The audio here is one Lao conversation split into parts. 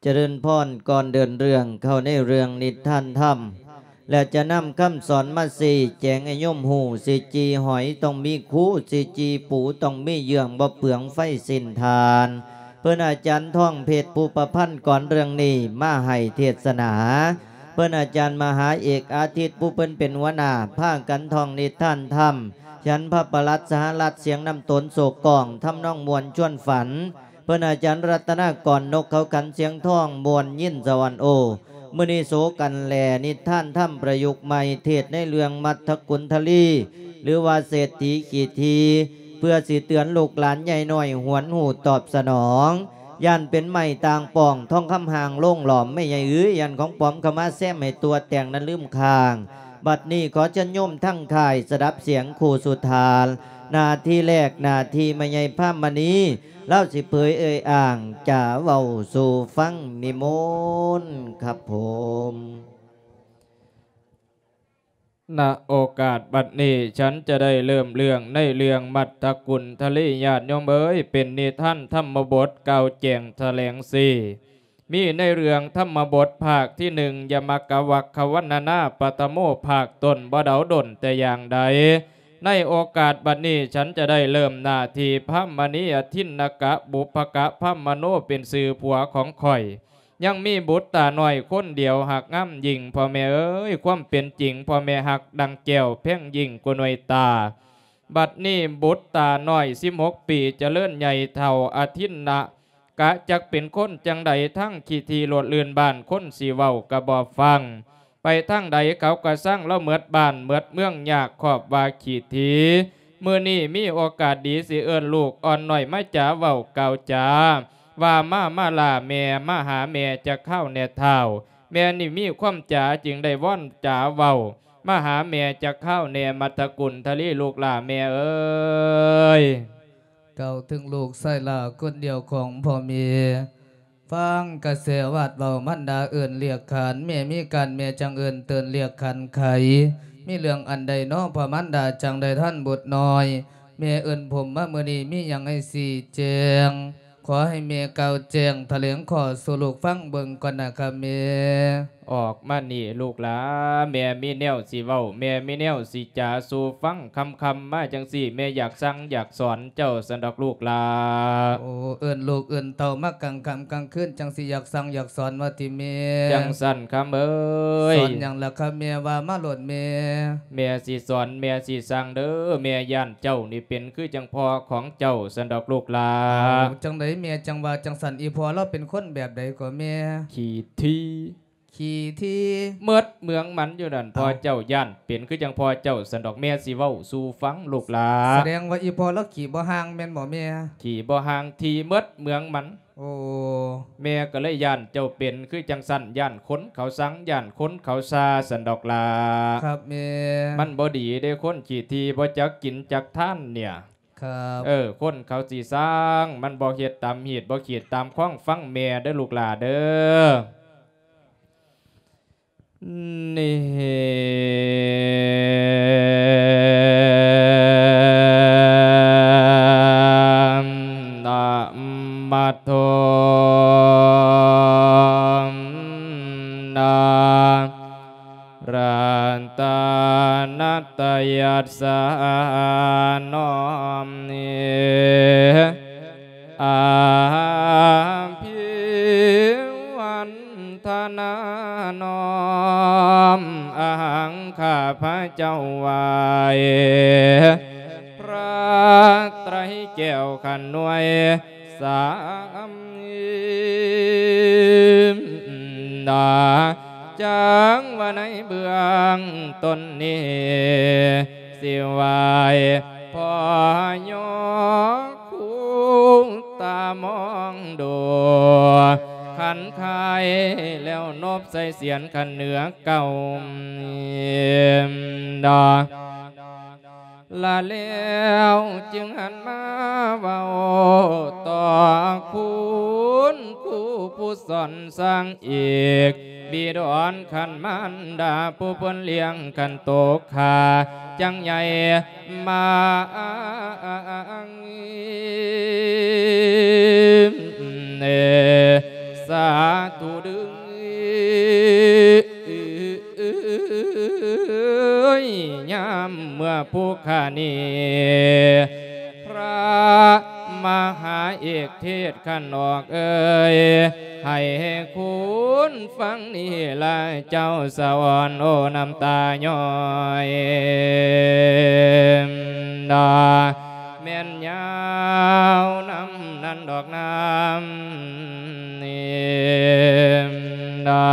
ຈະເລີນພອນ, ກ່ອນເດີນເລື່ອງເຂົ້າໃນເລື່ອງນິທານທຳ ແລະ ຈະນຳຄຳສອນມາຊີ້ແຈງໃຫ້ໂຍມຮູ້, ຊິຈີ່ຫອຍຕ້ອງມີຄູ, ຊິຈີ່ປູຕ້ອງມີເຍືອງ, ບໍ່ເປືອງໄຟສິ້ນທານ. ເພິ່ນອາຈານທອງເພັດ ຜູ້ປະພັນກ່ອນເລື່ອງນີ້ມາໃຫ້ເທດສະໜາ. ເພິ່ນອາຈານມະຫາເອກອາທິດ ຜູ້ເພິ່ນເປັນຫົວໜ້າ ພາກັນທ່ອງນິທານທຳ, ຂຽນພະປະຫລັດສະຫະລັດ ສຽງນຳໂຕນໂສກກ້ອງ, ທຳນອງມ່ວນຊວນຝັນ. ເພິ່ນອາຈານລັດຕະນາກອນ ນົກເຂົາຂັນ ສຽງທອງມ່ວນຍິນສະຫວັນໂອ. ມື້ນີ້ໂສກັນແລ ນິທານທຳປະຍຸກໃໝ່ ເທດໃນເລື່ອງມັດທະກຸນທະລີ ຫຼືວ່າເສດຖີຂີ້ຖີ່ ເພື່ອຊິເຕືອນລູກຫຼານໃຫຍ່ນ້ອຍ ຫວນຮູ້ຕອບສະໜອງ. ຢ້ານເປັນໄມ້ຕ່າງປ່ອງ ທອງຄຳຮ່າງໂລງຫຼອມ ແມ່ໃຫຍ່ເອີຍ ຢ້ານຂອງປອມເຂົ້າມາແຊມໃຫ້ຕົວະແຕ່ງນັ້ນລືມຄ້າງ. ບັດນີ້ຂໍເຊີນໂຍມທັງຄ້າຍ ສະດັບສຽງຄູ່ສຸດທ້າຍ. ໜ້າທີ່ແລກ ໜ້າທີ່ແມ່ໃຫຍ່ພາມະນີ ລາວຊິເຜີຍເອີ່ຍອ້າງ ຈາເວົ້າສູ່ຟັງ. ນິມົນຄັບຜົມ. ນະໂອກາດບັດນີ້ ສັນຈະໄດ້ເລີ່ມເລື່ອງໃນເລື່ອງມັດທະກຸນທະລີ ຍາດໂຍມເອີຍ, ເປັນນິທານທຳມະບົດກ່າວແຈ້ງຖະແຫຼງຊີ້ ມີໃນເລື່ອງທຳມະບົດພາກທີໜຶ່ງ ຍະມະກະວັກຄະວັນນະນາ ປະຖະໂມ ພາກຕົ້ນ ບໍ່ເດົາດົນແຕ່ຢ່າງໃດ. ໃນໂອກາດບັດນີ້ ສັນຈະໄດ້ເລີ່ມໜ້າທີ່ພາມະນີ ອະທິນນະກະ ບຸບພະກະ ພາມະໂນ ເປັນຊື່ຜົວຂອງຂ້ອຍ. ຍັງມີບຸດຕານ້ອຍຄົນດຽວ ຮັກງາມຍິ່ງ ພໍ່ແມ່ເອີຍ, ຄວາມເປັນຈິງ ພໍ່ແມ່ຮັກດັ່ງແກ້ວ ແພງຍິ່ງກວ່າໜ່ວຍຕາ. ບັດນີ້ບຸດຕານ້ອຍສິບຫົກປີ ຈະເລີນໃຫຍ່ເຖົ້າ ອະທິນນະກະ ຈັກເປັນຄົນຈັ່ງໃດ ທັງຂີ້ຖີ່ໂລດລື່ນບ້ານ ຄົນຊິເວົ້າກະບໍ່ຟັງ. ໄປທາງໃດເຂົາກະຊັງລາວ ໝົດບ້ານໝົດເມືອງ ຍາກຄອບວ່າຂີ້ຖີ່. ມື້ນີ້ມີໂອກາດດີ ຊິເອີ້ນລູກອ່ອນນ້ອຍມາຈາເວົ້າກ່າວຈາ ວ່າມາ ມາລາແມ່ ມາຫາແມ່ຈັກຄາວແດ່ທ້າວ. ແມ່ນີ້ມີຄວາມຈາ ຈຶ່ງໄດ້ວອນຈາເວົ້າ ມາຫາແມ່ຈັກຄາວແດ່ ມັດທະກຸນທະລີ ລູກຫຼ້າແມ່ເອີຍ. ກ່າວເຖິງລູກຊາຍຫຼ້າຄົນດຽວຂອງພໍ່ແມ່ ຟັງກະແສວາດເວົ້າ ມັນດາເອີ້ນລຽກຂານ ແມ່ມີການແມ່ຈັ່ງເອີ້ນເຕີນລຽກຂັນໄຂ ມີເລື່ອງອັນໃດນໍພໍ່ມັນດາ ຈັ່ງໄດ້ທ່ານບຸດນ້ອຍ ແມ່ເອີ້ນຜົມມາມື້ນີ້ ມີຫຍັງໃຫ້ຊີ້ແຈງ ຂໍໃຫ້ແມ່ກ່າວແຈ້ງຖະແຫຼງຂໍ້ສູ່ລູກຟັງເບິ່ງກ່ອນນະຄະແມ່. ອອກມານີ້ລູກຫຼ້າ ແມ່ມີແນວຊິເວົ້າ ແມ່ມີແນວຊິຈາສູ່ຟັງ ຄ່ຳໆມາຈັ່ງຊີ້ ແມ່ຢາກສັ່ງຢາກສອນເຈົ້າຊັ້ນດອກລູກຫຼ້າ. ໂອ້ ເອີ້ນລູກເອີ້ນເຕົ້າມາກາງຄ່ຳກາງຄືນ ຈັ່ງຊິຢາກສັ່ງຢາກສອນວ່າຕິແມ່? ຈັ່ງຊັ້ນຄຳເອີຍ. ສອນຫຍັງລະຄະແມ່ ວ່າມາໂລດແມ່. ແມ່ຊິສອນ ແມ່ຊິສັ່ງເດີ ແມ່ຢ້ານເຈົ້ານີ້ເປັນຄືຈັ່ງພໍ່ຂອງເຈົ້າຊັ້ນດອກລູກຫຼ້າ. ເອົາ ຈັ່ງໃດແມ່ຈັ່ງວ່າຈັ່ງຊັ້ນ ອີ່ພໍ່ລາວເປັນຄົນແບບໃດກໍແມ່? ຂີ້ຖີ່ ຂີ້ຖີ່ ໝົດເມືອງມັນຢູ່ນັ້ນ. ເອົ້າ ພໍ່ເຈົ້າຢ້ານເປັນຄືຈັ່ງພໍ່ເຈົ້າຊັ້ນດອກ ແມ່ຊິເວົ້າສູ່ຟັງລູກຫຼ້າ. ສະແດງວ່າອີ່ພໍ່ລາວຂີ້ບໍ່ຫ່າງແມ່ນບໍ່ແມ່? ຂີ້ບໍ່ຫ່າງ ຖີ່ໝົດເມືອງມັນ. ໂອ້ ແມ່ກໍເລີຍຢ້ານເຈົ້າເປັນຄືຈັ່ງຊັ້ນ ຢ້ານຄົນເຂົາຊັງ ຢ້ານຄົນເຂົາຊາຊັ້ນດອກຫຼ້າ. ຄັບແມ່. ມັນບໍ່ດີເດ້ ຄົນຂີ້ຖີ່ ບໍ່ຈັກກິນຈັກທານເນຍ. ຄັບ ເອີ ຄົນເຂົາຊິຊັງ ມັນບໍ່ເຮັດຕາມຮີດ ບໍ່ຂີດຕາມຄອງ ຟັງແມ່ເດີລູກຫຼ້າເດີ. ນິ ນະມະໂທ ນະ ລັດຕະນະຕະຍັດສະ ນ້ອມ ອາພິວັນທະນາ ນ້ອມ ອະຫັງ ຂ້າພະເຈົ້າໄຫວ້ພະໄຕແກ້ວຂັນນວຍ ສາມ ນາ ຈັກວ່າໃນເບື້ອງຕົ້ນນີ້ ຊິໄຫວ້ພໍ່ຍົກຄູຕາມອງດູ ຂັນຂາຍແລ້ວນົບໃສ່ສຽນຂັນເໜືອເກົ້າ ນາ ລະແລ້ວຈຶ່ງຫັນມາເວົ້າຕໍ່ຄຸນຄູຜູ້ສອນສັ່ງອີກ ບິດອນຂັນມານດາຜູ້ເພິ່ນລ້ຽງຂັນໂຕຂ້າຈັ່ງໃຫຍ່ມາ ເອ ສາທຸເດີ້ ຍາມເມື່ອຜູ້ຂ້ານີ້ ພະມະຫາເອກເທດຂັນອອກເອີຍ ໃຫ້ຄຸນຟັງນີ້ລະເຈົ້າສະອອນ ໂອ້ ນ້ຳຕາຍ້ອຍ ດາ ແມ່ນຍາວນຳນັ້ນດອກນຳນີ້ ດາ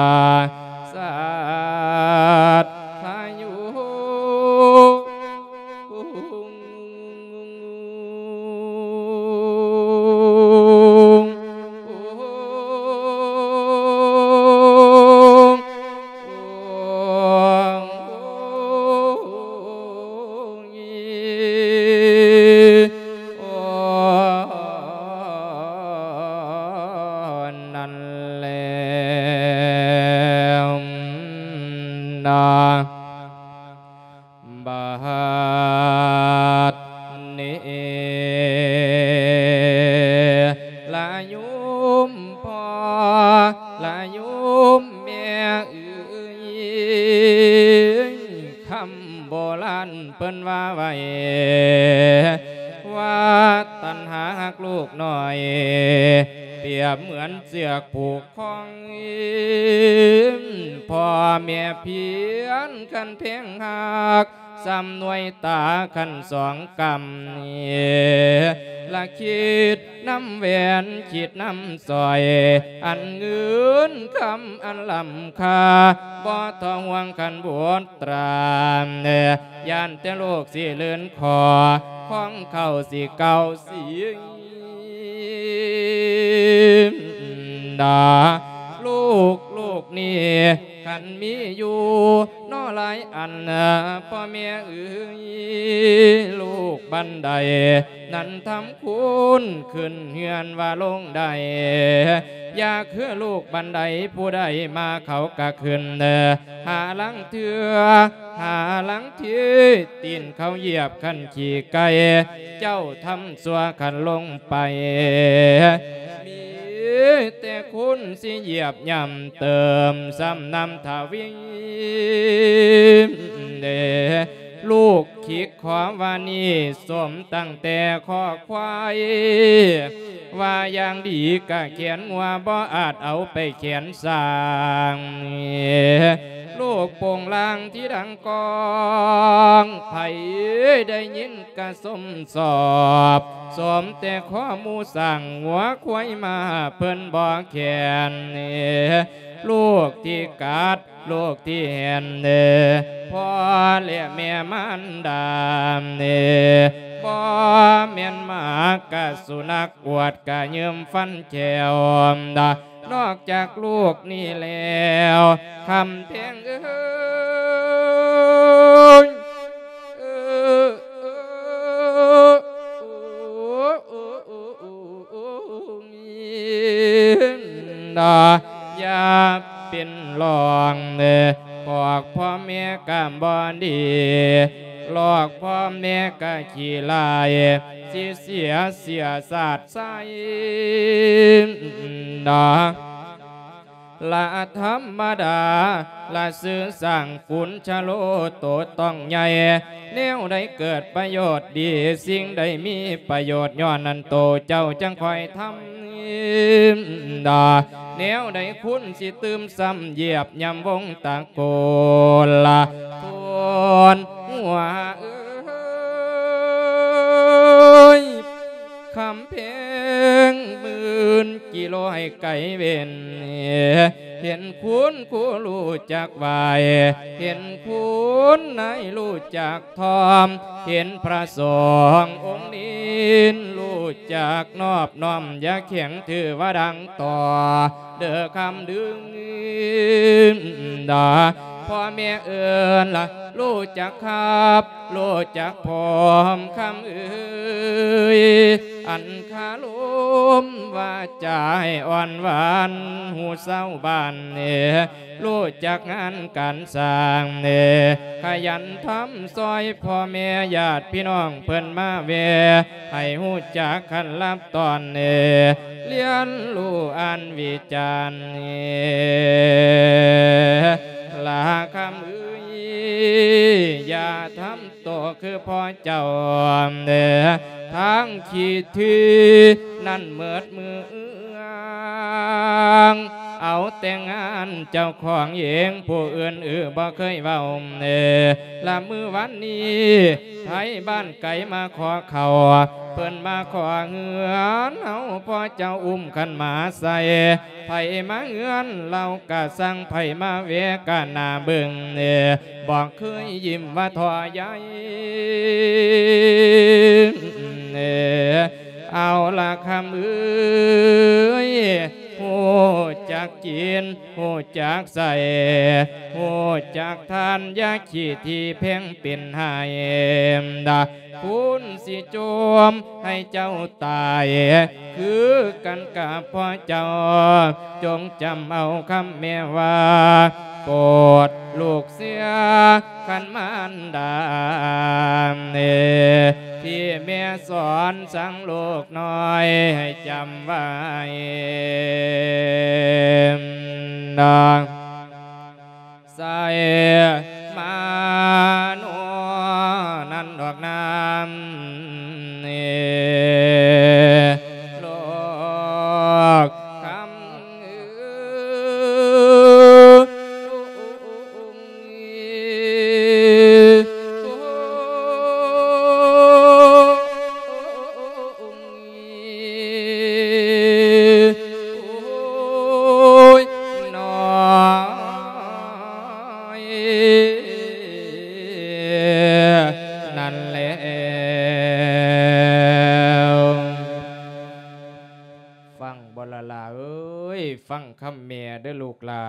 ສາດພາຍຸ ນັ້ນແຫຼະນະ ບາດນີ້ລະໂຍມພໍ່ ລະໂຍມແມ່ເອີຍ ຄຳໂບລານເພິ່ນວ່າໄວ້ ວ່າຕັນຫາຮັກລູກນ້ອຍ ປຽບເໝືອນເຊືອກຜູກ ຂອງພໍ່ແມ່ພຽນ ຄັນແພງຮັກ ສ່ຳໜ່ວຍຕາຄັນສອງກຳ ລະຄິດນຳແຫວນ ຄິດນຳສ້ອຍ ອັນເງິນຄຳອັນລ້ຳຄ່າ ບໍ່ທໍ່ຫວ່າງຄັນບຸດຕາ ຢ້ານແຕ່ລູກຊິເລື່ອນຂໍ ຂອງເຂົາຊິເກົ່າຊິ ດາ ລູກ ລູກນີ້ຄັນມີຢູ່ນໍຫຼາຍອັນ ພໍ່ແມ່ເອີຍ ລູກບັນໃດນັ້ນທຳຄຸນຂຶ້ນເຮືອນວ່າລົງໄດ້ ຢາກຄືລູກບັນໃດຜູ້ໃດມາເຂົາກະຂຶ້ນ ຫາລາງເທື່ອ ຫາລາງທີຕີນເຂົາຢຽບຄັນຂີ້ໄກ່ ເຈົ້າທຳຊົ່ວຄັນລົງໄປ ມີແຕ່ຄຸນຊິຢຽບຫຍ້ຳເຕີມຊ້ຳນຳທະວີ ເດ ລູກ ຄິດຂໍວ່ານີ້ສົມຕັ້ງແຕ່ຂໍ້ຄວາຍ ວ່າຢ່າງດີກະແຂນງົວ ບໍ່ອາດເອົາໄປແຂນຊ້າງ ລູກໂປ່ງລາງທີ່ດັງກ້ອງ ໃຜໄດ້ຍິນກະຊົມຊອບ ສົມແຕ່ຂໍ້ໝູຊ້າງງົວຄວາຍມາເພິ່ນບໍ່ແຂນ ລູກທີ່ກັດ ລູກທີ່ແຫ່ນເດ ພໍ່ແລະແມ່ມານດາເດ ບໍ່ແມ່ນໝາກະສຸນັກ ອວດກະຢືມຟັນແຂ້ວດາ ນອກຈາກລູກນີ້ແລ້ວ ຄຳແພງເອີຍ ເອີ ເອີ ເອີ ນະ ຢ່າເປັນລອງເດີ ບອກພໍ່ແມ່ກະບໍ່ດີ ຫຼອກພໍ່ແມ່ກະຂີ້ຮ້າຍ ຊິເສຍເຊື້ອຊາດຊາຍນະ ລະທຳມະດາ ລະຊື່ສ້າງກຸນຊະໂລໂຕຕ້ອງໃຫຍ່ ແນວໃດເກີດປະໂຫຍດດີ ສິ່ງໃດມີປະໂຫຍດ ຍ້ອນນັ້ນໂຕເຈົ້າຈັ່ງຄ່ອຍທຳດາ ແນວໃດຄຸນຊິຕື່ມຊ້ຳຢຽບຍຳວົງຕະໂກນລະ ໂພນຫົວເອີຍ ຄຳແພງໝື່ນກິໂລໃຫ້ໄກເວັ້ນ ເຫັນຄຸນຄູຮູ້ຈັກໄຫວ້ ເຫັນຄຸນນາຍຮູ້ຈັກຖ່ອມ ເຫັນພະສົງອົງນີ້ຮູ້ຈັກນອບນ້ອມ ຢ່າແຂງຖືວ່າດັງຕໍ່ ເດີຄຳດຶງດາ ໂພ ພໍ່ແມ່ເອີ້ນລະ ຮູ້ຈັກຄັບ ຮູ້ຈັກພ້ອມຄຳເອີຍ ອັນຄາລົມວາຈາໃຫ້ອ່ອນຫວານ ຮູ້ຊາວບ້ານເອີຍ ຮູ້ຈັກງານການສ້າງເອີຍ ຂະຫຍັນທຳຊ່ອຍພໍ່ແມ່ຍາດພີ່ນ້ອງເພິ່ນມາແວ່ ໃຫ້ຮູ້ຈັກຂັ້ນລາບຕອນເອີຍ ລຽນຮູ້ອ່ານວິຈານເອີຍ ລາຄຳເອີຍ ຢ່າທຳໂຕຄືພໍ່ເຈົ້າເອີຍ ທາງຂີ້ຖີ່ນັ້ນເໝິດເມືອງ ເອົາແຕ່ງານເຈົ້າຂອງເອງ ຜູ້ອື່ນອືບໍ່ເຄີຍເວົ້າເອີຍ ລະມື້ວານນີ້ ໄທບ້ານໄກມາຂໍເຂົ້າ ເພິ່ນມາຂໍເຮືອນເຮົາ ພໍ່ເຈົ້າອຸ້ມຂັນໝາໃສ່ ໃຜມາເຮືອນລາວກະຊ່າງ ໃຜມາແວ່ກະໜ້າເບິ່ງ ບໍ່ເຄີຍຍິ້ມວ່າທໍ້ໃຍ ເອົາລະຄຳເອີຍ ຮູ້ຈັກກິນ ຮູ້ຈັກໃຊ້ ຮູ້ຈັກທານ ຢ່າຂີ້ຖີ່ແພງເປັນໄຫ້ ຄູນຊິໂຈມໃຫ້ເຈົ້າຕາຍ ຄືກັນກັບພໍ່ເຈົ້າ ຈົ່ງຈຳເອົາຄຳແມ່ວ່າ ໂປດລູກເສຍ ຄັນມານດາ ທີ່ແມ່ສອນສັ່ງລູກນ້ອຍໃຫ້ຈຳໄວ້ ໃສ່ມາໂນນັ້ນດອກນາມ ໂລກຄຳເອີຍ ໂອ້ຍ ນ້ອຍ ນັ້ນແລ້ວ ຟັງບໍ່ລະຫຼ້າເອີຍ ຟັງຄຳແມ່ເດີ້ລູກຫຼ້າ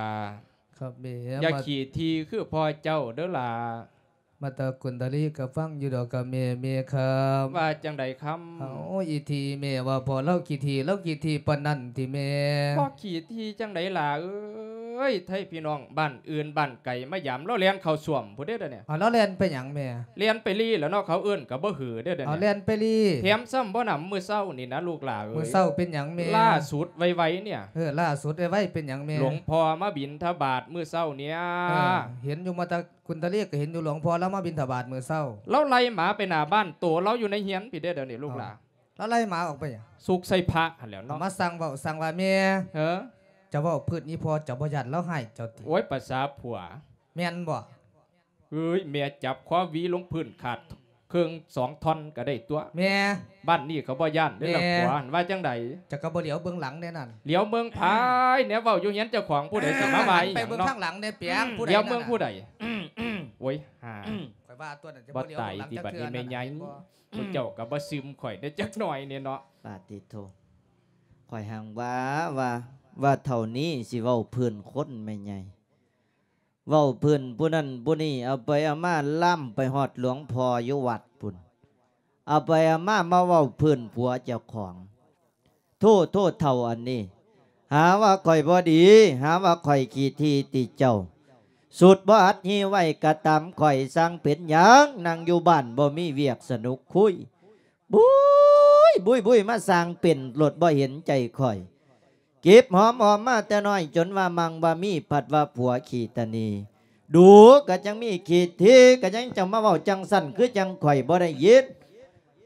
ຄັບແມ່ ຢ່າ ມາ ຂີ້ຖີ່ຄືພໍ່ເຈົ້າເດີ້ຫຼ້າ ມາຕາກຸນທະລີກໍຟັງຢູ່ດອກ ກັບແມ່ ແມ່ຄຳ ວ່າຈັ່ງໃດຄຳ ເອົາ ອີ່ຖີ່ແມ່ວ່າພໍ່ລາວຂີ້ຖີ່ ລາວຂີ້ຖີ່ປານນັ້ນຕິແມ່ ບໍ່ຂີ້ຖີ່ຈັ່ງໃດຫຼ້າເອີຍ ໄທພີ່ນ້ອງບ້ານອື່ນບ້ານໄກມາຢາມ ລາວແລ່ນເຂົ້າສ້ວມພຸ້ນເດ້ດຽວນີ້ ເອົາ ລາວແລ່ນໄປຫຍັງແມ່ ແລ່ນໄປລີ້ແລ້ວເນາະ ເຂົາເອີ້ນກໍບໍ່ຮືເດ້ດຽວນີ້ ເອົາ ແລ່ນໄປລີ້ ແຖມຊ້ຳບໍ່ໜຳມື້ເຊົ້ານີ້ນະລູກຫຼ້າເອີຍ ມື້ເຊົ້າເປັນຫຍັງແມ່ ລ່າສຸດໄວໆນີ້ ເອີ ລ່າສຸດໄວໆເປັນຫຍັງແມ່ ຫຼວງພໍ່ມາບິນທະບາດມື້ເຊົ້ານີ້ ເອີ ເຫັນຢູ່ມາຕາ ຄຸນທະເລກໍເຫັນຢູ່ ຫຼວງພໍ່ລາວມາບິນທະບາດມື້ເຊົ້າ ລາວໄລ່ໝາໄປໜ້າບ້ານໂຕລາວຢູ່ໃນເຮືອນພີ້ເດ້ດຽວນີ້ລູກຫຼ້າ ເອົາ ລາວໄລ່ໝາອອກໄປຫຍັງ ສຸກໃສ່ພະຫັ້ນແຫຼ້ວເນາະ ມາສັ່ງເວົ້າ ສັ່ງວ່າແມ່ ເອີ ເຈົ້າເວົ້າພື້ນອີ່ພໍ່ ເຈົ້າບໍ່ຢ້ານລາວຮ້າຍເຈົ້າຕິ ໂອ້ຍ ປະສາຜົວ ແມ່ນບໍ່ ເອີຍ ແມ່ຈັບຄໍຫວີລົງພື້ນຂາດເຄິ່ງສອງທ່ອນກໍໄດ້ຕົວະ ແມ່ ບ້ານນີ້ເຂົາບໍ່ຢ້ານເດ້ລະ ແມ່ ຜົວຫັ້ນວ່າຈັ່ງໃດ ເຈົ້າກໍບໍ່ຫຼຽວເບິ່ງຫຼັງແດ່ນັ້ນ ຫຼຽວເບິ່ງໃຜ ແນວເວົ້າຢູ່ເຮືອນເຈົ້າຂອງຜູ້ໃດຊິມາວ່າອີ່ຫຍັງເນາະ ໄປເບິ່ງທາງຫຼັງແດ່ປຽງ ຜູ້ໃດ ຫຼຽວເບິ່ງຜູ້ໃດ ໂອ້ຍ ຫາ ຂ້ອຍວ່າຕົວນັ້ນຈະບໍ່ຫຼຽວເບິ່ງຫຼັງຈັກເທື່ອນັ້ນ ບໍ່ຕາຍຕິບັດນີ້ແມ່ໃຫຍ່ ເຫັນບໍ່ ພວກເຈົ້າກໍບໍ່ຊຶມຂ້ອຍໄດ້ຈັກໜ້ອຍແດ່ເນາະ ປາຕິໂທ ຂ້ອຍຮັ່ງວ່າ ວ່າ ວ່າເທົ່ານີ້ຊິເວົ້າພື້ນຄົນແມ່ໃຫຍ່ ເວົ້າພື້ນຜູ້ນັ້ນຜູ້ນີ້ ເອົາໄປເອົາມາລາມໄປຮອດຫຼວງພໍ່ຢູ່ວັດພຸ້ນ ເອົາໄປເອົາມາ ມາເວົ້າພື້ນຜົວເຈົ້າຂອງ ໂທ້ ໂທ້ເຖົ້າອັນນີ້ ຫາວ່າຂ້ອຍບໍ່ດີ ຫາວ່າຂ້ອຍຂີ້ຖີ່ຕິເຈົ້າ ສຸດບໍ່ອັດຮີໄວ້ກະຕາມຂ້ອຍ ຊ່າງເປັນຫຍັງ ນັ່ງຢູ່ບ້ານບໍ່ມີວຽກສະໜຸກຄຸຍ ບຸ້ຍ ບຸ້ຍ ບຸ້ຍ ມາສ້າງເປັນໂລດ ບໍ່ເຫັນໃຈຂ້ອຍ ເກັບຫອມຫອມມາແຕ່ນ້ອຍຈົນວ່າມັ່ງວ່າມີ ພັດວ່າຜົວຂີ້ຕະໜີ ດູກໍຈັ່ງມີຂີ້ຖີ່ ກໍຍັງຈະມາເວົ້າຈັ່ງຊັ້ນ ຄືຈັ່ງຂ້ອຍບໍ່ໄດ້ຍິນ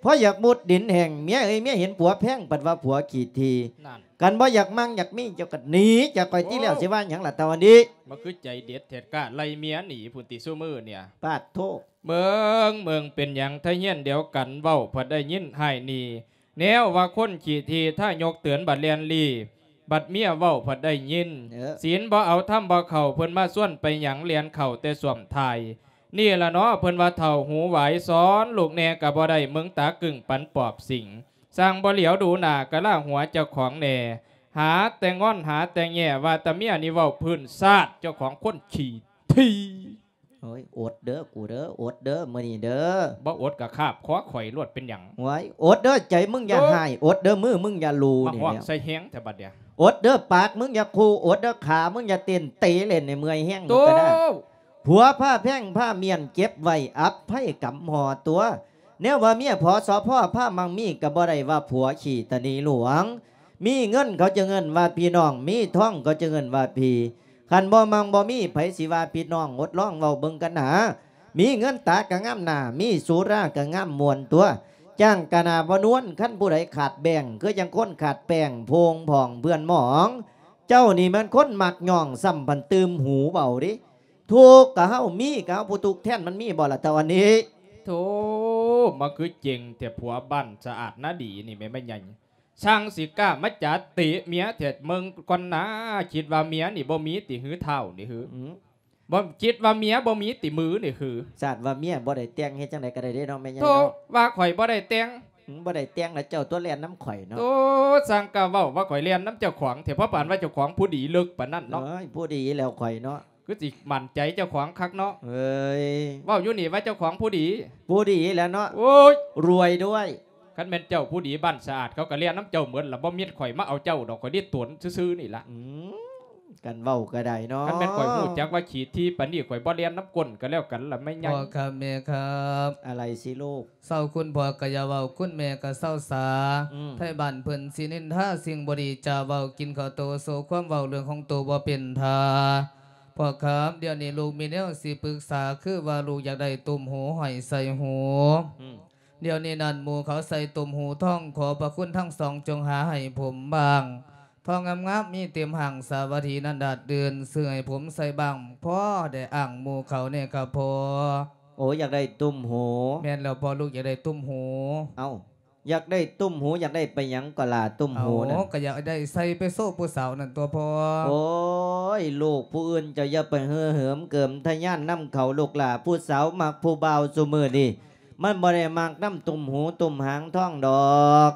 ພໍຢາກມຸດດິນແຫ້ງ ເມຍເອີຍ ເມຍເຫັນຜົວແພງ ພັດວ່າຜົວຂີ້ຖີ່ ນັ້ນ ຄັນບໍ່ຢາກມັ່ງຢາກມີ ເຈົ້າກໍໜີຈາກຂ້ອຍ ໂອ້ ຕິແລ້ວ ຊິວ່າຫຍັງລະເທົ່າອັນນີ້ ມັນຄືໃຈເດັດແທ້ ກ້າໄລ່ເມຍໜີພຸ້ນຕິຊຸມື້ນີ້ ປາດໂທ ເບິ່ງ ເບິ່ງ ເປັນຫຍັງ ໄທຮຽນດຽວກັນ ເວົ້າພັດໄດ້ຍິນຮ້າຍນີ້ ແນວວ່າຄົນຂີ້ຖີ່ ຖ້າຍົກເຕືອນບັດແລ່ນລີ້ ບັດເມຍເວົ້າພັດໄດ້ຍິນ ເອີ ສິນບໍ່ເອົາ ທຳບໍ່ເຂົ້າ ເພິ່ນມາຊວນໄປຫຍັງ ແລ່ນເຂົ້າແຕ່ສ້ວມທ້າຍ ນີ້ລະເນາະ ເພິ່ນວ່າເຖົ້າຫູຫວາຍ ສອນລູກແດ່ກໍບໍ່ໄດ້ ເບິ່ງຕາກຶ້ງປານປອບສິງ ຊ່າງບໍ່ຫຼຽວດູໜ້າ ກະລາຫົວເຈົ້າຂອງແດ່ ຫາແຕ່ງອນ ຫາແຕ່ແຍ່ ວ່າແຕ່ເມຍນີ້ເວົ້າພື້ນຊາດ ເຈົ້າຂອງຄົນຂີ້ຖີ່ ໂອ້ຍ ອົດເດີກູເດີ ອົດເດີມື້ນີ້ເດີ. ບໍ່ອົດກໍຄາບຄໍຂ້ອຍໂລດ ເປັນຫຍັງ? ໂອ້ຍ ອົດເດີໃຈມຶງຢ່າຮ້າຍ ອົດເດີມືມຶງຢ່າລູ. ມາຮ້ອງໃສ່ແຮງແທ້ບັດເດຍ. ອົດເດີປາກມຶງຢ່າຂູ່ ອົດເດີຂາມຶງຢ່າເຕັ້ນ ເຕະເຫຼັ້ນໃຫ້ເມື່ອຍແຮງ. ໂຕ ມັນກໍໄດ້ ຜົວພາແພງພາມ້ຽນເກັບໄວ້ ອັບໄພກຳຫໍ່ຕົວ. ແນວວ່າເມຍ ພສພ ພາມັກມີ ກໍບໍ່ໄດ້ວ່າຜົວຂີ້ຕະໜີຫຼວງ. ມີເງິນເຂົາຈຶ່ງເອີ້ນວ່າພີ່ນ້ອງ ມີທອງເຂົາຈຶ່ງເອີ້ນວ່າພີ່. ຄັນບໍ່ມັກບໍ່ມີ ໃຜຊິວ່າພີ່ນ້ອງ? ອົດລອງເວົ້າເບິ່ງກັນໜາ. ມີເງິນຕາກໍງາມໜ້າ ມີສຸລາກໍງາມມ່ວນຕົວ. ຈ້າງກະໜ້າບໍ່ນວນ ຄັນຜູ້ໃດຂາດແບ້ງ ຄືຈັ່ງຄົນຂາດແປ້ງ ໂພງພອງເພື່ອນໝອງ. ເຈົ້ານີ້ແມ່ນຄົນມັກຍ້ອງ ຊ້ຳພັນຕື່ມຫູເວົ້າເດ້. ທຸກກະເຮົາ ມີກະເຮົາຜູ້ທຸກແທນ ມັນມີບໍ່ລະເທົ່າອັນນີ້? ໂທ້ ມາຄືເກັ່ງແທ້ ຜົວບ້ານສະອາດນາດີນີ້ແມ່ນ ແມ່ໃຫຍ່ ຊ່າງຊິກ້າມາຈາເຕະເມຍແທ້. ເບິ່ງກ່ອນນາ ຄິດວ່າເມຍນີ້ບໍ່ມີຕິ ຫືທ້າວນີ້ຫື? ອືມ ບໍ່ ຄິດວ່າເມຍບໍ່ມີຕິ ມືນີ້ຫື? ຊາດວ່າເມຍບໍ່ໄດ້ແຕ່ງ ເຮັດຈັ່ງໃດກໍໄດ້ເດ້ເນາະ ແມ່ໃຫຍ່ ໂທ້ ເນາະ. ວ່າຂ້ອຍບໍ່ໄດ້ແຕ່ງ? ອືມ ບໍ່ໄດ້ແຕ່ງລະ ເຈົ້າຕົວແລ່ນນຳຂ້ອຍເນາະ. ໂອ້ ຊ່າງກ້າເວົ້າວ່າຂ້ອຍແລ່ນນຳເຈົ້າຂອງແທ້ ເພາະປານວ່າເຈົ້າຂອງຜູ້ດີເລິກປານນັ້ນເນາະ. ເອີຍ ຜູ້ດີແລ້ວຂ້ອຍເນາະ. ຄືຊິໝັ້ນໃຈເຈົ້າຂອງຄັກເນາະ. ເອີຍ ເວົ້າຢູ່ນີ້ວ່າເຈົ້າຂອງຜູ້ດີ. ຜູ້ດີແລ້ວເນາະ. ໂອ້ຍ ລວຍດ້ວຍ. ຄັນແມ່ນເຈົ້າຜູ້ດີ ບ້ານສະອາດເຂົາກໍແລ່ນນຳເຈົ້າໝົດລະ ບໍ່ມີຂ້ອຍມາເອົາເຈົ້າດອກ ຂ້ອຍໄດ້ຕົນຊື່ໆນີ້ລະ. ອືມ ກັນເວົ້າກໍໄດ້ເນາະ. ຄັນແມ່ນຂ້ອຍຮູ້ຈັກວ່າຂີ້ຖີ່ປານນີ້ ຂ້ອຍບໍ່ແລ່ນນຳກົ້ນກໍແລ້ວກັນລະ ແມ່ໃຫຍ່. ພໍ່ຄັບແມ່ຄັບ. ອະໄລຊິລູກ? ເຊົາ ຄຸນພໍ່ກໍຢ່າເວົ້າ ຄຸນແມ່ກໍເຊົາສາ. ອືມ ໄທບ້ານເພິ່ນຊິນິນທາສິ່ງບໍ່ດີ ຈະເວົ້າກິນເຂົ້າໂຕ ໂຊຄວາມເວົ້າເລື່ອງຂອງໂຕບໍ່ເປັນທ່າ. ພໍ່ຄັບ ດຽວນີ້ລູກມີແນວຊິປຶກສາ ຄືວ່າລູກຢາກໄດ້ຕຸ້ມຫູຫ້ອຍໃສ່ຫູ. ອືມ ດຽວນີ້ນັ້ນ ໝູ່ເຂົາໃສ່ຕຸ້ມຫູທອງ ຂໍພະຄຸນທັງສອງຈົ່ງຫາໃຫ້ຜົມບ້າງ. ທອງງາມໆ ມີເຕັມຫ້າງສາວັດຖີນັ້ນດາດດື່ນ ຊື້ໃຫ້ຜົມໃສ່ບ້າງ ພໍໄດ້ອ້າງໝູ່ເຂົາແດ່ຄັບພໍ່. ໂອ້ ຢາກໄດ້ຕຸ້ມຫູ? ແມ່ນແລ້ວພໍ່ ລູກຢາກໄດ້ຕຸ້ມຫູ. ເອົ້າ ຢາກໄດ້ຕຸ້ມຫູ ຢາກໄດ້ໄປຫຍັງກໍລະ ຕຸ້ມຫູນັ້ນ? ເອົ້າ ກໍຢາກໄດ້ໃສ່ໄປໂຊຜູ້ສາວນັ້ນຕົວພໍ່. ໂອ້ຍ ລູກຜູ້ອື່ນເຈົ້າຢ່າໄປເຫີເຫີມເກີມທະຍານນຳເຂົາລູກຫຼ້າ. ຜູ້ສາວມັກຜູ້ບ່າວຊຸມື້ນີ້ ມັນບໍ່ໄດ້ມັກນຳຕຸ້ມຫູຕຸ້ມຫາງທອງດອກ.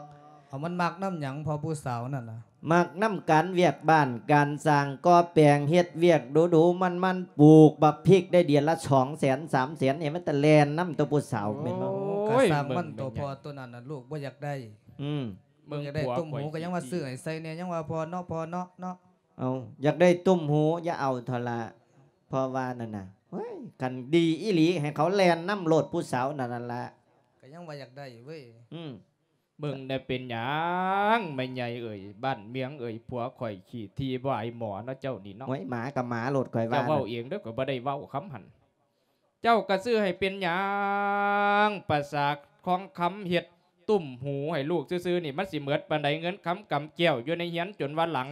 ເອົາ ມັນມັກນຳຫຍັງພໍ່ ຜູ້ສາວນັ້ນນະ? ມັກນຳການວຽກບ້ານການຊ່າງ ກໍ່ແປງ ເຮັດວຽກດຸໆ ມັນໆ ປູກບັກພິກໄດ້ເດືອນລະສອງແສນສາມແສນ ນີ້ມັນຕະແລ່ນນຳຕົວຜູ້ສາວແມ່ນບໍ່? ໂອ້ຍ ກໍຊ່າງມັນຕົວພໍ່ ເບິ່ງແມ່ນຫຍັງ ຕົວນັ້ນນະ ລູກບໍ່ຢາກໄດ້. ອືມ ເບິ່ງຢາກໄດ້ ຜົວຂ້ອຍ ຕຸ້ມຫູກໍຍັງວ່າຊື້ໃຫ້ໃສ່ແດ່ ຍັງວ່າພໍ່ເນາະ ພໍ່ເນາະ ເນາະ. ເອົາ ຢາກໄດ້ຕຸ້ມຫູ ຢ່າເອົາເຖາະລະ ພໍ່ວ່ານັ້ນນະ. ເຮີ້ຍ ຄັນດີອີ່ຫຼີ ໃຫ້ເຂົາແລ່ນນຳໂລດ ຜູ້ສາວນັ້ນ ນັ້ນລະ. ກໍຍັງວ່າຢາກໄດ້ເວີຍ. ອືມ ເບິ່ງແດ່ ເປັນຫຍັງແມ່ໃຫຍ່ເອີຍ ບ້ານເມືອງເອີຍ ຜົວຂ້ອຍຂີ້ຖີ່ບໍ່ອາຍໝໍເນາະ ເຈົ້ານີ້ເນາະ. ໂອ້ຍ ໝາກໍໝາໂລດ ຂ້ອຍວ່າ. ເຈົ້າເວົ້າເອງເດີ ຂ້ອຍບໍ່ໄດ້ເວົ້າຄຳຫັ້ນ. ເຈົ້າກໍຊື້ໃຫ້ເປັນຫຍັງ? ປະສາທອງຄຳເຮັດຕຸ້ມຫູໃຫ້ລູກຊື່ໆນີ້ ມັນຊິໝົດປານໃດ? ເງິນຄຳກຳແກ້ວຢູ່ໃນເຮືອນ ຈົນວ່າຫຼັງ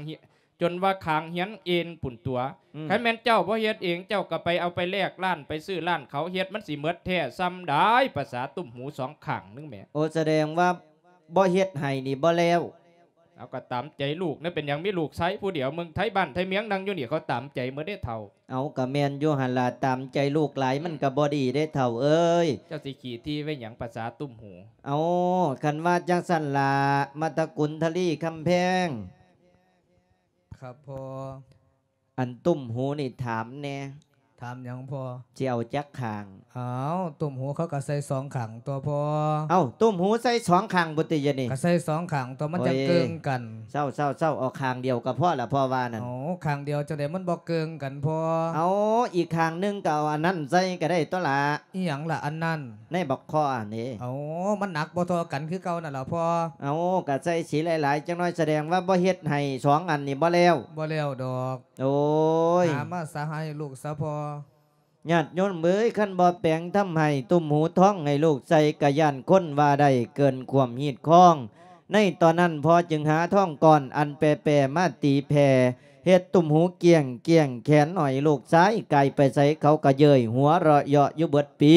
ຈົນວ່າຄາງເຮືອນເອັນພຸ້ນຕົວະ. ອືມ ຄັນແມ່ນເຈົ້າບໍ່ເຮັດເອງ ເຈົ້າກໍໄປເອົາໄປແລກຮ້ານ ໄປຊື້ຮ້ານເຂົາເຮັດ ມັນຊິໝົດແທ້ຊ່ຳໃດ? ປະສາຕຸ້ມຫູສອງຂ້າງໜຶ່ງແໝ. ໂອ ສະແດງວ່າບໍ່ເຮັດໃຫ້ນີ້ບໍ່ແລ້ວ. ເອົາ ກໍຕາມໃຈລູກນະ ເປັນຫຍັງ? ມີລູກຊາຍຜູ້ດຽວ ເມືອງໄທບ້ານໄທເມືອງ ນັ່ງຢູ່ນີ້ ເຂົາຕາມໃຈໝົດເດ້ເຖົ້າ. ເອົາ ກໍແມ່ນຢູ່ຫັ້ນລະ ຕາມໃຈລູກຫຼາຍມັນກໍບໍ່ດີເດ້ເຖົ້າເອີຍ. ເຈົ້າຊິຂີ້ຖີ່ໄວ້ຫຍັງ? ປະສາຕຸ້ມຫູ. ເອົາ ຄັນວ່າຈັ່ງຊັ້ນລະ ມາດຕະກຸນທະລີຄຳແພງ. ຄັບພໍ່. ອັນຕຸ້ມຫູນີ້ຖາມແດ່. ຖາມຫຍັງພໍ່? ຊິເອົາຈັກຂ້າງ? ອ້າວ ຕຸ້ມຫູເຂົາກໍໃສ່ສອງຂ້າງຕົວພໍ່. ເອົ້າ ຕຸ້ມຫູໃສ່ສອງຂ້າງພຸ້ນຕິ ດຽວນີ້? ກໍໃສ່ສອງຂ້າງຕົວ ມັນຈັ່ງເກີງກັນ. ໂອ້ຍ ເຊົາໆໆ ເອົາຂ້າງດຽວກໍພໍລະ ພໍ່ວ່ານັ້ນ. ເອົາ ຂ້າງດຽວຈັ່ງໃດ ມັນບໍ່ເກີງກັນພໍ່? ເອົາ ອີກຂ້າງໜຶ່ງກໍເອົາອັນນັ້ນໃສ່ກໍໄດ້ຕົວລະ. ອີ່ຫຍັງລະອັນນັ້ນ? ໃນບັກຄໍ້ນີ້. ເອົາ ມັນໜັກບໍ່ທໍ່ກັນຄືເກົ່ານັ້ນລະພໍ່. ເອົາ ກໍໃສ່ສີຫຼາຍໆ ຈັກໜ້ອຍ ສະແດງວ່າບໍ່ເຮັດໃຫ້ສອງອັນນີ້ບໍ່ແລ້ວ? ບໍ່ແລ້ວດອກ. ໂອ້ຍ ຫາມາສະໃຫ້ລູກສະພໍ່. ຍາດໂຍມເອີຍ ຄັນບໍ່ແປງທຳໃຫ້ຕຸ້ມຫູທອງໃຫ້ລູກໃສ່ ກະຢ້ານຄົນວ່າໄດ້ເກີນຄວາມຮີດຄອງ. ໃນຕອນນັ້ນພໍ່ຈຶ່ງຫາທອງກ້ອນອັນແປໆ ມາຕີແຜ່ ເຮັດຕຸ້ມຫູກ້ຽງໆ ແຂນໜ້ອຍລູກຊາຍ ກາຍໄປໃສເຂົາກະເຍີ້ຍຫົວເລາະເຍາະຢູ່ເບິດປີ.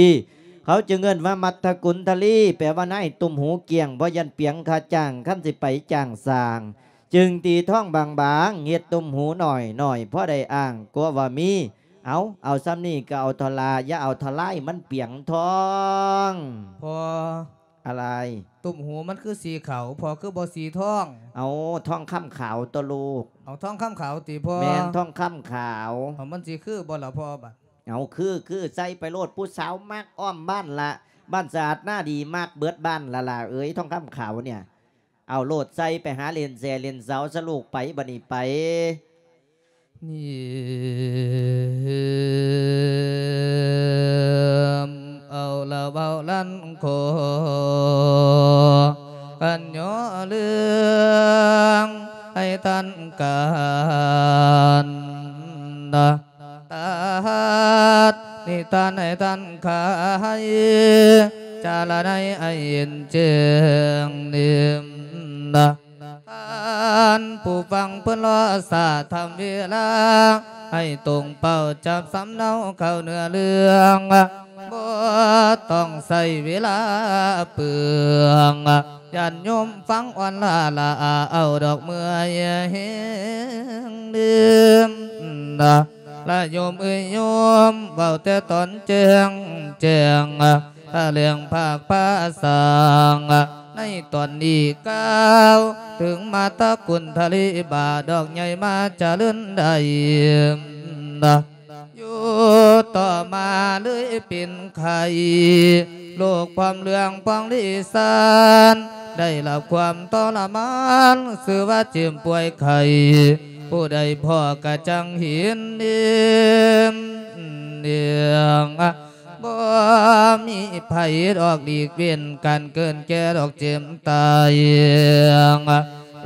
ເຂົາຈຶ່ງເອີ້ນວ່າມັດທະກຸນທະລີ ແປວ່ານາຍຕຸ້ມຫູກ້ຽງ ເພາະຢ້ານປຽງຄ່າຈ້າງ ຄັນຊິໄປຈ້າງສ້າງ. ຈຶ່ງຕີທອງບາງໆ ເຮັດຕຸ້ມຫູໜ້ອຍໆ ພໍໄດ້ອ້າງ ກົວວ່າມີ. ເອົາ ເອົາສ່ຳນີ້ກໍເອົາເຖາະລະ ຢ່າເອົາເຖາະຫຼາຍ ມັນປຽງທອງ. ພໍ່. ອະໄລ? ຕຸ້ມຫູມັນຄືສີຂາວ ພໍ່ ຄືບໍ່ສີທອງ? ເອົາ ທອງຄຳຂາວຕົວະລູກ. ເອົາ ທອງຄຳຂາວຕິພໍ່? ແມ່ນ ທອງຄຳຂາວ. ເອົາ ມັນຊິຄືບໍ່ລະພໍ່ ບາດ? ເອົາ ຄື ຄື ໃສ່ໄປໂລດ ຜູ້ສາວມັກອ້ອມບ້ານລະ ບ້ານສະອາດນາດີ ມັກເບິດບ້ານລະຫຼ້າເອີຍ ທອງຄຳຂາວເນຍ. ເອົາໂລດ ໃສ່ໄປຫາຫຼິ້ນແຊຫຼິ້ນເສົາຊະລູກໄປ ບັດນີ້ໄປ. ເອົາລະເວົ້າລັນຂໍ ກັນຍໍເລື່ອງໃຫ້ທັນການ ຕັດນິທານໃຫ້ທັນໄຂ ຈາລະໄນໃຫ້ເຫັນແຈ້ງເໜັນ. ທ່ານຜູ້ຟັງເພິ່ນລໍສາທຳເວລາ ໃຫ້ຕົງເປົ້າຈັບສຳເນົາເຂົ້າເນື້ອເລື່ອງ ບໍ່ຕ້ອງໃຊ້ເວລາເປືອງ ຍາດໂຍມຟັງອ່ອນລ້າລະອາເອົາດອກເມື່ອຍແຮງລືມ ລະໂຍມເອີຍໂຍມ ເວົ້າແຕ່ຕອນແຈ້ງ ແຈ້ງ ຖະແຫຼງພາກພາສ້າງ ໃນຕອນນີ້ກ່າວເຖິງມາຕະກຸນທະເລບາດອກໃຫຍ່ມາຈະເລີນໄດ້ ຢູ່ຕໍ່ມາເລີຍເປັນໄຂ້ ໂລກພວມເລື່ອງພວງລີສານ ໄດ້ຮັບຄວາມທໍລະມານ ຊື່ວ່າເຈັບປ່ວຍໄຂ້ ຜູ້ໃດພໍກະຈັ່ງເຫັນເຫັນເດງ ບໍ່ມີໃຜດອກຫຼີກເວັ້ນ ການເກີດແກ່ດອກເຈັບຕາຍ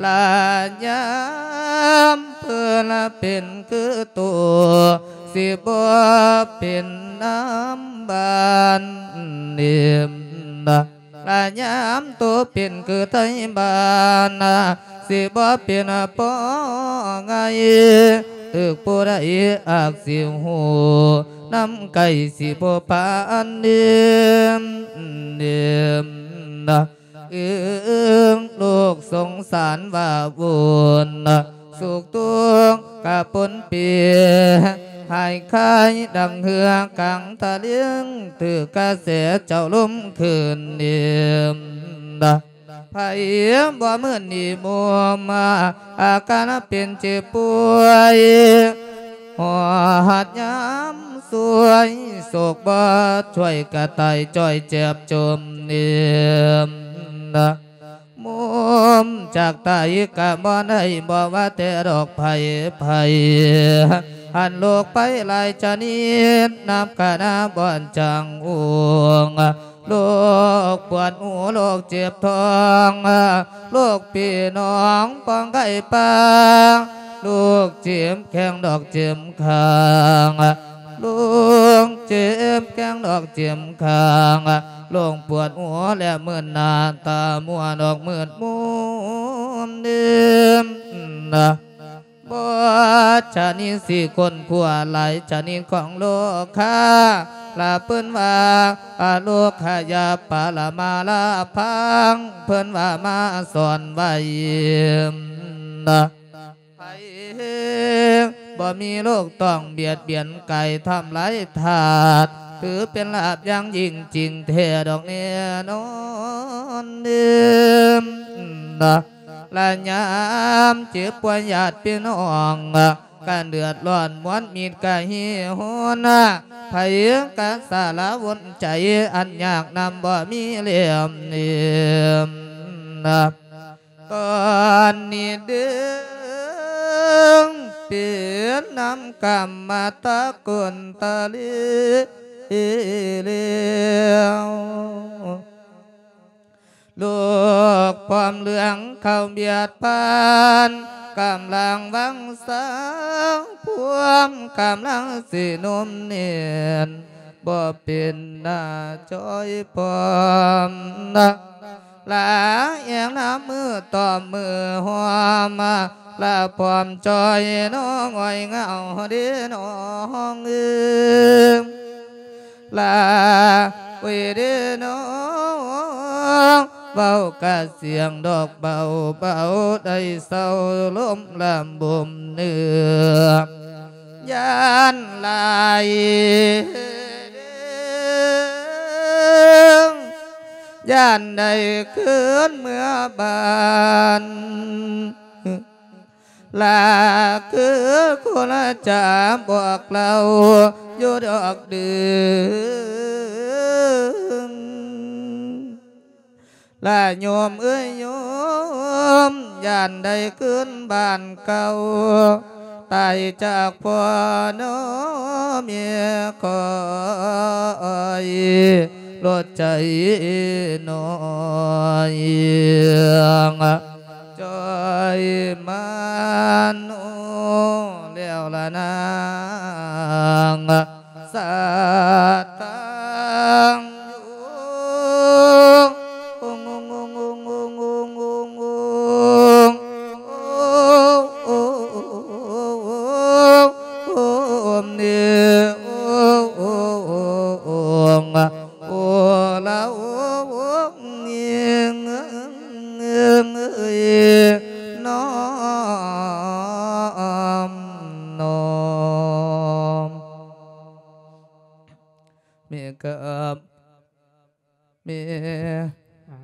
ລະຍາມເພິ່ນເປັນຄືໂຕ ຊິບໍ່ເປັນນຳບ້ານເນມ ລະຍາມໂຕເປັນຄືໄທບ້ານ ຊິບໍ່ເປັນພໍ່ງ່າຍ ຖືກຜູ້ໃດອາກຊິຮູ້ ນຳໄກ່ຊິບໍ່ປານເນມ ເນມ ອຶງ ລູກສົງສານວ່າວຸ່ນ ສຸກທຸກກະປົນເປ ຫາຍຄາຍດັ່ງເຮືອກາງທະເລງ ຖືກກະແສເຈົ້າລົມຂຶ້ນເນມ ໃຜບໍ່ມື່ນນີ້ມຸມ ອາການເປັນເຈັບປ່ວຍ ຮອດຍາມຊ່ວຍ ໂສກບໍ່ຊ່ວຍກະຕາຍຈ້ອຍເຈັບຈົມເນມ ມຸມຈາກຕາຍກະບໍ່ໄດ້ ບໍ່ວ່າແຕ່ດອກໄຜ ໄຜ ຫັນໂລກໄປຫຼາຍຊະນິດ ນັບກະນາບ່ອນຈາງອົງ ໂລກປວດຫູ ໂລກເຈັບທ້ອງ ໂລກປີໜອງປ່ອງໄກ່ປາ ໂລກເຈັບແຂ້ງດອກເຈັບຂ້າງ ໂລກເຈັບແຂ້ງດອກເຈັບຂ້າງ ໂລກປວດຫົວ ແລະ ມືນໜ້າຕາມົວ ດອກມືດມຸມເດີມ ບໍ່ຊະນິດຊິຄົ້ນຄວ້າ ຫຼາຍຊະນິດຂອງໂລຄາ ລະເພິ່ນວ່າ ອະໂລຄະຍາປະລະມາລະພັງ ເພິ່ນວ່າມາສອນໄວ້ ໃຜບໍ່ມີໂລກຕ້ອງບຽດບຽນກາຍທຳລາຍທາດ ຖືເປັນລາບຢ່າງຍິ່ງຈິງແທ້ດອກແນ່ນອນເດີມ ລະຍາມເຈັບປ່ວຍຍາດພີ່ນ້ອງ ກະເດືອດຮ້ອນມວນມິດກະຫິວໂຫຍ ໃຜກະສາລະວົນໃຈ ອັນຍາກນຳບໍ່ມີແລ້ວເນີມ ຕອນນີ້ເດີ ເປັນນຳກຳມະຕະກຸນຕະເລແລ້ວ ໂລກພ້ອມເລື່ອງເຂົ້າບຽດຜ່ານ ກຳລັງວັງສາພວມ ກຳລັງຊິໜຸ່ມແໜ້ນ ບໍ່ເປັນໜ້າຈອຍພ້ອມ ລາແອງນຳມືຕອບມືຫອມ ລາພ້ອມຈອຍນ້ອງອ້ອຍເຫງົາເດນ້ອງເອີ ລາເວເດນ້ອງ ເວົ້າກະສຽງດອກເບົາເບົາ ໄດ້ເຊົາລົມລຳບົມເນື້ອ ຢ້ານຫຼາຍ ຢ້ານໄດ້ຄືນເມືອບ້ານ ລາຄືຄົນຈະບອກເລົ່າ ຢູ່ດອກເດີ ລະໂຍມເອີຍໂຍມ ຢ້ານໄດ້ຄືນບ້ານເກົ່າ ຕາຍຈາກພໍ່ນ້ອແມ່ຂ້ອຍ ລົດໃຈນ້ອຍ ຈ່ອຍມາໂນແລ້ວລະນາງ ສາຕັງໂຍ ໂອລະໂອງ ເອີຍ ນ້ອມ ນ້ອມ ແມ່ຄັບ ແມ່. ອ້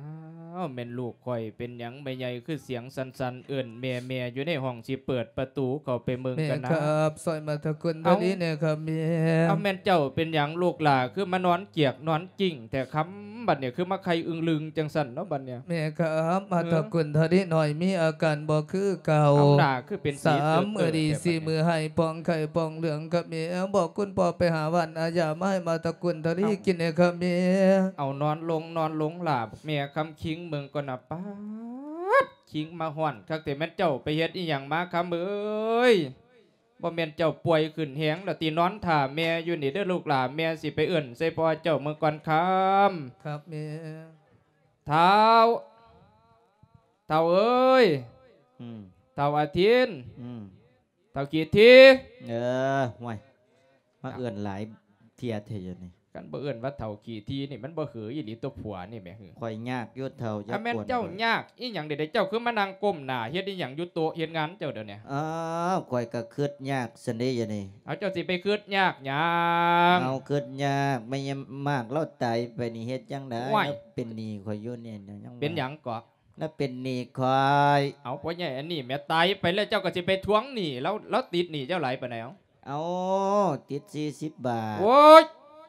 າວ ແມ່ນລູກຂ້ອຍ ເປັນຫຍັງແມ່ໃຫຍ່ຄືສຽງສັ່ນໆ ເອີ້ນແມ່ໆ ຢູ່ໃນຫ້ອງ ຊິເປີດປະຕູເຂົ້າໄປເບິ່ງກັນນະ. ແມ່ຄັບ ຊ່ອຍມາທະກຸນ ເອົ້າ ດຽວນີ້ແນ່ຄັບແມ່. ເອົ້າ ແມ່ນເຈົ້າເປັນຫຍັງລູກຫຼ້າ ຄືມານອນກຽກນອນກິ້ງແທ້ ຄ່ຳບັດນີ້ ຄືມາໄຄອຶງລຶງຈັ່ງຊັ້ນເນາະບັດນີ້? ແມ່ຄັບ ມາທະກຸນ ເອີ ເທົ່ານີ້ໜ້ອຍ ມີອາການບໍ່ຄືເກົ່າ ເອົາໜ້າຄືເປັນສີເຕີບໆ ສາມມື້ນີ້ ແທ້ບັດນີ້ ສີ່ມື້ ໄຫ້ປ່ອງໄຂ້ປ່ອງເຫຼືອງຄັບແມ່. ບອກຄຸນພໍ່ໄປຫາຫວ່ານອາຢາມາໃຫ້ມາຕະກຸນທະລີກິນແດ່ຄັບແມ່. ເອົານອນລົງ ນອນລົງຫຼ້າ ແມ່ຄຳຄິງເບິ່ງກ່ອນນະ. ປາດ ຄິງມາຮ້ອນຄັກແທ້ ແມ່ນເຈົ້າໄປເຮັດອີ່ຫຍັງມາຄຳເອີຍ? ບໍ່ແມ່ນເຈົ້າປ່ວຍຂຶ້ນແຮງແລ້ວຕິ? ນອນຖ້າແມ່ຢູ່ນີ້ເດີລູກຫຼ້າ ແມ່ຊິໄປເອີ້ນໃສ່ພໍ່ເຈົ້າເບິ່ງກ່ອນຄຳ. ຄັບແມ່. ທ້າວ ທ້າວເອີຍ ອືມ ທ້າວອາທິນ ອືມ ທ້າວຂີ້ຖີ່. ເອີ ຫ້ວຍ ມາເອີ້ນຫຼາຍເທື່ອແທ້ຢູ່ນີ້. ຄັນບໍ່ເອີ້ນວ່າທ້າວຂີ້ຖີ່ນີ້ ມັນບໍ່ເຫີອີ່ຫຼີຕົວະຜົວນີ້ແໝ. ຂ້ອຍຍາກຢູ່ທ້າວ ຢ່າກວນຂ້ອຍ. ແມ່ນເຈົ້າຍາກອີ່ຫຍັງເດ? ເຈົ້າຄືມານັ່ງກົ້ມໜ້າເຮັດອີ່ຫຍັງຢູ່ໂຕະເຮັດງານເຈົ້າດຽວນີ້? ອ້າວ ຂ້ອຍກໍຄຶດຍາກຊັ້ນເດດຽວນີ້. ເອົາ ເຈົ້າຊິໄປຄຶດຍາກຫຍັງ? ເອົາ ຄຶດຍາກ ແມ່ຍາຍໝາກລາວຕາຍໄປນີ້ ເຮັດຈັ່ງໃດ? ໂອ້ຍ ລາວເປັນໜີ້ຂ້ອຍຢູ່ນີ້ ຍັງ ເປັນຫຍັງເກາະ? ລາວເປັນໜີ້ຂ້ອຍ. ເອົາ ພໍ່ໃຫຍ່ອັນນີ້ແໝ ຕາຍໄປແລ້ວ ເຈົ້າກໍຊິໄປທວງໜີ້ລາວ ລາວຕິດໜີ້ເຈົ້າຫຼາຍປານໃດ? ເອົາ ເອົາ ຕິດສີ່ສິບບາດ. ໂອ້ຍ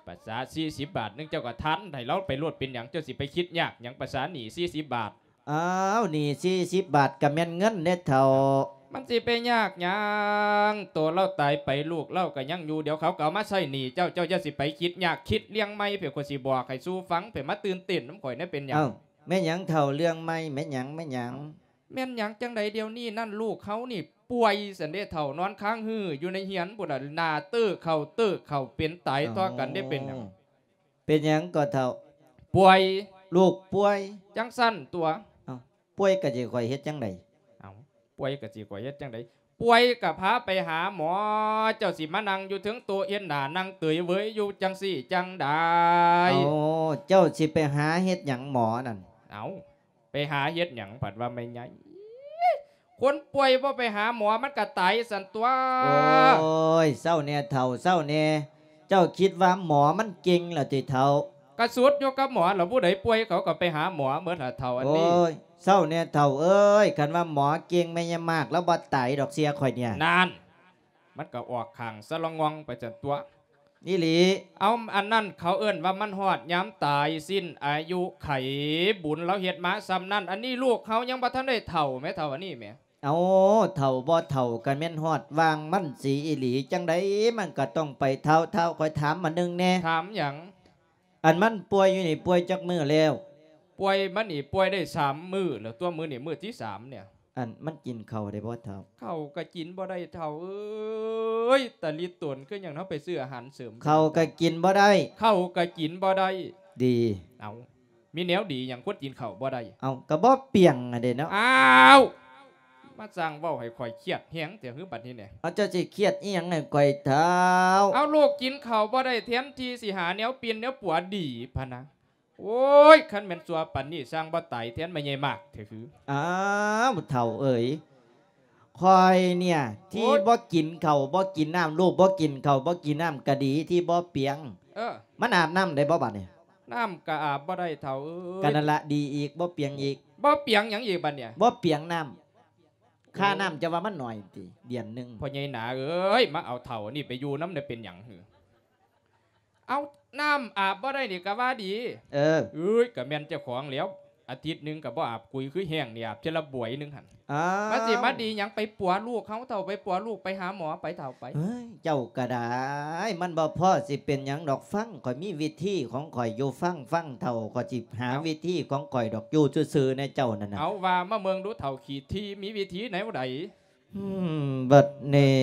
ປະສາສີ່ສິບບາດໜຶ່ງ ເຈົ້າກໍທານໃຫ້ລາວໄປໂລດ ເປັນຫຍັງ? ເຈົ້າຊິໄປຄິດຍາກຫຍັງ ປະສາໜີ້ສີ່ສິບບາດ? ອ້າວ ໜີ້ສີ່ສິບບາດກໍແມ່ນເງິນເດ້ທ້າວ. ມັນຊິໄປຍາກຫຍັງ? ໂຕລາວຕາຍໄປ ລູກລາວກໍຍັງຢູ່ ດຽວເຂົາກໍເອົາມາໃຊ້ໜີ້ເຈົ້າ. ເຈົ້າຢ່າຊິໄປຄິດຍາກ ຄິດລຽງໃໝ່ ເພື່ອຂ້ອຍຊິບອກໃຫ້ສູ່ຟັງ ເພື່ອມາຕື່ນເຕັ້ນນຳຂ້ອຍແດ່. ເປັນຫຍັງ? ເອົ້າ ແມ່ນຫຍັງທ້າວ ເລື່ອງໃໝ່ ແມ່ນຫຍັງ ແມ່ນຫຍັງ? ແມ່ນຫຍັງຈັ່ງໃດ? ດຽວນີ້ນັ້ນ ລູກເຮົານີ້ປ່ວຍຊັ້ນເດທ້າວ ນອນຄ້າງຮືຢູ່ໃນເຮືອນພຸ້ນນະ ໜ້າເຕີເຂົ້າເຕີເຂົ້າ ເປັນຕາຍຕໍ່ກັນເດ້. ເອົ້າ ເປັນຫຍັງ? ເປັນຫຍັງກໍທ້າວ? ປ່ວຍ. ລູກປ່ວຍ? ຈັ່ງຊັ້ນຕົວະ. ເອົ້າ ປ່ວຍກໍຊິຂ້ອຍເຮັດຈັ່ງໃດ? ເອົ້າ ປ່ວຍກໍຊິຂ້ອຍເຮັດຈັ່ງໃດ? ປ່ວຍກໍພາໄປຫາໝໍ. ເຈົ້າຊິມານັ່ງຢູ່ເທິງໂຕະ ເຮັດໜ້ານັ່ງເຕີຍເຫວີຍຢູ່ຈັ່ງຊີ້ຈັ່ງໃດ? ເອົ້າ ເຈົ້າຊິໄປຫາເຮັດຫຍັງໝໍນັ້ນ? ເອົ້າ ໄປຫາເຮັດຫຍັງ ພັດວ່າແມ່ໃຫຍ່? ຄົນປ່ວຍບໍ່ໄປຫາໝໍ ມັນກໍຕາຍຊັ້ນຕົວະ. ໂອ້ຍ ເຊົາແດ່ທ້າວ ເຊົາແດ່. ເຈົ້າຄິດວ່າໝໍມັນເກັ່ງລະຕິທ້າວ? ກະສຸດຢູ່ກັບໝໍລະ ຜູ້ໃດປ່ວຍເຂົາກໍໄປຫາໝໍໝົດລະທ້າວອັນນີ້. ໂອ້ຍ ເຊົາແດ່ທ້າວເອີຍ ຄັນວ່າໝໍເກັ່ງ ແມ່ຍາຍມາກລາວບໍ່ຕາຍດອກ ເຊື່ອຂ້ອຍເນຍ. ນັ້ນ ມັນກໍອອກຂ້າງສະລະງ່ອງໄປຊັ້ນຕົວະ. ອີ່ຫຼີ. ເອົາ ອັນນັ້ນເຂົາເອີ້ນວ່າມັນຮອດຍາມຕາຍ ສິ້ນອາຍຸໄຂ ບຸນລາວເຮັດມາສ່ຳນັ້ນ. ອັນນີ້ລູກເຮົາຍັງບໍ່ທັນໄດ້ເຖົ້າແໝ ເຖົ້າອັນນີ້ແໝ. ເອົາ ເຖົ້າບໍ່ເຖົ້າກໍແມ່ນຮອດວາງມັນສີອີ່ຫຼີ ຈັ່ງໃດມັນກໍຕ້ອງໄປທ້າວ. ທ້າວ ຂ້ອຍຖາມອັນໜຶ່ງແດ່. ຖາມຫຍັງ? ອັນມັນປ່ວຍຢູ່ນີ້ປ່ວຍຈັກມື້ແລ້ວ? ປ່ວຍມານີ້ປ່ວຍໄດ້ສາມມື້ແລ້ວຕົວະ ມື້ນີ້ມື້ທີສາມເນຍ. ອັນມັນກິນເຂົ້າໄດ້ບໍ່ທ້າວ? ເຂົ້າກໍກິນບໍ່ໄດ້ທ້າວເອີຍ ຕາລິຕົນ ຄືຫຍັງເຮົາໄປຊື້ອາຫານເສີມ. ເຂົ້າກໍກິນບໍ່ໄດ້? ເຂົ້າກໍກິນບໍ່ໄດ້. ດີ. ເອົາ ມີແນວດີຫຍັງຄົນກິນເຂົ້າບໍ່ໄດ້? ເອົາ ກໍບໍ່ປຽງຫັ້ນເດເນາະ. ອ້າວ ມາສ້າງເວົ້າໃຫ້ຂ້ອຍຄຽດແຮງແທ້ຫື ບັດນີ້ແນ່. ເອົາ ເຈົ້າຊິຄຽດອີ່ຫຍັງໃຫ້ຂ້ອຍທ້າວ? ເອົາ ລູກກິນເຂົ້າບໍ່ໄດ້ ແທນທີ່ຊິຫາແນວປິ່ນແນວປົວດີພະນະ. ໂອ້ຍ ຄັນແມ່ນຊົ່ວປານນີ້ ຊ່າງບໍ່ຕາຍແທນແມ່ໃຫຍ່ມາກແທ້ຫື. ອ້າວ ເຖົ້າເອີຍ ຂ້ອຍເນຍທີ່ ໂອ້ຍ ບໍ່ກິນເຂົ້າບໍ່ກິນນ້ຳ ລູກບໍ່ກິນເຂົ້າບໍ່ກິນນ້ຳກໍດີທີ່ບໍ່ປຽງ. ເອີ ມັນອາບນ້ຳໄດ້ບໍ່ບັດນີ້? ນ້ຳກໍອາບບໍ່ໄດ້ເຖົ້າເອີຍ. ກໍນັ້ນລະ ດີອີກ ບໍ່ປຽງອີກ. ບໍ່ປຽງຫຍັງອີກບັດນີ້? ບໍ່ປຽງນ້ຳ. ຄ່ານ້ຳຈະວ່າມັນໜ້ອຍຕິ ເດືອນໜຶ່ງ. ພໍ່ໃຫຍ່ໜາເອີຍ ມາເອົາເຖົ້າອັນນີ້ໄປຢູ່ນຳໄດ້ເປັນຫຍັງຫື? ເອົາ ນ້ຳອາບບໍ່ໄດ້ນີ້ກະວ່າດີ. ເອີ ເອີຍ ກະແມ່ນເຈົ້າຂອງແລ້ວ ອາທິດໜຶ່ງກະບໍ່ອາບກຸຍ ຄືແຫ້ງນີ້ອາບເທື່ອລະບວຍໜຶ່ງຫັ້ນ. ອ້າວ ມັນຊິມາດີຫຍັງ ໄປປົວລູກເຮົາເຖົ້າ ໄປປົວລູກ ໄປຫາໝໍໄປເຖົ້າໄປ. ເອີຍ ເຈົ້າກະໄດ້ ມັນບໍ່ພໍຊິເປັນຫຍັງດອກ ຟັງ ຂ້ອຍມີວິທີຂອງຂ້ອຍຢູ່ ຟັງ ຟັງເຖົ້າ ຂ້ອຍຊິຫາວິທີຂອງຂ້ອຍດອກ ຢູ່ຊື່ໆແນ່ເຈົ້ານັ້ນນະ. ເອົາ ວ່າມາເບິ່ງດູເຖົ້າຂີ້ຖີ່ ມີວິທີແນວໃດ? ອືມ ບັດນີ້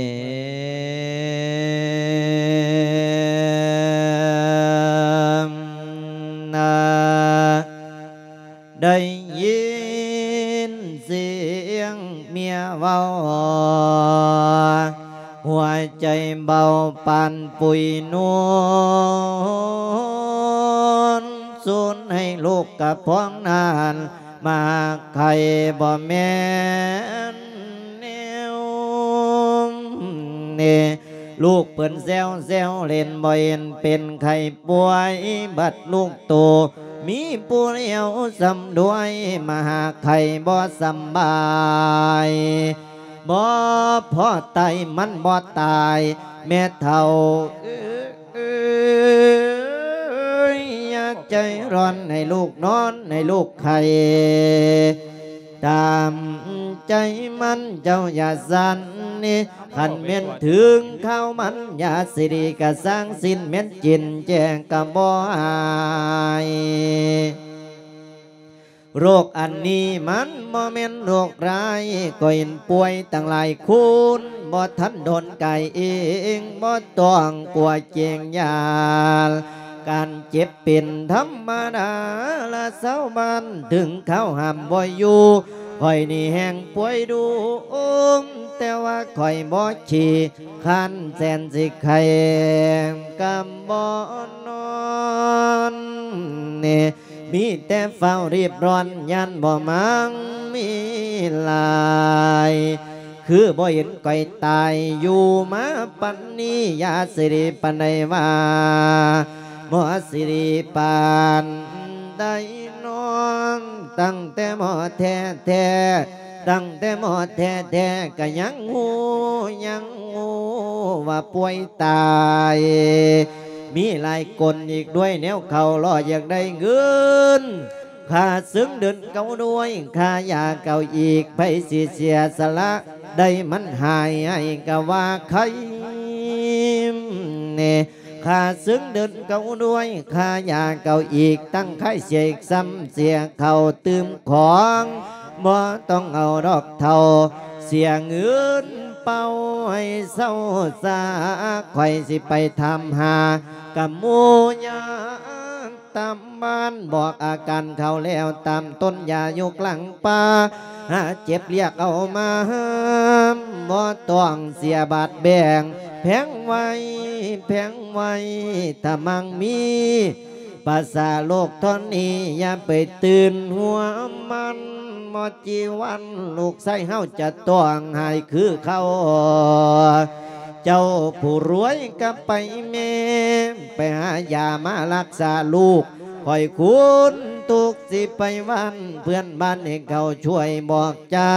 ນະ ໄດ້ຍິນສຽງເມຍເວົ້າ ຫົວໃຈເບົາປານປຸຍນົນ ສູນໃຫ້ລູກກະພອງນານ ມາໄຂ່ບໍ່ແມ່ນແນວນີ້ ລູກເພິ່ນແຊວແຊວເຫຼັ້ນ ບໍ່ເຫັນເປັນໄຂ້ປ່ວຍ ບັດລູກໂຕມີຜູ້ດຽວສ່ຳດ້ວຍ ມາຫາໄຂ້ບໍ່ສຳບາຍ ບໍ່ພໍຕາຍ ມັນບໍ່ຕາຍ ແມ່ເຖົ້າເອີຍ ຢ່າໃຈຮ້ອນ ໃຫ້ລູກນອນ ໃຫ້ລູກໄຂ້ ຕາມໃຈມັນ ເຈົ້າຢ່າສັ່ນນີ້ ຄັນແມ່ນເຖິງຄາວມັນ ຢາສີດີກະສ້າງສິ້ນ ແມ່ນຈິນແຈງກະບໍ່ຫາຍ. ໂລກອັນນີ້ມັນບໍ່ແມ່ນໂລກຮ້າຍ ກໍເຫັນປ່ວຍຕັ້ງຫຼາຍຄົນ ບໍ່ທັນໂດນກາຍເອງ ບໍ່ຕ້ອງກົວເກງຢ້ານ ການເຈັບເປັນທຳມະດາລະຊາວບ້ານ ເຖິງຄາວຫ້າມບໍ່ຢູ່ ຂ້ອຍນີ້ແຮ່ງປ່ວຍດຸ ແຕ່ວ່າຂ້ອຍບໍ່ຂີ້ຄ້ານ ແສນຊິໄຂ້ກະບໍ່ນອນ ນີ້ ມີແຕ່ຟ້າວຣີບຮ້ອນ ຢ້ານບໍ່ໝັ່ງມີຫຼາຍ ຄືບໍ່ເຫັນຂ້ອຍຕາຍ ຢູ່ມາປານນີ້ ຢາສີດີປານໃດວ່າ ໝໍສີດີປານໃດນອນ ຕັ້ງແຕ່ໝໍແທ້ໆ ຕັ້ງແຕ່ໝໍແທ້ໆ ກະຍັງຮູ້ ຍັງຮູ້ວ່າປ່ວຍຕາຍ ມີຫຼາຍກົນອີກດ້ວຍ ແນວເຂົາລໍຢາກໄດ້ເງິນ ຄ່າເຊິ່ງເດືອນເຂົາດ້ວຍ ຄ່າຢາເຂົາອີກ ໃຜຊິເສຍສະຫຼະໄດ້ ມັນຫາຍໃຫ້ກະວ່າໄຄແນ່ ຄ່າເຊິ່ງເດືອນເຂົາດ້ວຍ ຄ່າຢາເຂົາອີກ ຕັ້ງໄຄເສຍອີກ ຊ້ຳເສຍເຂົາຕື່ມຂອງ ບໍ່ຕ້ອງເອົາດອກເຖົ້າ ເສຍເງິນເປົ່າໃຫ້ເຊົາຊາ ຂ້ອຍຊິໄປຖາມຫາກະໝູ່ຍາ ຕາມບ້ານ ບອກອາການເຂົາແລ້ວ ຕາມຕົ້ນຢາຢູ່ກາງປ່າ ຫາເຈັບລຽກເອົາມາ ບໍ່ຕ້ອງເສຍບາດແບ່ງ ແພງໄວ້ ແພງໄວ້ ຖ້າມັງມີ ປະສາໂລກທ່ອນນີ້ ຢ່າໄປຕື່ນຫົວມັນ ບໍ່ຈີວັນ ລູກຊາຍເຮົາຈະຕ້ອງຫາຍຄືເກົ່າ ເຈົ້າຜູ້ລວຍກະໄປແມ້ ໄປຫາຢາມາລັກສາລູກ ຂ້ອຍຄົນທຸກຊິໄປຫວັ້ນ ເພື່ອນບ້ານໃຫ້ເຂົາຊ່ວຍບອກຈາ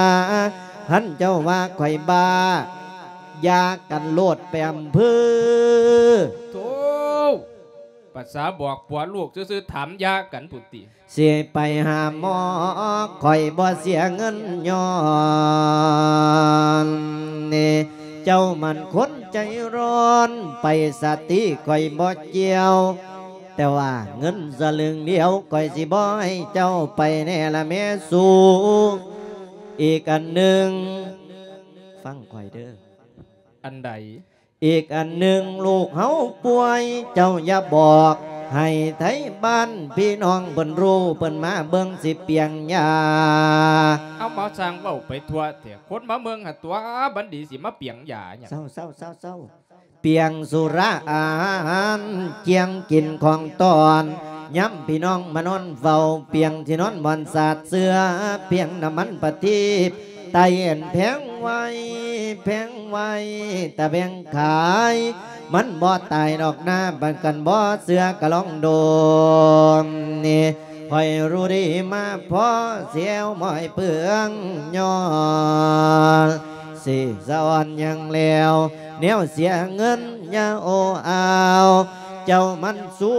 ຄັນເຈົ້າວ່າຂ້ອຍບ້າ ຢ່າກັນໂລດໄປອຳເພີ. ໂທ້ ພາສາບອກຜົວລູກຊື່ໆ ຖາມຢາກັນພຸ້ນຕິ. ຊິໄປຫາໝໍ ຂ້ອຍບໍ່ເສຍເງິນຍ້ອນນີ້ ເຈົ້າມັນຄົນໃຈຮ້ອນ ໄປສະຕິຂ້ອຍບໍ່ກ່ຽວ ແຕ່ວ່າເງິນສະລຶງດຽວ ຂ້ອຍຊິບໍ່ໃຫ້ເຈົ້າໄປແນ່ລະແມ່ສູ. ອີກອັນໜຶ່ງ ຟັງຂ້ອຍເດີ້. ອັນໃດ? ອີກອັນໜຶ່ງ ລູກເຮົາປ່ວຍ ເຈົ້າຢ່າບອກໃຫ້ໄທບ້ານພີ່ນ້ອງເພິ່ນຮູ້ ເພິ່ນມາເບິ່ງຊິປ່ຽງຢາ. ເອົາ ມາຊ່າງເວົ້າໄປທົ່ວແທ້ ຄົນມາເບິ່ງຫັ້ນຕົວະ ບັນດີຊິມາປ່ຽງຢາຫຍັງ? ເຊົາໆໆໆ ປ່ຽງສຸລາອາຫານ ກ່ຽງກິນຂອງຕ້ອນ ຍາມພີ່ນ້ອງມານອນເຝົ້າ ປ່ຽງທີ່ນອນບ່ອນສາດເສື່ອ ປ່ຽງນ້ຳມັນປະທີບ ໄຕອັນແພງໄວ້ ແພງໄວ້ ຕາແພງຂາຍ ມັນບໍ່ຕາຍດອກນາ ບັດຄັນບໍ່ເຊື່ອກະລອງໂດນນີ້ ຂ້ອຍຮູ້ດີມາພໍ້ ສຽວໝ້ອຍເປືອງຍ້ອນ ຊິສະອອນຫຍັງແລ້ວ ແນວເສຍເງິນຢ່າໂອ້ອາວ ເຈົ້າມັນຊຸ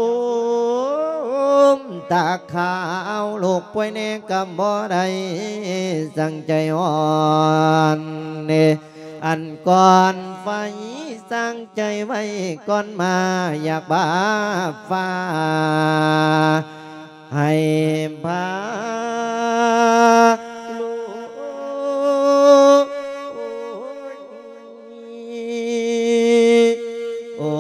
ມຕາຂາວ ລູກປ່ວຍແດ່ກໍບໍ່ໄດ້ ສັງໃຈອ່ອນ ອັນກ່ອນໄຟ ສັງໃຈໄວ້ກ່ອນມາ ຢາກບາບຟ້າ ໃຫ້ພາລູກ ໂອ້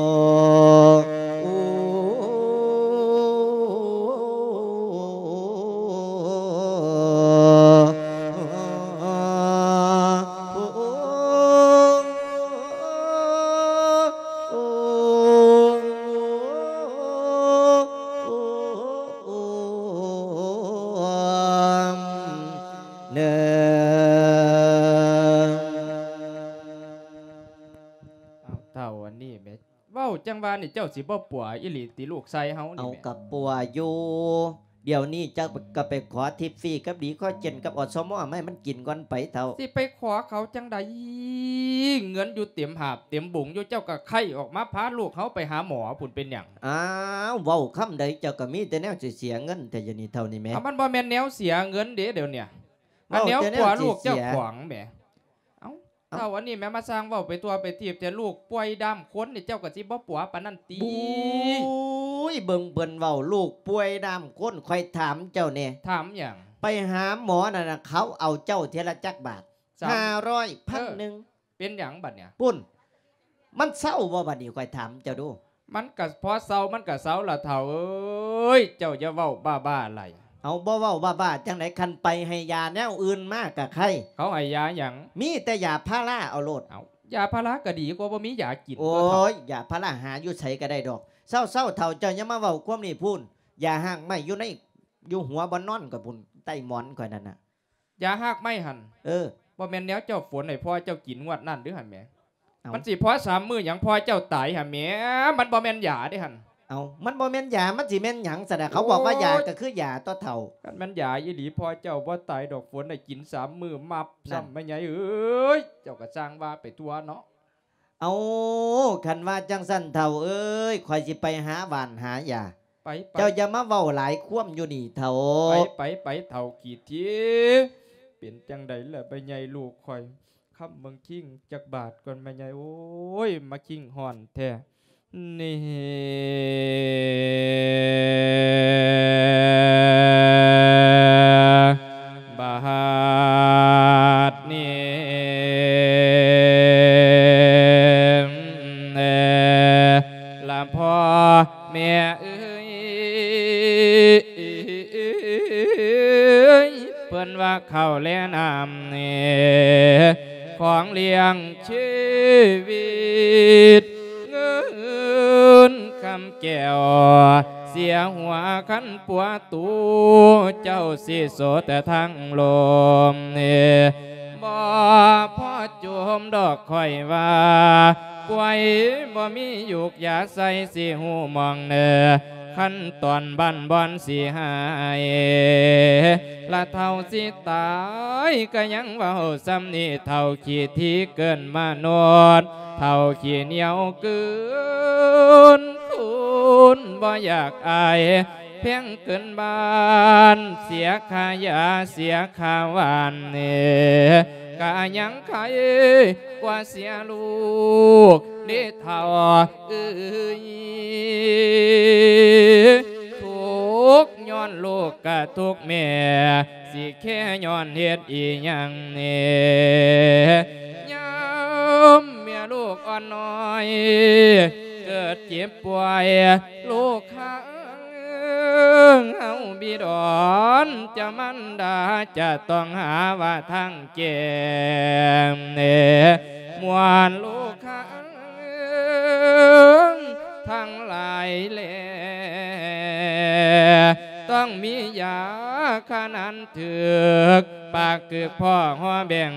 ເອີ ເຖົ້າອັນນີ້ແໝ ເວົ້າຈັ່ງວ່ານີ້ ເຈົ້າຊິບໍ່ປົວອີ່ຫຼີຕິ ລູກຊາຍເຮົານີ້ແໝ? ເອົາ ກໍປົວຢູ່ ດຽວນີ້ເຈົ້າກໍໄປຂໍທິບຟຣີກັບດີຄໍເຈນກັບ ອສມ ມາໃຫ້ມັນກິນກ່ອນໄປເຖົ້າ. ຊິໄປຂໍເຂົາຈັ່ງໃດ? ເງິນຢູ່ເຕັມຫາບເຕັມບຸງຢູ່ ເຈົ້າກໍໄຄອອກມາພາລູກເຮົາໄປຫາໝໍພຸ້ນ ເປັນຫຍັງ? ອ້າວ ເວົ້າຄຳໃດເຈົ້າກໍມີແຕ່ແນວຊິເສຍເງິນແທ້ ດຽວນີ້ເຖົ້ານີ້ແໝ. ເອົາ ມັນບໍ່ແມ່ນແນວເສຍເງິນເດ້ ດຽວນີ້ ອັນແນວປົວລູກເຈົ້າຂອງແໝ. ເອົາ ເຖົ້າອັນນີ້ແໝ ມາສ້າງເວົ້າໄປທົ່ວໄປທີບແຕ່ ລູກປ່ວຍດ້າມຄົນນີ້ ເຈົ້າກໍຊິບໍ່ປົວປານນັ້ນຕິ? ບຸ້ຍ ເບິ່ງເພິ່ນເວົ້າ ລູກປ່ວຍດ້າມຄົນ ຂ້ອຍຖາມເຈົ້າແດ່. ຖາມຫຍັງ? ໄປຫາໝໍນັ້ນນະ ເຂົາເອົາເຈົ້າເທື່ອລະຈັກບາດ? ສາມ ຫ້າຮ້ອຍ ເອີ ພັນໜຶ່ງ ເປັນຫຍັງບັດນີ້? ປຸ້ນ ມັນເຊົາບໍ່ບັດນີ້? ຂ້ອຍຖາມເຈົ້າດູ. ມັນກະພໍເຊົາ ມັນກະເຊົາລະເຖົ້າເອີຍ ເຈົ້າຢ່າເວົ້າບ້າໆຫຼາຍ. ເອົາ ບໍ່ເວົ້າບ້າໆຈັ່ງໃດ? ຄັນໄປໃຫ້ຢາແນວອື່ນມາກະໄຄ. ເຂົາໃຫ້ຢາຫຍັງ? ມີແຕ່ຢາພາລາເອົາໂລດ. ເອົາ ຢາພາລາກະດີກວ່າບໍ່ມີຢາກິນ. ໂອ້ຍ ຢາພາລາຫາຢູ່ໃສກະໄດ້ດອກ. ເຊົາໆ ເຖົ້າ ເຈົ້າຢ່າມາເວົ້າຄວາມນີ້ພຸ້ນ. ຢາຮາກໄມ້ຢູ່ໃນ ຢູ່ຫົວບ່ອນນອນຂ້ອຍພຸ້ນ ໃຕ້ໝອນຂ້ອຍນັ້ນນະ. ຢາຮາກໄມ້ຫັ້ນ? ເອີ ບໍ່ແມ່ນແນວເຈົ້າຝົນໃຫ້ພໍ່ເຈົ້າກິນງວດນັ້ນເດີ້ຫັ້ນແໝ. ເອົ້າ ມັນຊິພໍສາມມື້ຫຍັງ ພໍ່ເຈົ້າຕາຍຫັ້ນແໝ. ມັນບໍ່ແມ່ນຢາເດ້ຫັ້ນ. ເອົ້າ ມັນບໍ່ແມ່ນຢາ ມັນຊິແມ່ນຫຍັງຊັ້ນນະ? ເຂົາບອກວ່າຢາ ໂອ້ຍ ກໍຄືຢາຕົວະເຖົ້າ. ຄັນແມ່ນຢາອີ່ຫຼີ ພໍ່ເຈົ້າບໍ່ຕາຍດອກ ຝົນໃຫ້ກິນສາມມື້ມັບຊ້ຳ. ແມ່ໃຫຍ່ເອີຍ ເຈົ້າກໍຊ່າງວ່າໄປທົ່ວເນາະ. ເອົາ ຄັນວ່າຈັ່ງຊັ້ນເຖົ້າເອີຍ ຂ້ອຍຊິໄປຫາຫວ່ານຫາຢາ. ໄປ ໄປ ເຈົ້າຢ່າມາເວົ້າຫຼາຍຄວາມຢູ່ນີ້ເຖົ້າ. ໄປ ໄປ ໄປ ເຖົ້າຂີ້ຖີ່. ເປັນຈັ່ງໃດລະແມ່ໃຫຍ່ລູກຂ້ອຍ ຄຳເມືອງຄິງຈັກບາດກ່ອນແມ່ໃຫຍ່. ໂອ້ຍ ມາຄິງຮ້ອນແທ້ນີ້ ບາດນີ້ ລະພໍ່ແມ່ເອີຍ ເພິ່ນວ່າເຂົ້າແລນ້ຳນີ້ ຂອງລ້ຽງຊີວິດ ເງິນຄຳແກ້ວເສຍຫົວ ຄັນປົວຕູ ເຈົ້າຊິໂສແຕ່ທາງລົມນີ້ ບໍ່ພໍໂຈມດອກຂ້ອຍວ່າ ປ່ວຍບໍ່ມີຢູກຢາໃສ່ ຊິຮູ້ໝ່ອງແນ່ ຂັ້ນຕອນບ້ານບ່ອນຊິຫາຍ ລະເຖົ້າຊິຕາຍກະຍັງເວົ້າສ່ຳນີ້ ເຖົ້າຂີ້ຖີ່ເກີນມະນຸດ ເຖົ້າຂີ້ໜຽວເກີນຄູນ ບໍ່ຢາກອາຍ ແພງເກີນບ້ານ ເສຍຄ່າຢາ ເສຍຄ່າຫວ່ານ ກະຍັງໄຄກວ່າເສຍລູກເດ້ເຖົ້າເອີຍ ທຸກຍ້ອນລູກກະທຸກແມ່ ຊິແຄ່ຍ້ອນເຮັດອີ່ຫຍັງແນ່ ຍາມແມ່ລູກອ່ອນນ້ອຍ ເກີດເຈັບປ່ວຍ ລູກຂ້າເຮົາບິດອນ ເຈົ້າມານດາຈະຕ້ອງຫາວ່າທາງແກ້ແນ່ ມ່ວນລູກ ຂ້າທັງຫຼາຍແລ ຕ້ອງມີຢາຂະໜານຖືກ ປາກຖືກພໍ່ຫໍແບ່ງ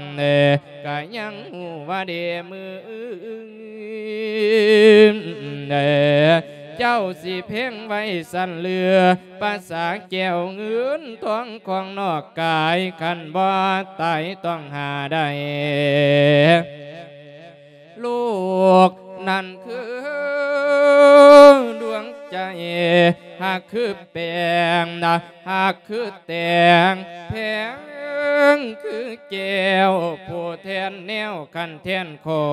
ກະຍັງຮູ້ວ່າເດມື້ອື່ນ ເຈົ້າຊິເພງໄວ້ສັນເຫຼືອ ປາສາແກ້ວເງິນທອງຂອງນອກກາຍ ຄັນບໍ່ຕາຍຕ້ອງຫາໄດ້ ລູກນັ້ນຄືດວງ ຄືແປ້ງ ຫາກຄືແຕງ ແພງຄືແກ້ວ ຜູ້ແທນແນວຄັນແທນຄອ